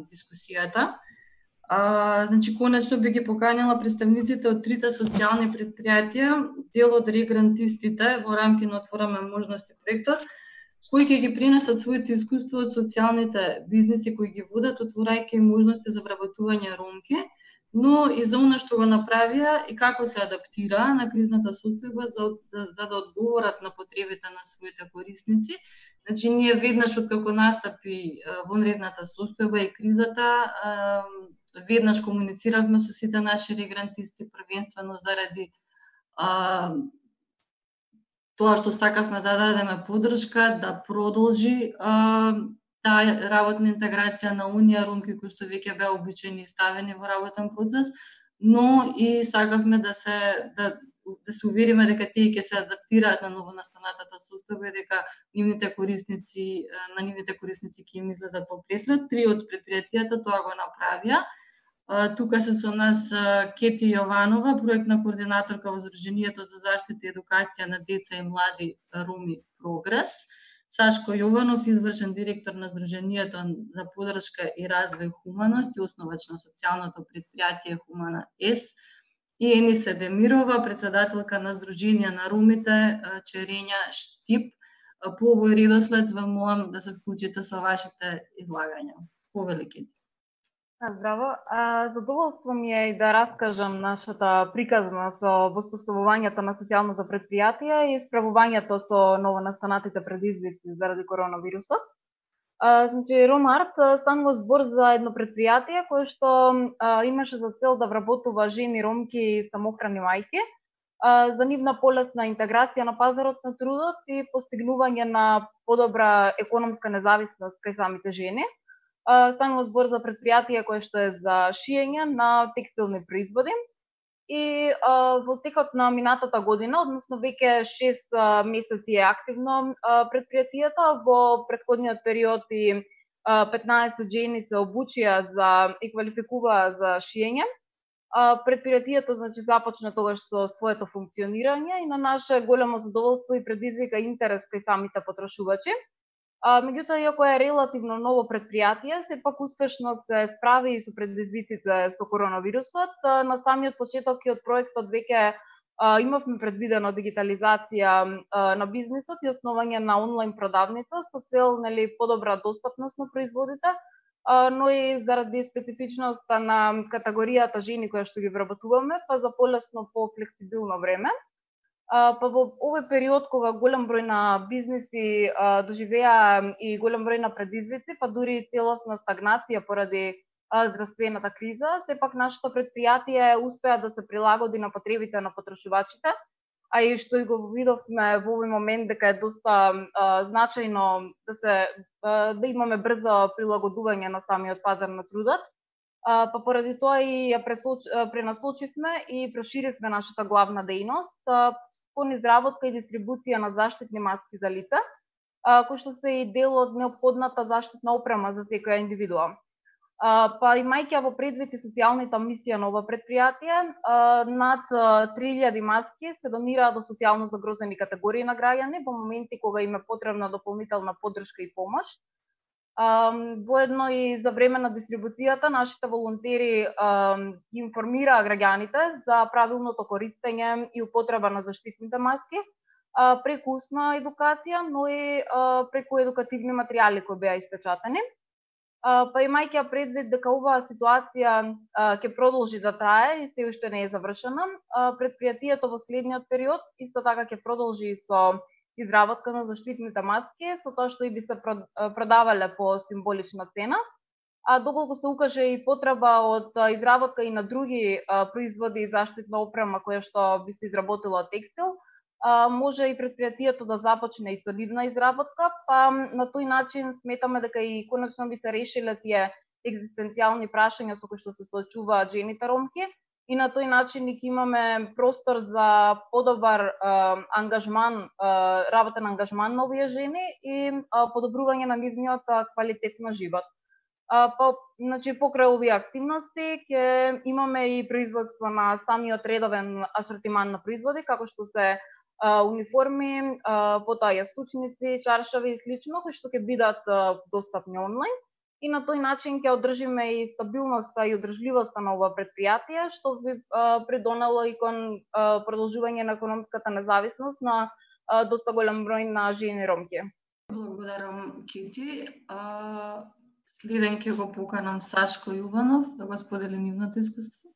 дискусијата. Конечно би ги поканила представниците од трите социјални предпријатија, дел од регрантистите во рамки на Отвораме можности проектот, кои ќе ги пренесат своите искуства од социјалните бизниси кои ги водат, отворајќи можности за вработување ромки, но и за она што го направија и како се адаптира на кризната состојба за да одговорат на потребите на своите корисници. Ние веднаш откако настапи вонредната состојба и кризата, веднаш комунициравме со сите наши регрантисти, првенствено заради тоа што сакавме да дадеме поддршка, да продолжи таа работна интеграција на Унија ромки кои што веќе беа обучени и ставени во работен процес, но и сакавме да се увериме дека тие ќе се адаптираат на новонастанатата состојба и дека на нивните корисници ќе им излезат во пресред. 3 од претпријатијата тоа го направија. Тука се со нас Кети Јованова, проектна координаторка во Здруженијето за заштита и едукација на деца и млади роми Прогрес, Сашко Јованов, извршен директор на Здруженијето за поддршка и развој Хуманост и основач на социјалното предпријатие Хумана С, и Енисе Демирова, председателка на Здружение на ромите Черења Штип. По овој редослед ве молам да се вклучите со вашите излагања. Повелики. Здраво. Задоволство ми е и да раскажам нашата приказна со воспоставувањето на социјалното предпријатие и справувањето со новонастанатите предизвици заради коронавирусот. Значи, Ромарт станува збор за едно предпријатие кое што имаше за цел да вработува жени ромки и самохрани мајки за нивна полесна интеграција на пазарот на трудот и постигнување на подобра економска независност кај самите жени. Станува збор за предпријатие кое што е за шиење на текстилни производи и во текот на минатата година, односно веќе 6 месеци е активно предпријатието. Во претходниот период и 15 жени се обучија и квалификуваа за шиење. Предпријатието значи започна тогаш со своето функционирање и на наше големо задоволство и предизвика интерес кај самите потрошувачи. Меѓутоа, иако е релативно ново предпријатие, сепак успешно се справи и со предизвиците со коронавирусот. На самиот почеток и од проектот веќе имавме предвидено дигитализација на бизнисот и основање на онлайн продавница со цел подобра достапност на производите, но и заради специфичноста на категоријата жени која што ги вработуваме, па за полесно, по-флексибилно време. Па во овој период кога голем број на бизниси доживеа и голем број на предизвици, па дури и целосна стагнација поради здравствената криза, сепак нашето предпријатие успеа да се прилагоди на потребите на потрошувачите, а и што и го видовме во овој момент дека е доста значајно да имаме брзо прилагодување на самиот пазар на трудот. Па поради тоа и ја пренасочивме и проширивме нашата главна дејност кон изработка и дистрибуција на заштитни маски за лица, кои што се и дел од неопходната заштитна опрема за секоја индивидуа. Па имајќи во предвид и социјалната мисија на ова предпријатие, над 3000 маски се донираа до социјално загрозени категории на граѓани во моменти кога им е потребна дополнителна поддршка и помош. Воедно и за време на дистрибуцијата, нашите волонтери ги информираа граѓаните за правилното користење и употреба на заштитните маски, преку устна едукација, но и преку едукативни материјали кои беа испечатани. Па имајќи предвид дека оваа ситуација ќе продолжи да трае и се уште не е завршена, предпријатието во следниот период исто така ќе продолжи со изработка на заштитните маски, со тоа што и би се продавале по символична цена, а доколку се укаже и потреба од изработка и на други производи и заштитна опрема која што би се изработила од текстил, може и предпријатието да започне и со нивна изработка, па на тој начин сметаме дека и конечно би се решиле тие екзистенцијални прашања со кои што се соочуваат жените ромки и на тој начин ќе имаме простор за подобар ангажман, работен ангажман на овие жени и подобрување на нивниот квалитет на живот. Значи, покрај овие активности ќе имаме и производство на самиот редовен асортиман на производи, како што се униформи, потоа јастучници, чаршави и слично, кои што ќе бидат достапни онлайн. И на тој начин ќе одржиме и стабилноста и одржливоста на ова предпријатие, што би придонело и кон продолжување на економската независност на доста голем број на жени ромки. Благодарам, Кити. Следен ќе го поканам Сашко Јованов да го сподели нивното искуство.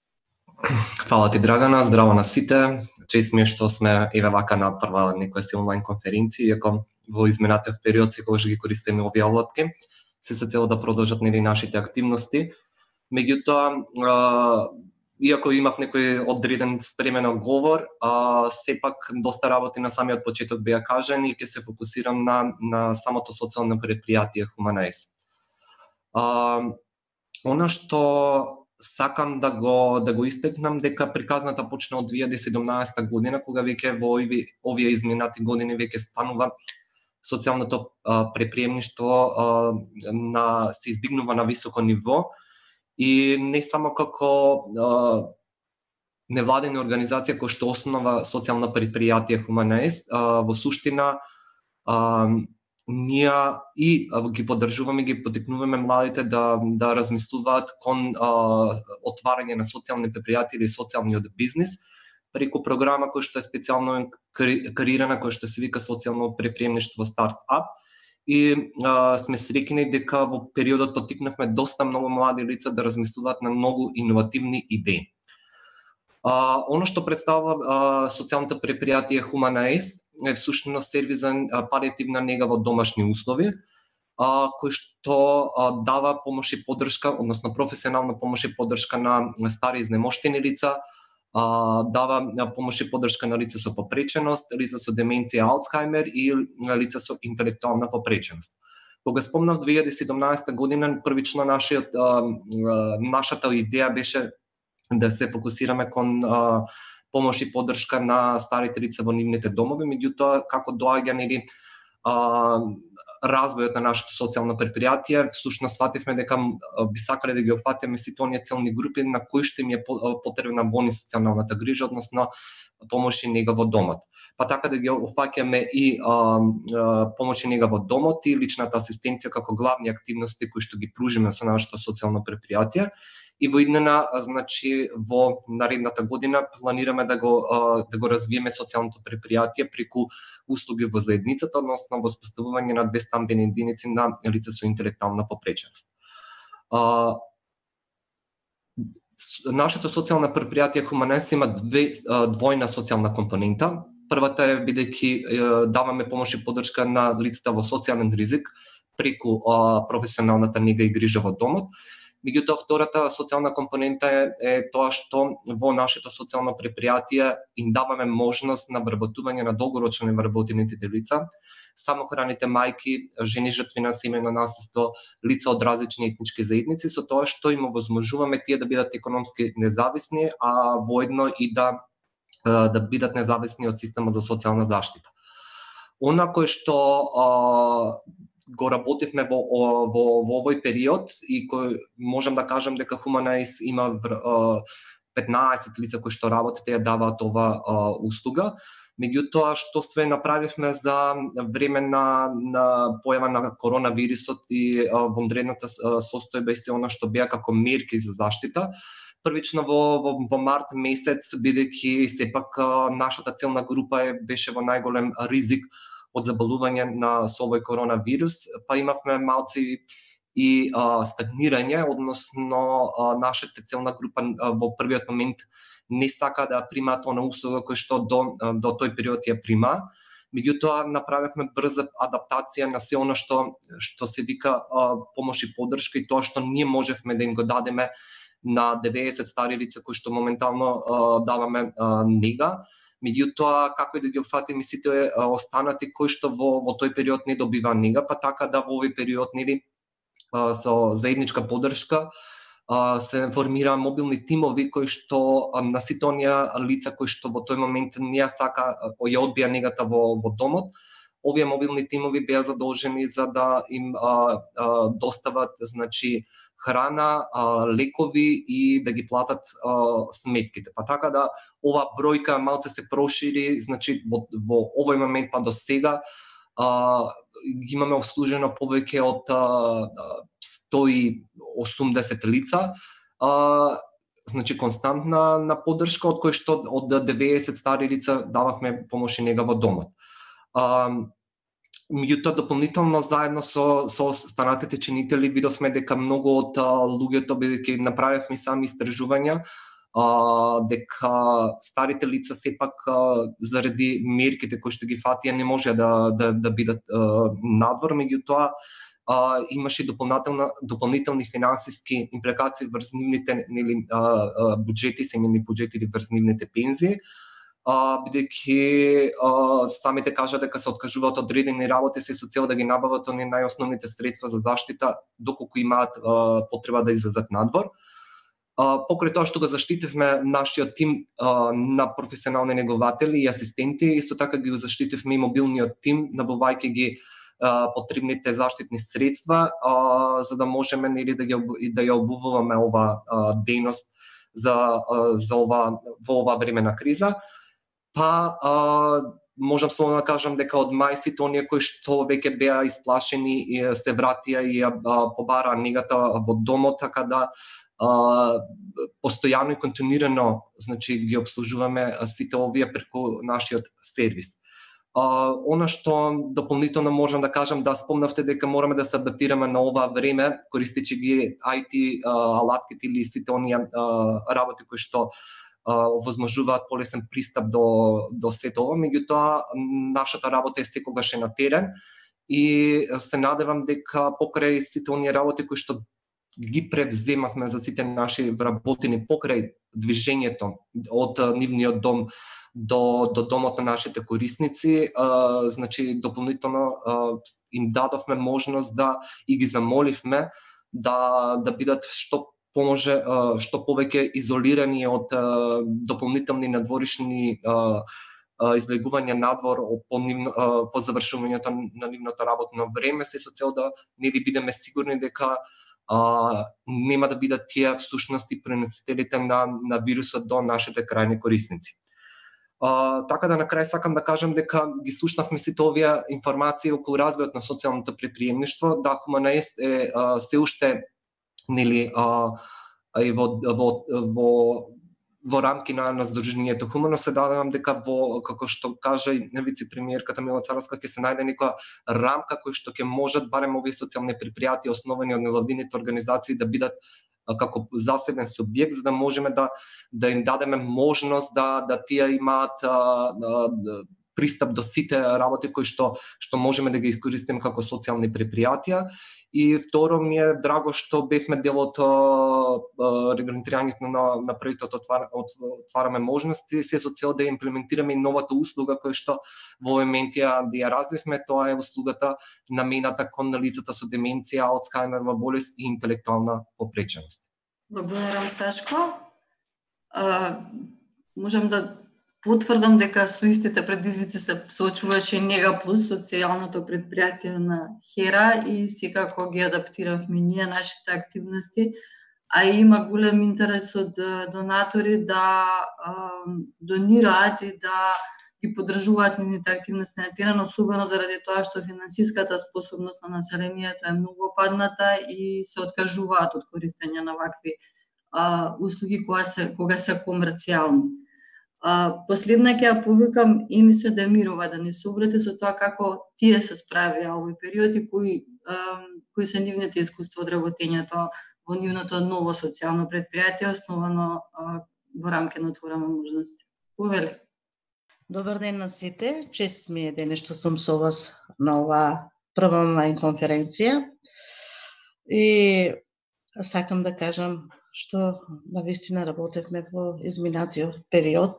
Фала ти, Драгана, здраво на сите. Чест ми е што сме еве вака на прва некоја си онлайн конференција, иако во изминатиот период секогаш ги користиме овие алатки, се со цел да продолжат нашите активности. Меѓутоа, иако имав некој одреден спремен одговор, сепак доста работи на самиот почеток беа кажани и ќе се фокусирам на самото социјално предпријатие Humanized. Она што сакам да го истекнам дека приказната почна од 2017 година, кога веќе во овие изминати години веќе станува социјалното предприемништво се издигнува на високо ниво и не само како невладена организација која што основа социјално предпријатие Humanized, во суштина ние и ги поддржуваме, ги потикнуваме младите да размислуваат кон отварање на социјални предпријатија или социјалниот бизнис преку програма која што е специјално креирана, која што се вика социјално предприемништво стартап. И сме среќни дека во периодот потикнавме доста многу млади лица да размислуваат на многу иновативни идеи. Оно што представува социјалното предпријатие Humanized е всушност сервис за палијативна нега во домашни услови, кој што дава помош и поддршка, односно професионална помош и поддршка на стари изнемоштени лица, дава помош и поддршка на лица со попреченост, лица со деменција Алцхаймер и лица со интелектуална попреченост. Кога спомнав 2017 година, првично нашата идеја беше да се фокусираме кон помош и поддршка на старите лица во нивните домови, меѓутоа како доаѓа развојот на нашето социјално предпријатие, всушност свативме дека би сакале да ги опфатиме сите оние целни групи на кои што им е потребна во социјалната грижа, односно помош и нега во домот. Па така да ги опфаќаме и помош и нега во домот и личната асистенција како главни активности кои што ги пружиме со нашето социјално предпријатие. И во иднина, значи, во наредната година планираме да го развиеме социјалното предпријатие преку услуги во заедницата, односно во споставување на 2 стамбени единици на лица со интелектуална попреченост. Нашето социјално предпријатие Humanized има двојна социјална компонента. Првата е бидејќи даваме помош и поддршка на лицата во социјален ризик преку професионалната нега и грижа во домот. Меѓутоа, втората социјална компонента е тоа што во нашето социјално предпријатие им даваме можност на вработување на долгорочно невработените лица, самохраните мајки, жени жртви на семејно насилство, лица од различни етнички заедници, со тоа што им овозможуваме тие да бидат економски независни, а воедно и да бидат независни од системот за социјална заштита. Она кој што го работивме во овој период и кој можам да кажам дека Humanized има 15 лица кои што работат и ја даваат ова услуга. Меѓутоа, што све направивме за време на појава на коронавирусот и вонредната состојба и се она што беа како мерки за заштита. Првично во март месец, бидејќи сепак нашата целна група беше во најголем ризик од заболување со овој коронавирус, па имавме малци и стагнирање, односно нашата целна група во првиот момент не сака да примаат она услуга кој што до тој период ја прима. Меѓутоа направивме брза адаптација на се она што се вика помош и поддршка и тоа што ние можевме да им го дадеме на 90 стари лица кои што моментално даваме нега. Меѓутоа, како и да ги опфатиме сите останати кои што во тој период не добива нега, па така да во овој период со заедничка поддршка се формира мобилни тимови кои што на сите оние лица кои што во тој момент не сака ја одбија негата во домот, овие мобилни тимови беа задолжени за да им достават, значи, храна, лекови и да ги платат сметките. Па така да ова бројка малце се прошири, значи во овој момент па до сега имаме обслужено повеќе од 180 лица, значи константна на поддршка, од кој што од 90 стари лица дававме помош и нега во домот. Меѓутоа, дополнително заедно со останатите чинители видовме дека многу од луѓето, бидејќи направивме сами истражувања, дека старите лица сепак заради мерките кои што ги фатија не може да бидат надвор, меѓутоа имаше дополнителни финансиски импликации врз нивните буџети, семејни буџети или врз нивните пензии, бидејќи самите кажа дека се откажуваат од одредени работи се со цел да ги набават оние најосновните средства за заштита доколку имаат потреба да излезат надвор. Покрај тоа што го заштитивме нашиот тим на професионални негователи и асистенти, исто така ги заштитивме и мобилниот тим, набавајќи ги потребните заштитни средства, за да можеме да ја обувуваме ова дејност во ова време на криза. Можам само да кажам дека од мај сите оние кои што веќе беа исплашени и се вратија и побараа негата во домот, така да постојано и континуирано, значи ги обслужуваме сите овие преку нашиот сервис. Она што дополнително можам да кажам, да спомнавте дека мораме да се адаптираме на ова време, користејќи ги IT алатките или сите оние работи кои што овозможуваат полесен пристап до сето ова, меѓутоа нашата работа е секогаш на терен и се надевам дека покрај сите оние работи кои што ги превземавме за сите наши вработени покрај движењето од нивниот дом до домот на нашите корисници, значи дополнително им дадовме можност и ги замоливме да бидат што повеќе изолирани од дополнителни надворишни излегување надвор по завршувањето на нивното работно време, се со цел да не бидеме сигурни дека нема да бидат тие всушност и преносителите на вирусот до нашите крајни корисници. Така да на крај сакам да кажам дека ги слушнавме сите овие информации околу развојот на социјалното предприемништво. Да, Хуманаис е се уште во рамки на Сдруженијето Хумано, се надевам дека како што кажа и вице-премиерката Мила Царовска, ќе се најде некоја рамка која што ќе можат барем овие социјални предпријатија основани од невладините организации да бидат како засебен субјект, за да можеме да им дадеме можност да тие имаат пристап до сите работи кои што можеме да ги искористиме како социјални предпријатија. И второ, ми е драго што бевме дел од регламентирањето на проектот Отвараме можности, се со цел да имплементираме и новата услуга која што во момент да ја развивме, тоа е услугата намената кон лицата со деменција, Алцхаймерова болест и интелектуална попреченост. Благодарам, Сашко. Можам да потврдам дека со истите предизвици се соочуваше Нега Плюс, социјалното предпријатие на Хера, и секако ги адаптиравме ние нашите активности, а има голем интерес од донатори да донираат и да ги поддржуваат нивните активности на терен, особено заради тоа што финансиската способност на населението е многу падната и се откажуваат од користење на вакви услуги кога се комерцијални. Последна ќе ја повикам Ениса Демирова да ни се обрати со тоа како тие се справија овој период и кои се нивните искуства од работењето во нивното ново социјално предпријатие основано во рамки на Отвораме можности. Повели. Добар ден на сите. Чест ми е денес што сум со вас на оваа прва онлайн конференција. И сакам да кажам што навистина работевме во изминатиот период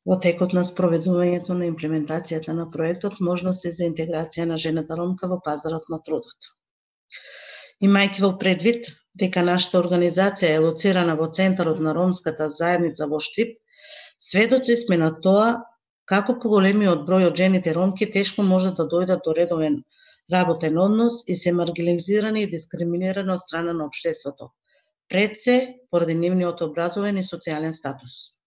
во текот на спроведувањето на имплементацијата на проектот Можности за интеграција на жената ромка во пазарот на трудот. Имајќи во предвид дека нашата организација е лоцирана во центарот на ромската заедница во Штип, сведоци сме на тоа како поголемиот број од жените ромки тешко може да дојдат до редовен работен однос и се маргинализирани и дискриминирани од страна на општеството, пред се поради нивниот образовен и социјален статус.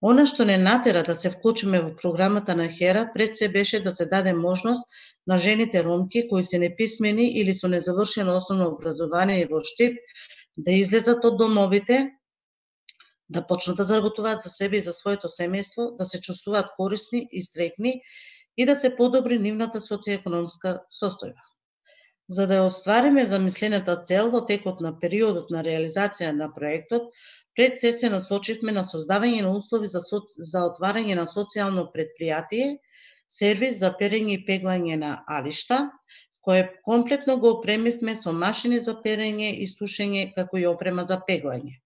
Она што не натера да се вклучиме во програмата на Хера пред се беше да се даде можност на жените ромки кои се неписмени или со незавршено основно образование во Штип да излезат од домовите, да почнат да заработуваат за себе и за своето семејство, да се чувствуваат корисни и среќни и да се подобри нивната социјекономска состојба. За да ја оствариме замислената цел во текот на периодот на реализација на проектот, пред се насочивме на создавање на услови за отварање на социјално предпријатие, сервис за перење и пеглање на алишта, кое комплетно го опремивме со машини за перење и сушење, како и опрема за пеглање.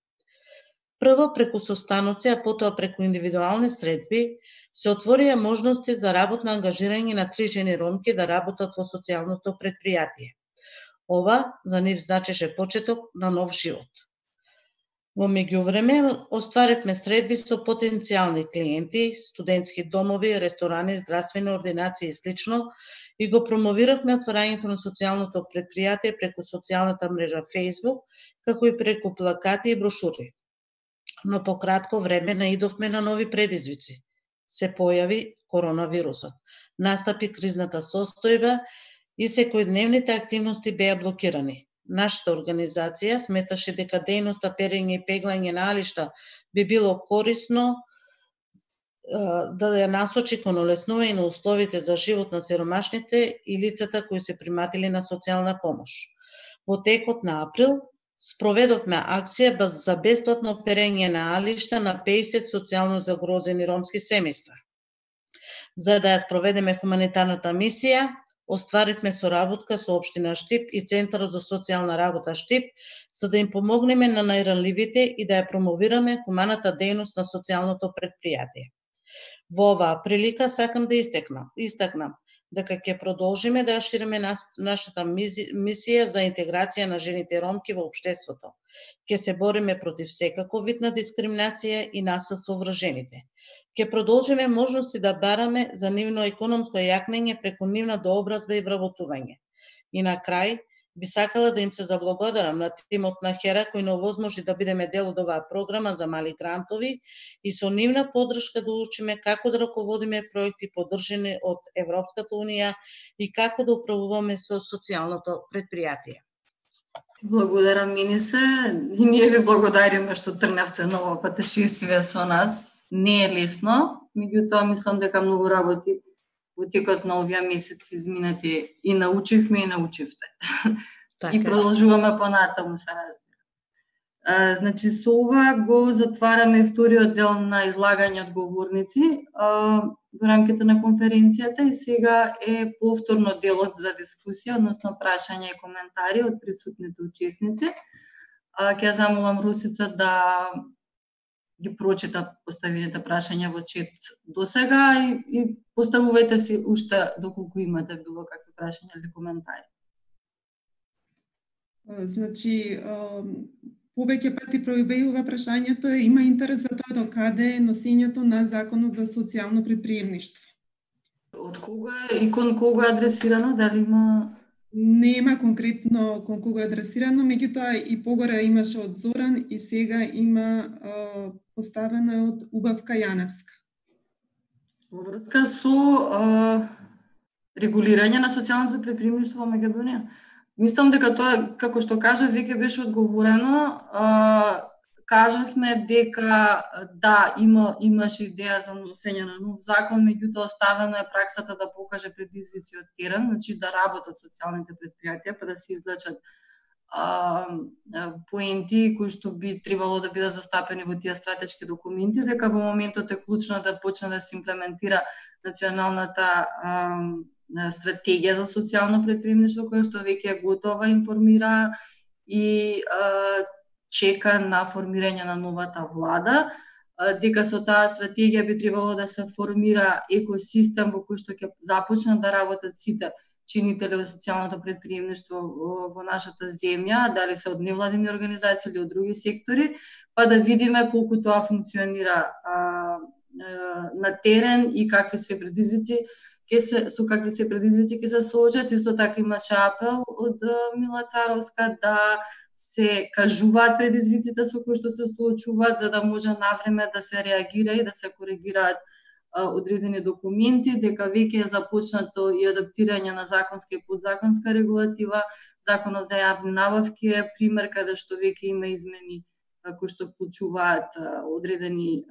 Прво преку состаноци, а потоа преку индивидуални средби, се отворија можности за работно ангажирање на 3 жени ромки да работат во социјалното предпријатие. Ова за нив значеше почеток на нов живот. Во меѓувреме остваривме средби со потенцијални клиенти, студентски домови, ресторани, здравствени ординации и слично, и го промовиравме отварањето на социјалното предпријатие преку социјалната мрежа Facebook, како и преку плакати и брошури. Но по кратко време наидовме на нови предизвици. Се појави коронавирусот, настапи кризната состојба и секојдневните активности беа блокирани. Нашата организација сметаше дека дејноста перење и пеглање на алишта би било корисно да ја насочи кон олеснување на условите за живот на сиромашните и лицата кои се приматели на социјална помош. Во текот на април спроведовме акција за бесплатно перење на алишта на 50 социјално загрозени ромски семејства. За да ја спроведеме хуманитарната мисија, остваривме соработка со Општина Штип и Центарот за социјална работа Штип, за да им помогнеме на најранливите и да ја промовираме хуманата дејност на социјалното предпријатие. Во оваа прилика сакам да истакнам дека ќе продолжиме да ја шириме нашата мисија за интеграција на жените ромки во општеството. Ќе се бориме против секаков вид на дискриминација и насилство врз жените. Ќе продолжиме можности да бараме за нивно економско јакнење преку нивна дообразба и вработување. И на крај, би сакала да им се заблагодарам на тимот на Хера кој не овозможи да бидеме дел од оваа програма за мали грантови и со нивна поддршка да учиме како да раководиме проекти поддржани од Европската унија и како да управуваме со социјалното предпријатие. Благодарам, Минисе. И ние ви благодариме што тргнавте на ова патешествие со нас. Не е лесно, меѓутоа мислам дека многу работи во текот на овие месеци изминати и научивме и научивте. Така. И продолжуваме понатаму, се разбира. Значи, со ова го затвараме вториот дел на излагање од говорници во рамките на конференцијата и сега е повторно делот за дискусија, односно прашања и коментари од присутните учесници. Ќе замолам Русица да ги прочита поставените прашања во чет до сега и поставувајте си уште доколку имате било какви прашања или коментари. Значи, повеќе пати пројавува прашањето, има интерес за тоа до каде е носењето на Законот за социјално предприемништво. Од кога и кон кога е адресирано, дали има... Нема конкретно кон кога е адресирано, меѓутоа и погора имаше од Зоран и сега има поставено од Убавка Јаневска. Во врска со регулирање на социјалното предприемништво во Македонија. Мислам дека тоа, како што кажав, веќе беше одговорено. Кажавме дека да, имаше идеја за носење на нов закон, меѓутоа оставено е праксата да покаже предизвици од терен, значи да работат социјалните предпријатија, па да се извлечат поенти кои што би требало да бидат застапени во тие стратешки документи, дека во моментот е клучно да почне да се имплементира националната стратегија за социјално предприемништво, која што веќе е готова, информира и чека на формирање на новата влада, дека со таа стратегија би требало да се формира екосистем во кој што ќе започнат да работат сите чинители во социјалното предприемништво во нашата земја, дали се од невладини организации или од други сектори, па да видиме колку тоа функционира на терен и какви се предизвици со какви се предизвици ќе се соочат. Исто така имаше апел од Мила Царовска да се кажуваат предизвиците со кои што се соочуваат, за да може навреме да се реагира и да се коригираат одредени документи, дека веќе е започнато и адаптирање на законска и подзаконска регулатива. Законот за јавни набавки е пример каде што веќе има измени кои што вклучуваат одредени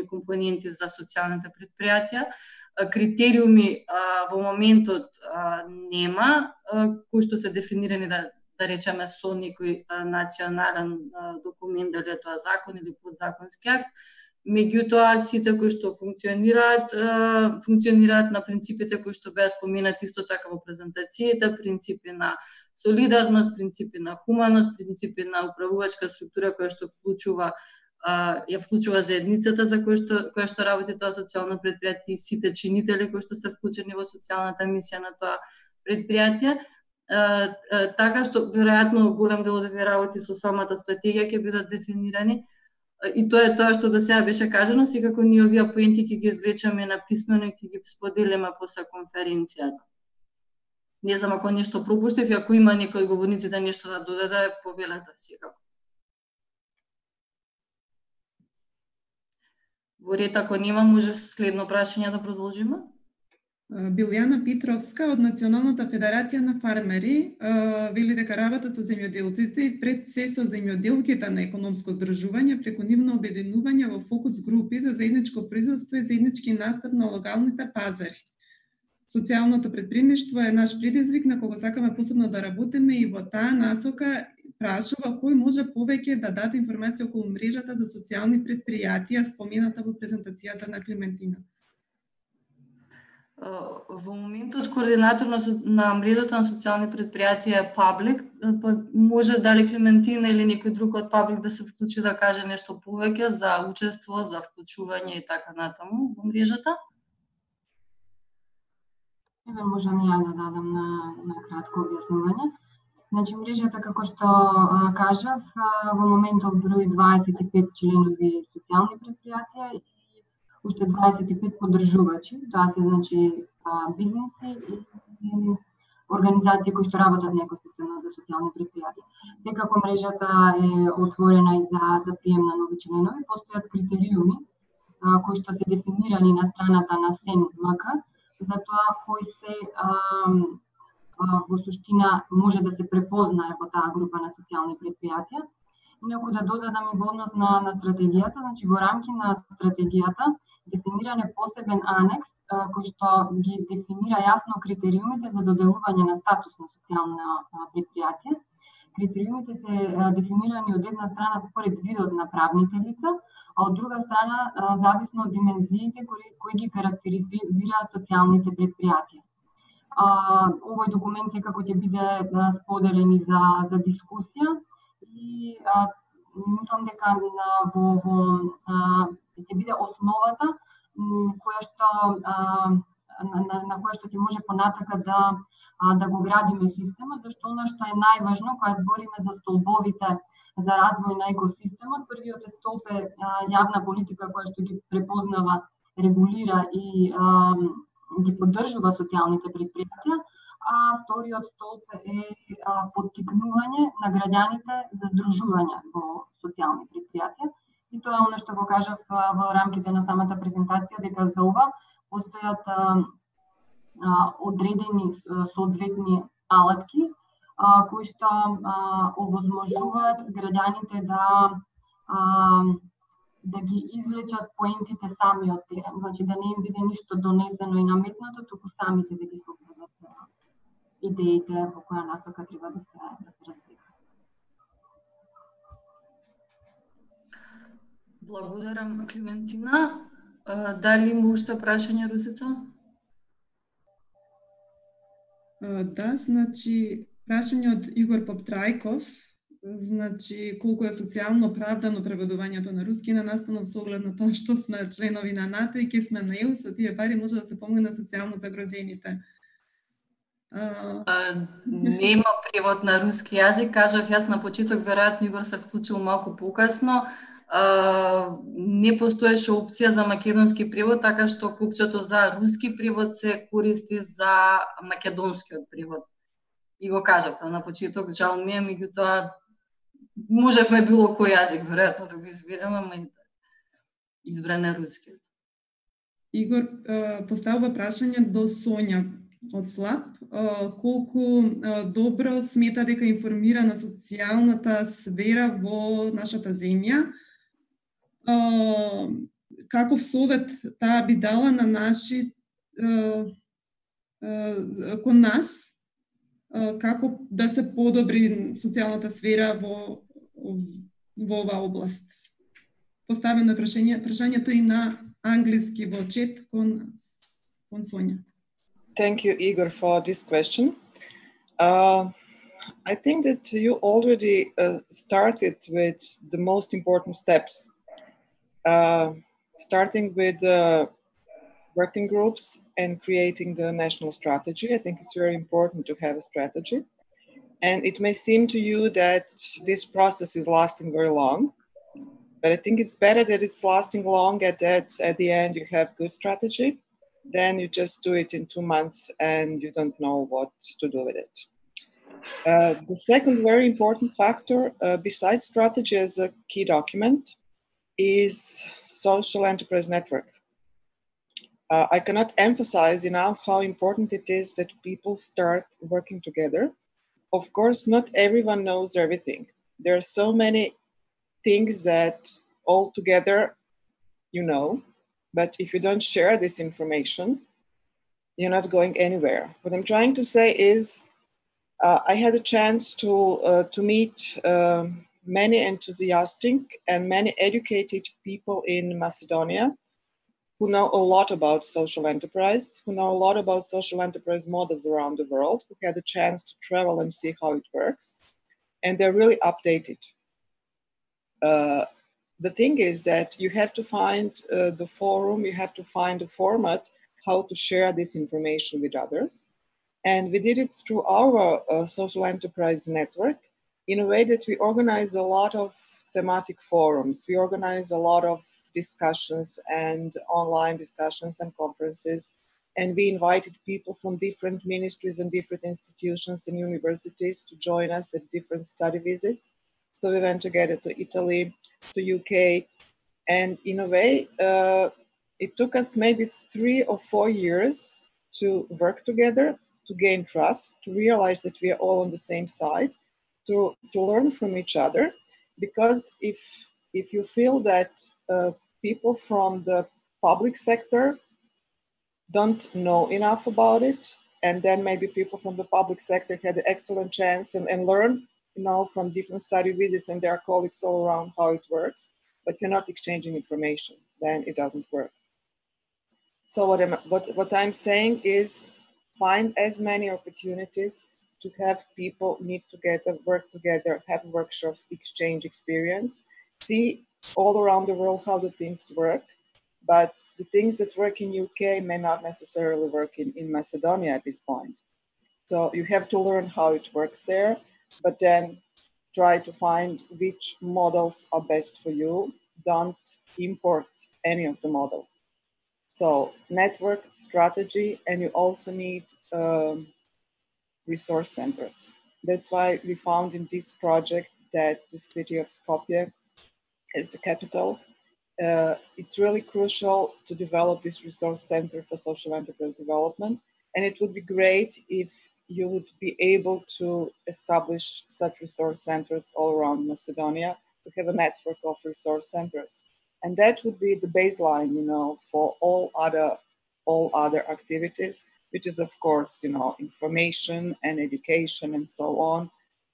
компоненти за социјалните предпријатија. Критериуми во моментот нема, кои што се дефинирани да речеме со некој национален документ, дали е тоа закон или подзаконски акт. Меѓутоа, сите кои што функционираат на принципите кои што беа споменати исто така во презентацијата, принципи на солидарност, принципи на хуманост, принципи на управувачка структура која што ја вклучува заедницата за која што работи тоа социјално предпријатие и сите чинители кои што се вклучени во социјалната мисија на тоа предпријатие. Така што веројатно голем дел од овие работи со самата стратегија ќе бидат дефинирани. И тоа е тоа што до сега беше кажано, секако ние овие поенти ќе ги извлечеме на писмено и ќе ги споделиме после конференцијата. Не знам ако нешто пропуштив, ако има некој од говорниците нешто да додаде, повелете секако. Во ред, ако нема, може следно прашање да продолжиме. Билјана Питровска од Националната федерација на фармери вели дека работат со земјоделците и пред се со земјоделките на економско здружување преку нивно обединување во фокус групи за заедничко производство и заеднички настап на локалните пазари. Социјалното предприемништво е наш предизвик на кого сакаме посебно да работиме и во таа насока прашува кој може повеќе да даде информација околу мрежата за социјални предпријатија спомената во презентацијата на Клементина. Во моментот координатор на мрежата на социјални предпријатија е Паблик, може дали Клементина или некој друг од Паблик да се вклучи да каже нешто повеќе за учество, за вклучување и така натаму во мрежата? Можам ја да дадам на кратко објаснување. Значи, мрежата, како што кажав, во моментов брои 25 членови социјални предпријатија и уште 25 поддржувачи, тоа се значи бизнеси и организации кои што работат на екосистемот за социјални предпријатија. Секако мрежата е отворена и за прием на нови членови, постојат критериуми кои што се дефинирани на страната на СЕН-МК за тоа кои се во суштина може да се препознае во таа група на социјални предпријатија. Инаку да додадам и во однос на стратегијата, значи во рамки на стратегијата дефиниран е посебен анекс кој што ги дефинира јасно критериумите за доделување на статус на социјално предпријатие. Критериумите се дефинирани од една страна според видот на правните лица, а од друга страна зависно од димензиите кои ги карактеризираат социјалните предпријатија. Овој документ секако ќе биде споделен и за дискусија и мислам дека ќе биде основата на која што ќе може понатака да го градиме системот, зашто она што е најважно кога збориме за столбовите за развој на екосистемот, првиот столб е јавна политика која што ги препознава, регулира и ги поддржува социјалните предпријатија, а вториот столб е поттикнување на граѓаните за здружување во социјални предпријатија. И тоа е оно што го кажав во рамките на самата презентација, дека за ова постојат одредени соодветни алатки кои што овозможуваат граѓаните да ги извлечат поентите сами од терен, значи да не им биде ништо донесено и наметнато, туку самите да ги соопредат идеите во која насока треба да се развива. Благодарам, Клементина. Дали има уште прашање, Русица? Да, значи прашање од Игор Поптрајков, значи колку е социјално оправдано преведувањето на руски на настанов со оглед на тоа што сме членови на НАТО и ќе сме на ЕУ, со тие пари може да се помогне на социјално загрозените. Нема превод на руски јазик, кажав јас на почеток, веројатно Игор се вклучил малку покасно. Не постоеше опција за македонски превод, така што копчето за руски превод се користи за македонскиот превод. И го кажавте на почеток, жал ми е, меѓутоа можевме било кој јазик веројатно да го избереме, ама избран е рускиот. Игор поставува прашање до Сонја од Слаб, колку добро смета дека информира на социјалната сфера во нашата земја, каков совет таа би дала на наши кон нас, како да се подобри социјалната сфера во оваа област? поставено прашањето и на англиски во чет кон Сонја. Thank you, Igor, for this question. I think that you already started with the most important steps, starting with working groups and creating the national strategy. I think it's very important to have a strategy. And it may seem to you that this process is lasting very long, but I think it's better that it's lasting long at the end you have good strategy, then you just do it in 2 months and you don't know what to do with it. The second very important factor, besides strategy as a key document, is social enterprise network. I cannot emphasize enough how important it is that people start working together. Of course, not everyone knows everything. There are so many things that all together you know, but if you don't share this information, you're not going anywhere. What I'm trying to say is, I had a chance to meet many enthusiastic and many educated people in Macedonia who know a lot about social enterprise, who know a lot about social enterprise models around the world, who had a chance to travel and see how it works, and they're really updated. The thing is that you have to find the forum, you have to find a format how to share this information with others. And we did it through our social enterprise network in a way that we organize a lot of thematic forums. We organize a lot of discussions and online discussions and conferences. And we invited people from different ministries and different institutions and universities to join us at different study visits. So we went together to Italy, to UK, and in a way, it took us maybe 3 or 4 years to work together, to gain trust, to realize that we are all on the same side, to learn from each other. Because if you feel that people from the public sector don't know enough about it, and then maybe people from the public sector had an excellent chance and learn, from different study visits and their colleagues all around how it works, but you're not exchanging information, then it doesn't work. So what I'm saying is, find as many opportunities to have people meet together, work together, have workshops, exchange experience, see all around the world how the things work. But the things that work in UK may not necessarily work in Macedonia at this point. So you have to learn how it works there, but then try to find which models are best for you. Don't import any of the model. So network, strategy, and you also need resource centers. That's why we found in this project that the city of Skopje is the capital. It's really crucial to develop this resource center for social enterprise development. And it would be great if you would be able to establish such resource centers all around Macedonia, to have a network of resource centers. And that would be the baseline, for all other activities, which is, of course, information and education and so on.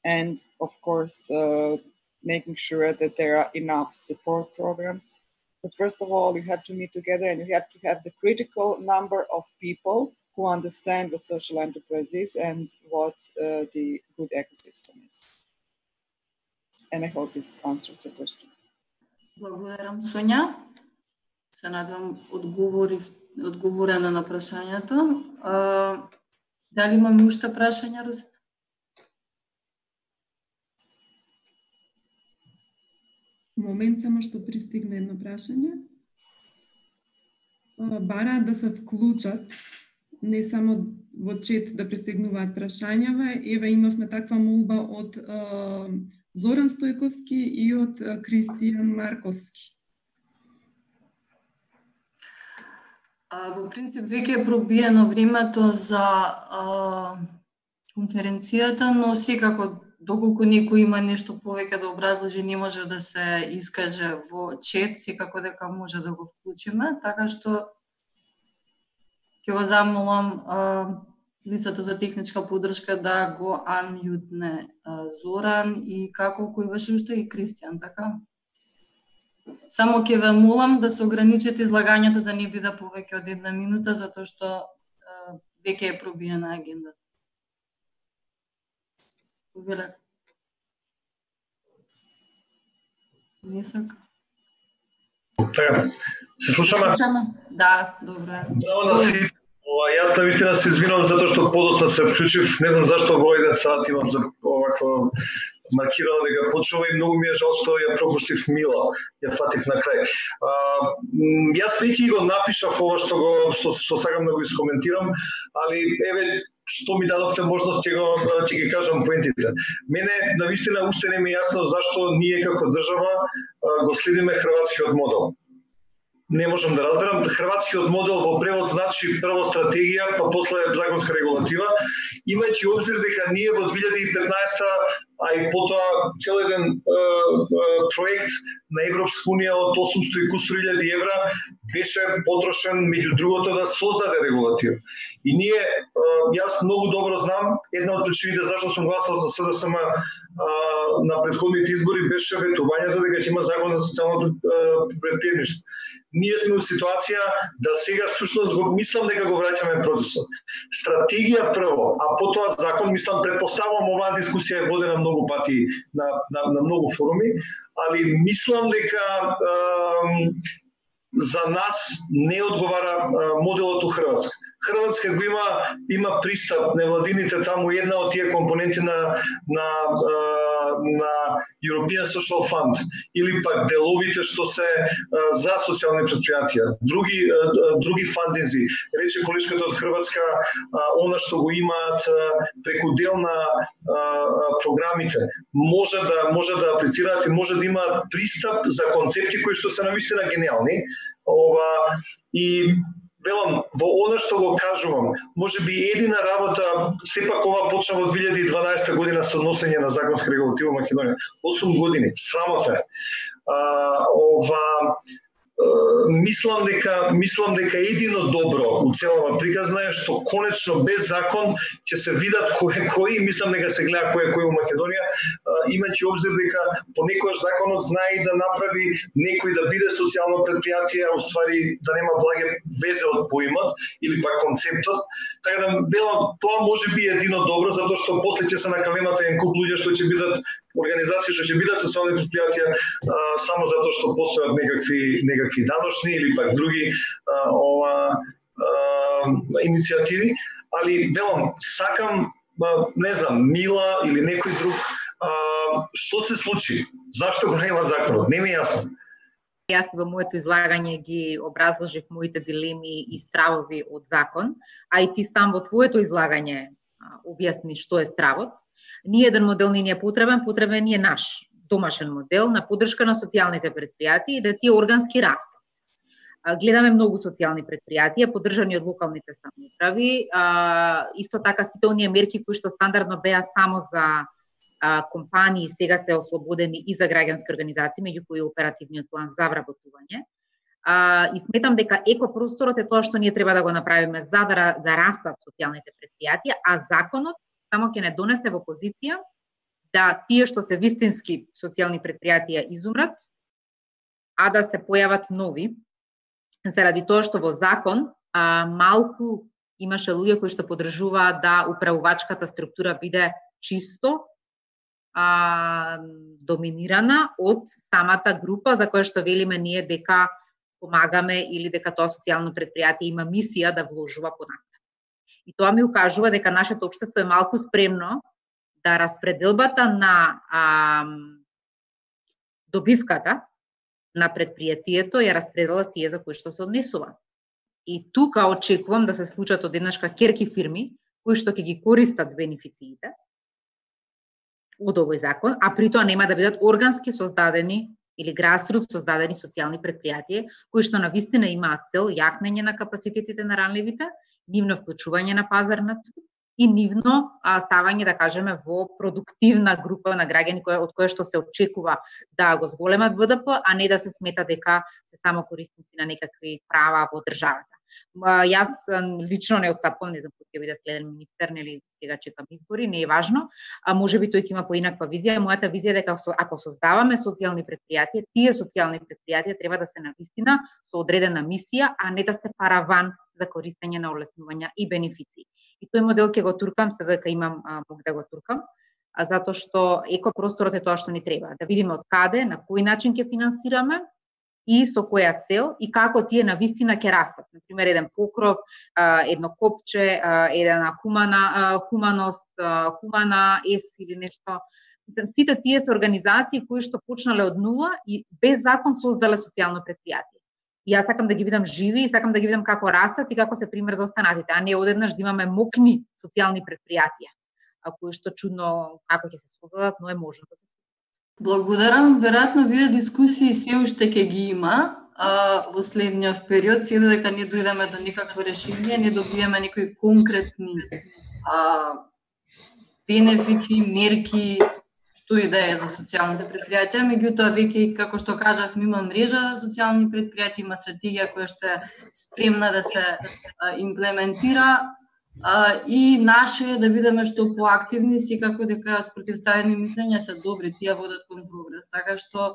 And, of course, making sure that there are enough support programs. But first of all, you have to meet together and you have to have the critical number of people who understand what social enterprise is and what the good ecosystem is. And I hope this answers your question. Благодарам, Сонја. Се надевам одговорено на прашањето. Дали имаме уште прашања, Русита? Момент само што пристигне едно прашање. Бараат да се вклучат, не само во чет да пристигнуваат прашањава. Еве имавме таква молба од Зоран Стојковски и од Кристијан Марковски. Во принцип, веќе е пробиено времето за конференцијата, но секако, доколку некој има нешто повеќе да образложи, не може да се искаже во чет, секако дека може да го вклучиме, така што ќе го замолам лицето за техничка поддршка да го анмјутне Зоран и како кој беше уште и Кристијан, така? Само ќе ве молам да се ограничите излагањето да не биде повеќе од 1 минута, затоа што веќе е пробиена агендата. Повелете. Не сака. Така, се слушаме? Да, добре. Здраво на сите. Јас навистина се извинувам затоа што подоцна се вклучив. Не знам зашто во 1 сат имам за оваква маркирано дека почнува и многу ми е жал што ја пропуштив Мила, ја фатив на крај. Јас веќе го напишав ова што сакам да го искоментирам, али еве што ми дадовте можност ќе ги кажам поентите. Мене навистина уште не ми е јасно зашто ние како држава го следиме хрватскиот модел. Не можам да разберам. Хрватскиот модел во превод значи прво стратегија, па после законска регулатива, имајќи обзир дека ние во 2015, а и потоа цел еден проект на Европска унија од 800 и кусур илјади евра беше потрошен меѓу другото да создаде регулатива. И ние, јас многу добро знам, една од причините зашто сум гласал за СДСМ на претходните избори беше ветувањето дека ќе има закон за социјалното предприемништво. Ние сме во ситуација да сега всушност го мислам дека го враќаме процесот. Стратегија прво, а потоа закон, мислам, предпоставувам оваа дискусија е водена многу пати на многу форуми, али мислам дека за нас не одговара моделот у Хрватска. Хрватска го има пристап невладините таму, една од тие компоненти на European Social Fund или пак деловите што се за социјални предпријатија, други фандинзи. Рече колешката од Хрватска, она што го имаат преку дел на програмите, може да аплицираат и може да имаат пристап за концепти кои што се навистина гениални. И велам, во она што го кажувам, може би едина работа, сепак ова почна во 2012 година со односење на законска регулатива во Македонија. 8 години, срамота е. Мислам дека едино добро у целава приказна е што конечно без закон ќе се видат кои, мислам дека се гледа кој у Македонија, имајќи обзир дека понекогаш законот знае да направи некој да биде социјално предпријатие, а уствари да нема благе везе од поимот или пак концептот. Така да велам, тоа може би едино добро, затоа што после ќе се накаленат еден куп луѓе што ќе бидат организации што ќе бидат социјални предпријатија само затоа што постојат некакви даношни или пак други иницијативи, али велам, сакам, не знам, Мила или некој друг, што се случи? Зашто го нема законот? Не ми е јасно. Јас во моето излагање ги образложив моите дилеми и стравови од закон, а и ти сам во твоето излагање објасни што е стравот. Ни еден модел не е потребен е наш домашен модел на поддршка на социјалните предпријатија и да тие органски растат. Гледаме многу социјални предпријатија поддржани од локалните самоуправи, исто така сите оние мерки кои што стандардно беа само за компании сега се ослободени и за граѓански организации, меѓу кои оперативниот план за вработување. И сметам дека екопросторот е тоа што ние треба да го направиме за да растат социјалните предпријатија, а законот само ќе не донесе во позиција да тие што се вистински социјални предпријатија изумрат, а да се појават нови, заради тоа што во закон малку имаше луѓе кои што поддржуваат да управувачката структура биде чисто доминирана од самата група за која што велиме ние дека помагаме или дека тоа социјално предпријатие има мисија да вложува понатаму. И тоа ми укажува дека нашето општество е малку спремно да распределбата на добивката на предпријатието ја распредела тие за кои што се однесува. И тука очекувам да се случат одеднашка керки фирми кои што ќе ги користат бенефициите од овој закон, а при тоа нема да бидат органски создадени или грасрут создадени социјални предпријатија кои што навистина имаат цел јакнење на капацитетите на ранливите, нивно вклучување на пазарна и нивно ставање, да кажеме, во продуктивна група на граѓани од која што се очекува да го зголемат БДП, а не да се смета дека се само корисници на некакви права во државата. Јас лично не отстапувам, не знам кој ќе биде следен министер, нели сега чекам избори, не е важно. Можеби тој ќе има поинаква визија. Мојата визија е дека ако создаваме социјални предпријатија, тие социјални предпријатија треба да се навистина со одредена мисија, а не да се параван за користење на олеснувања и бенефиции. И тој модел ќе го туркам, сега дека имам мог да го туркам, затоа што екопросторот е тоа што ни треба. Да видиме од каде, на кој начин ќе финансираме и со која цел и како тие навистина ќе растат. Например, еден покров, едно копче, една хуманост, хумана ес или нешто. Мислам, сите тие се организации кои што почнале од нула и без закон создале социјално предпријатие. И јас сакам да ги видам живи и сакам да ги видам како растат и како се пример за останатите, а не одеднаш да имаме мокни социјални предпријатија, кои што чудно како ќе се создадат, но е можно да се. Благодарам. Веројатно вие дискусии се уште ќе ги има во следниот период, се дека не дојдеме до никакво решение, не добиеме некои конкретни бенефити, мерки, што и да е за социјалните предпријатија. Меѓутоа, веќе, како што кажав, има мрежа социјални предпријатија, има стратегија која што е спремна да се имплементира. И наше е да бидеме што поактивни, секако дека спротивставени мислења се добри, тие водат кон прогрес, така што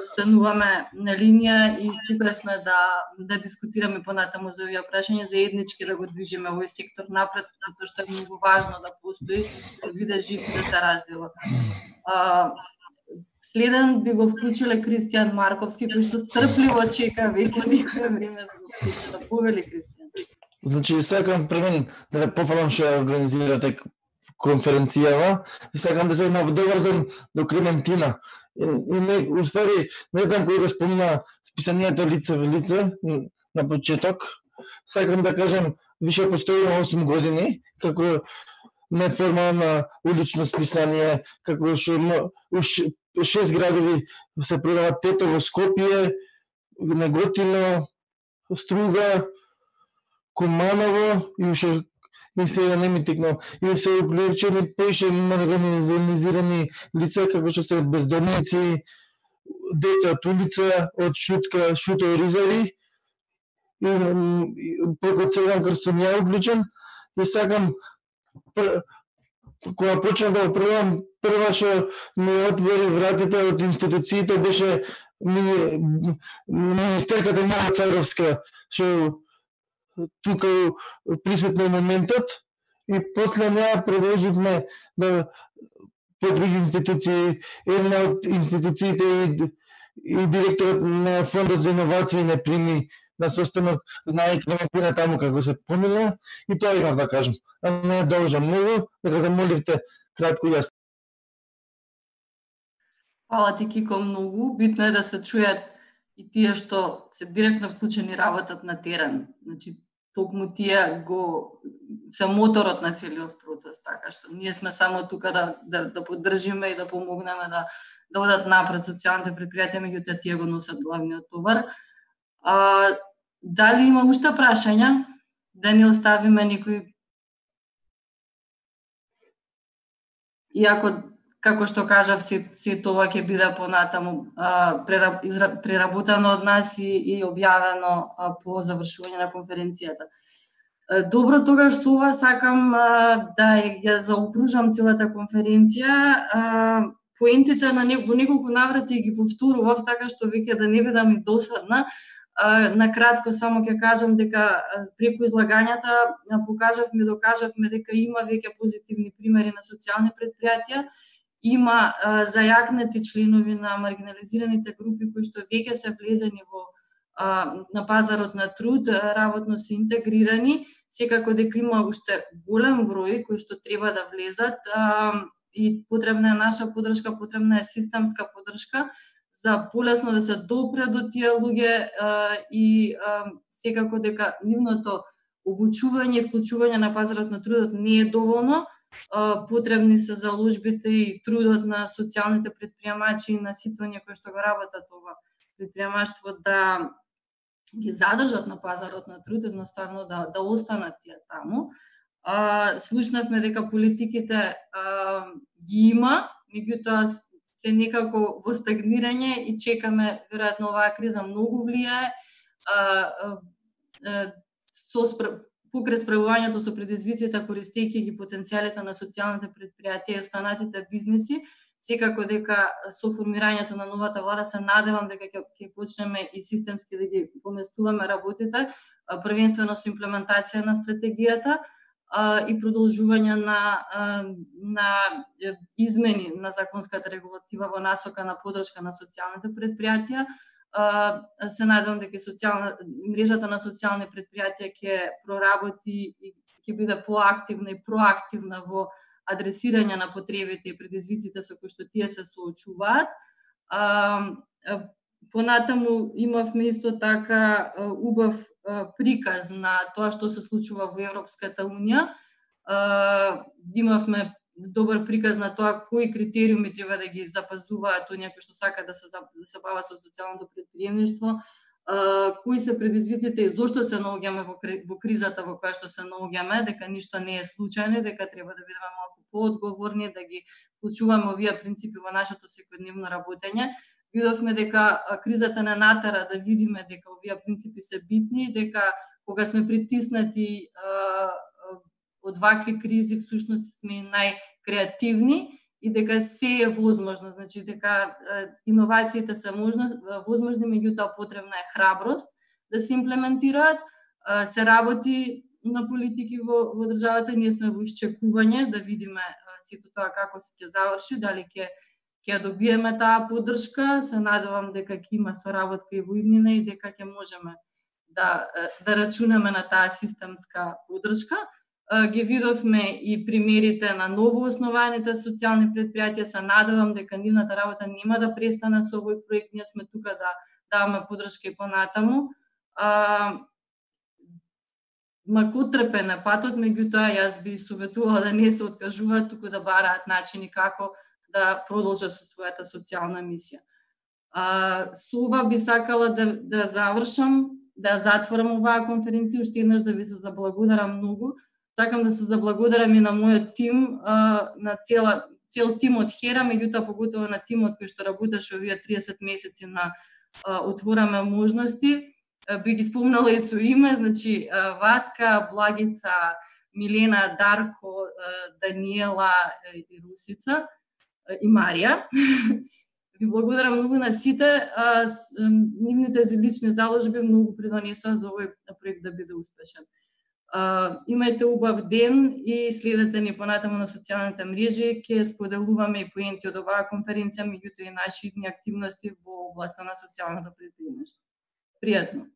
остануваме на линија и тука сме да дискутираме понатаму за овие прашања, заеднички да го движиме овој сектор напред, затоа што е многу важно да постои, да биде жив и да се развива. Следен би го вклучиле Кристијан Марковски, кој што стрпливо чека веќе некое време да го вклучи, да повели Кристијан. Значи, сакам пред мен да пофалам што организирате конференцијава и сакам да се на добар ден до Клементина. И не, уствари, не знам кој го спомна списанието лице во лице на почеток. Сакам да кажам, више постои 8 години, како неформално улично списание, како што 6 градови се продават тето во Скопје, Неготино, Струга, Куманово и уште и сега не ми текнал. И се уклучени поише организирани лица како што се бездомници, деца од улица, од шутови ризари. И прeko целен крст сум ја уклучен и сакам кога почнав да пробам, прва што ми отвори вратите од институциите беше министерката Мила Царовска, што тука присутна е моментот и после неа продолживме да по други институции, една од институциите и директорот на Фондот за иновации не прими на состанок, знаејќи Клементина таму како се помила и тоа имав да кажам. А не должам многу, дека замоливте кратко јас. Фала ти, Кико, многу. Битно е да се чујат и тие што се директно вклучени работат на терен. Значи, токму тие се моторот на целиот процес, така што ние сме само тука да поддржиме и да помогнеме да одат напред социјалните предпријатија, меѓутоа тие го носат главниот товар. Дали има уште прашања? Да не оставиме некој... Иако, како што кажав, се тоа ќе биде понатаму преработено од нас и објавено по завршување на конференцијата. Добро, тогаш со ова сакам да ја заокружам целата конференција. Поентите во неколку наврати ги повторував, така што веќе да не бидам и досадна. Накратко само ќе кажам дека преку излагањата докажавме дека има веќе позитивни примери на социјални предпријатија, има зајакнати членови на маргинализираните групи кои што веќе се влезени на пазарот на труд, работно се интегрирани, секако дека има уште голем број кои што треба да влезат и потребна е наша поддршка, потребна е системска поддршка за полесно да се допре до тие луѓе и секако дека нивното обучување и вклучување на пазарот на трудот не е доволно. Потребни се заложбите и трудот на социјалните претприемачи и на сите оние кои што го работат ова претприемаштво да ги задржат на пазарот на труд, едноставно да останат тие таму. Слушнавме дека политиките ги има, меѓутоа се некако во стагнирање и чекаме, веројатно оваа криза многу влијае. покрај справувањето со предизвиците, користејќи ги потенцијалите на социјалните предпријатија и останатите бизниси, секако дека со формирањето на новата влада се надевам дека ќе почнеме и системски да ги поместуваме работите, првенствено со имплементација на стратегијата и продолжување на измени на законската регулатива во насока на поддршка на социјалните предпријатија. Се надевам дека мрежата на социјални предпријатија ќе проработи и ќе биде поактивна и проактивна во адресирање на потребите и предизвиците со кои што тие се соочуваат. Понатаму имавме исто така убав приказ на тоа што се случува во Европската Унија. Имавме добар приказ на тоа кои критериуми треба да ги запазуваат оние кои што сакаат да се бават со социјалното претприемништво, кои се предизвиците и зошто се наоѓаме во кризата во која што се наоѓаме, дека ништо не е случајно, дека треба да бидеме малку поодговорни, да ги вклучуваме овие принципи во нашето секојдневно работење. Видовме дека кризата не натера да видиме дека овие принципи се битни, дека кога сме притиснати од вакви кризи, всушност сме најкреативни и дека се е возможно, значи дека иновациите се возможни, меѓутоа потребна е храброст да се имплементираат. Се работи на политики во државата, ние сме во исчекување да видиме сето тоа како ќе заврши, дали ќе добиеме таа поддршка. Се надевам дека ќе има соработка и во иднина и дека ќе можеме да рачунаме на таа системска поддршка. Ги видовме и примерите на новооснованите социјални предпријатија. Се надевам дека нивната работа нема да престане со овој проект. Ние сме тука да даваме поддршка и понатаму. Макотрпен е патот, меѓутоа јас би советувала да не се откажуваат, туку да бараат начини како да продолжат со својата социјална мисија. Со ова би сакала да завршам, да затворам оваа конференција, уште еднаш да ви се заблагодарам многу. Сакам да се заблагодарам и на мојот тим, на цел тим од Хера, меѓутоа поготово на тимот кој што работеше овие 30 месеци на Отвораме можности. Би ги спомнала и со име, значи Васка, Благица, Милена, Дарко, Даниела и Русица и Марија. Ви благодарам многу на сите. Нивните лични заложби многу придонесоа за овој проект да биде успешен. Имајте убав ден и следете ни понатаму на социјалните мрежи. Ќе споделуваме и поенти од оваа конференција, меѓутоа и наши идни активности во областа на социјалното претприемништво. Пријатно!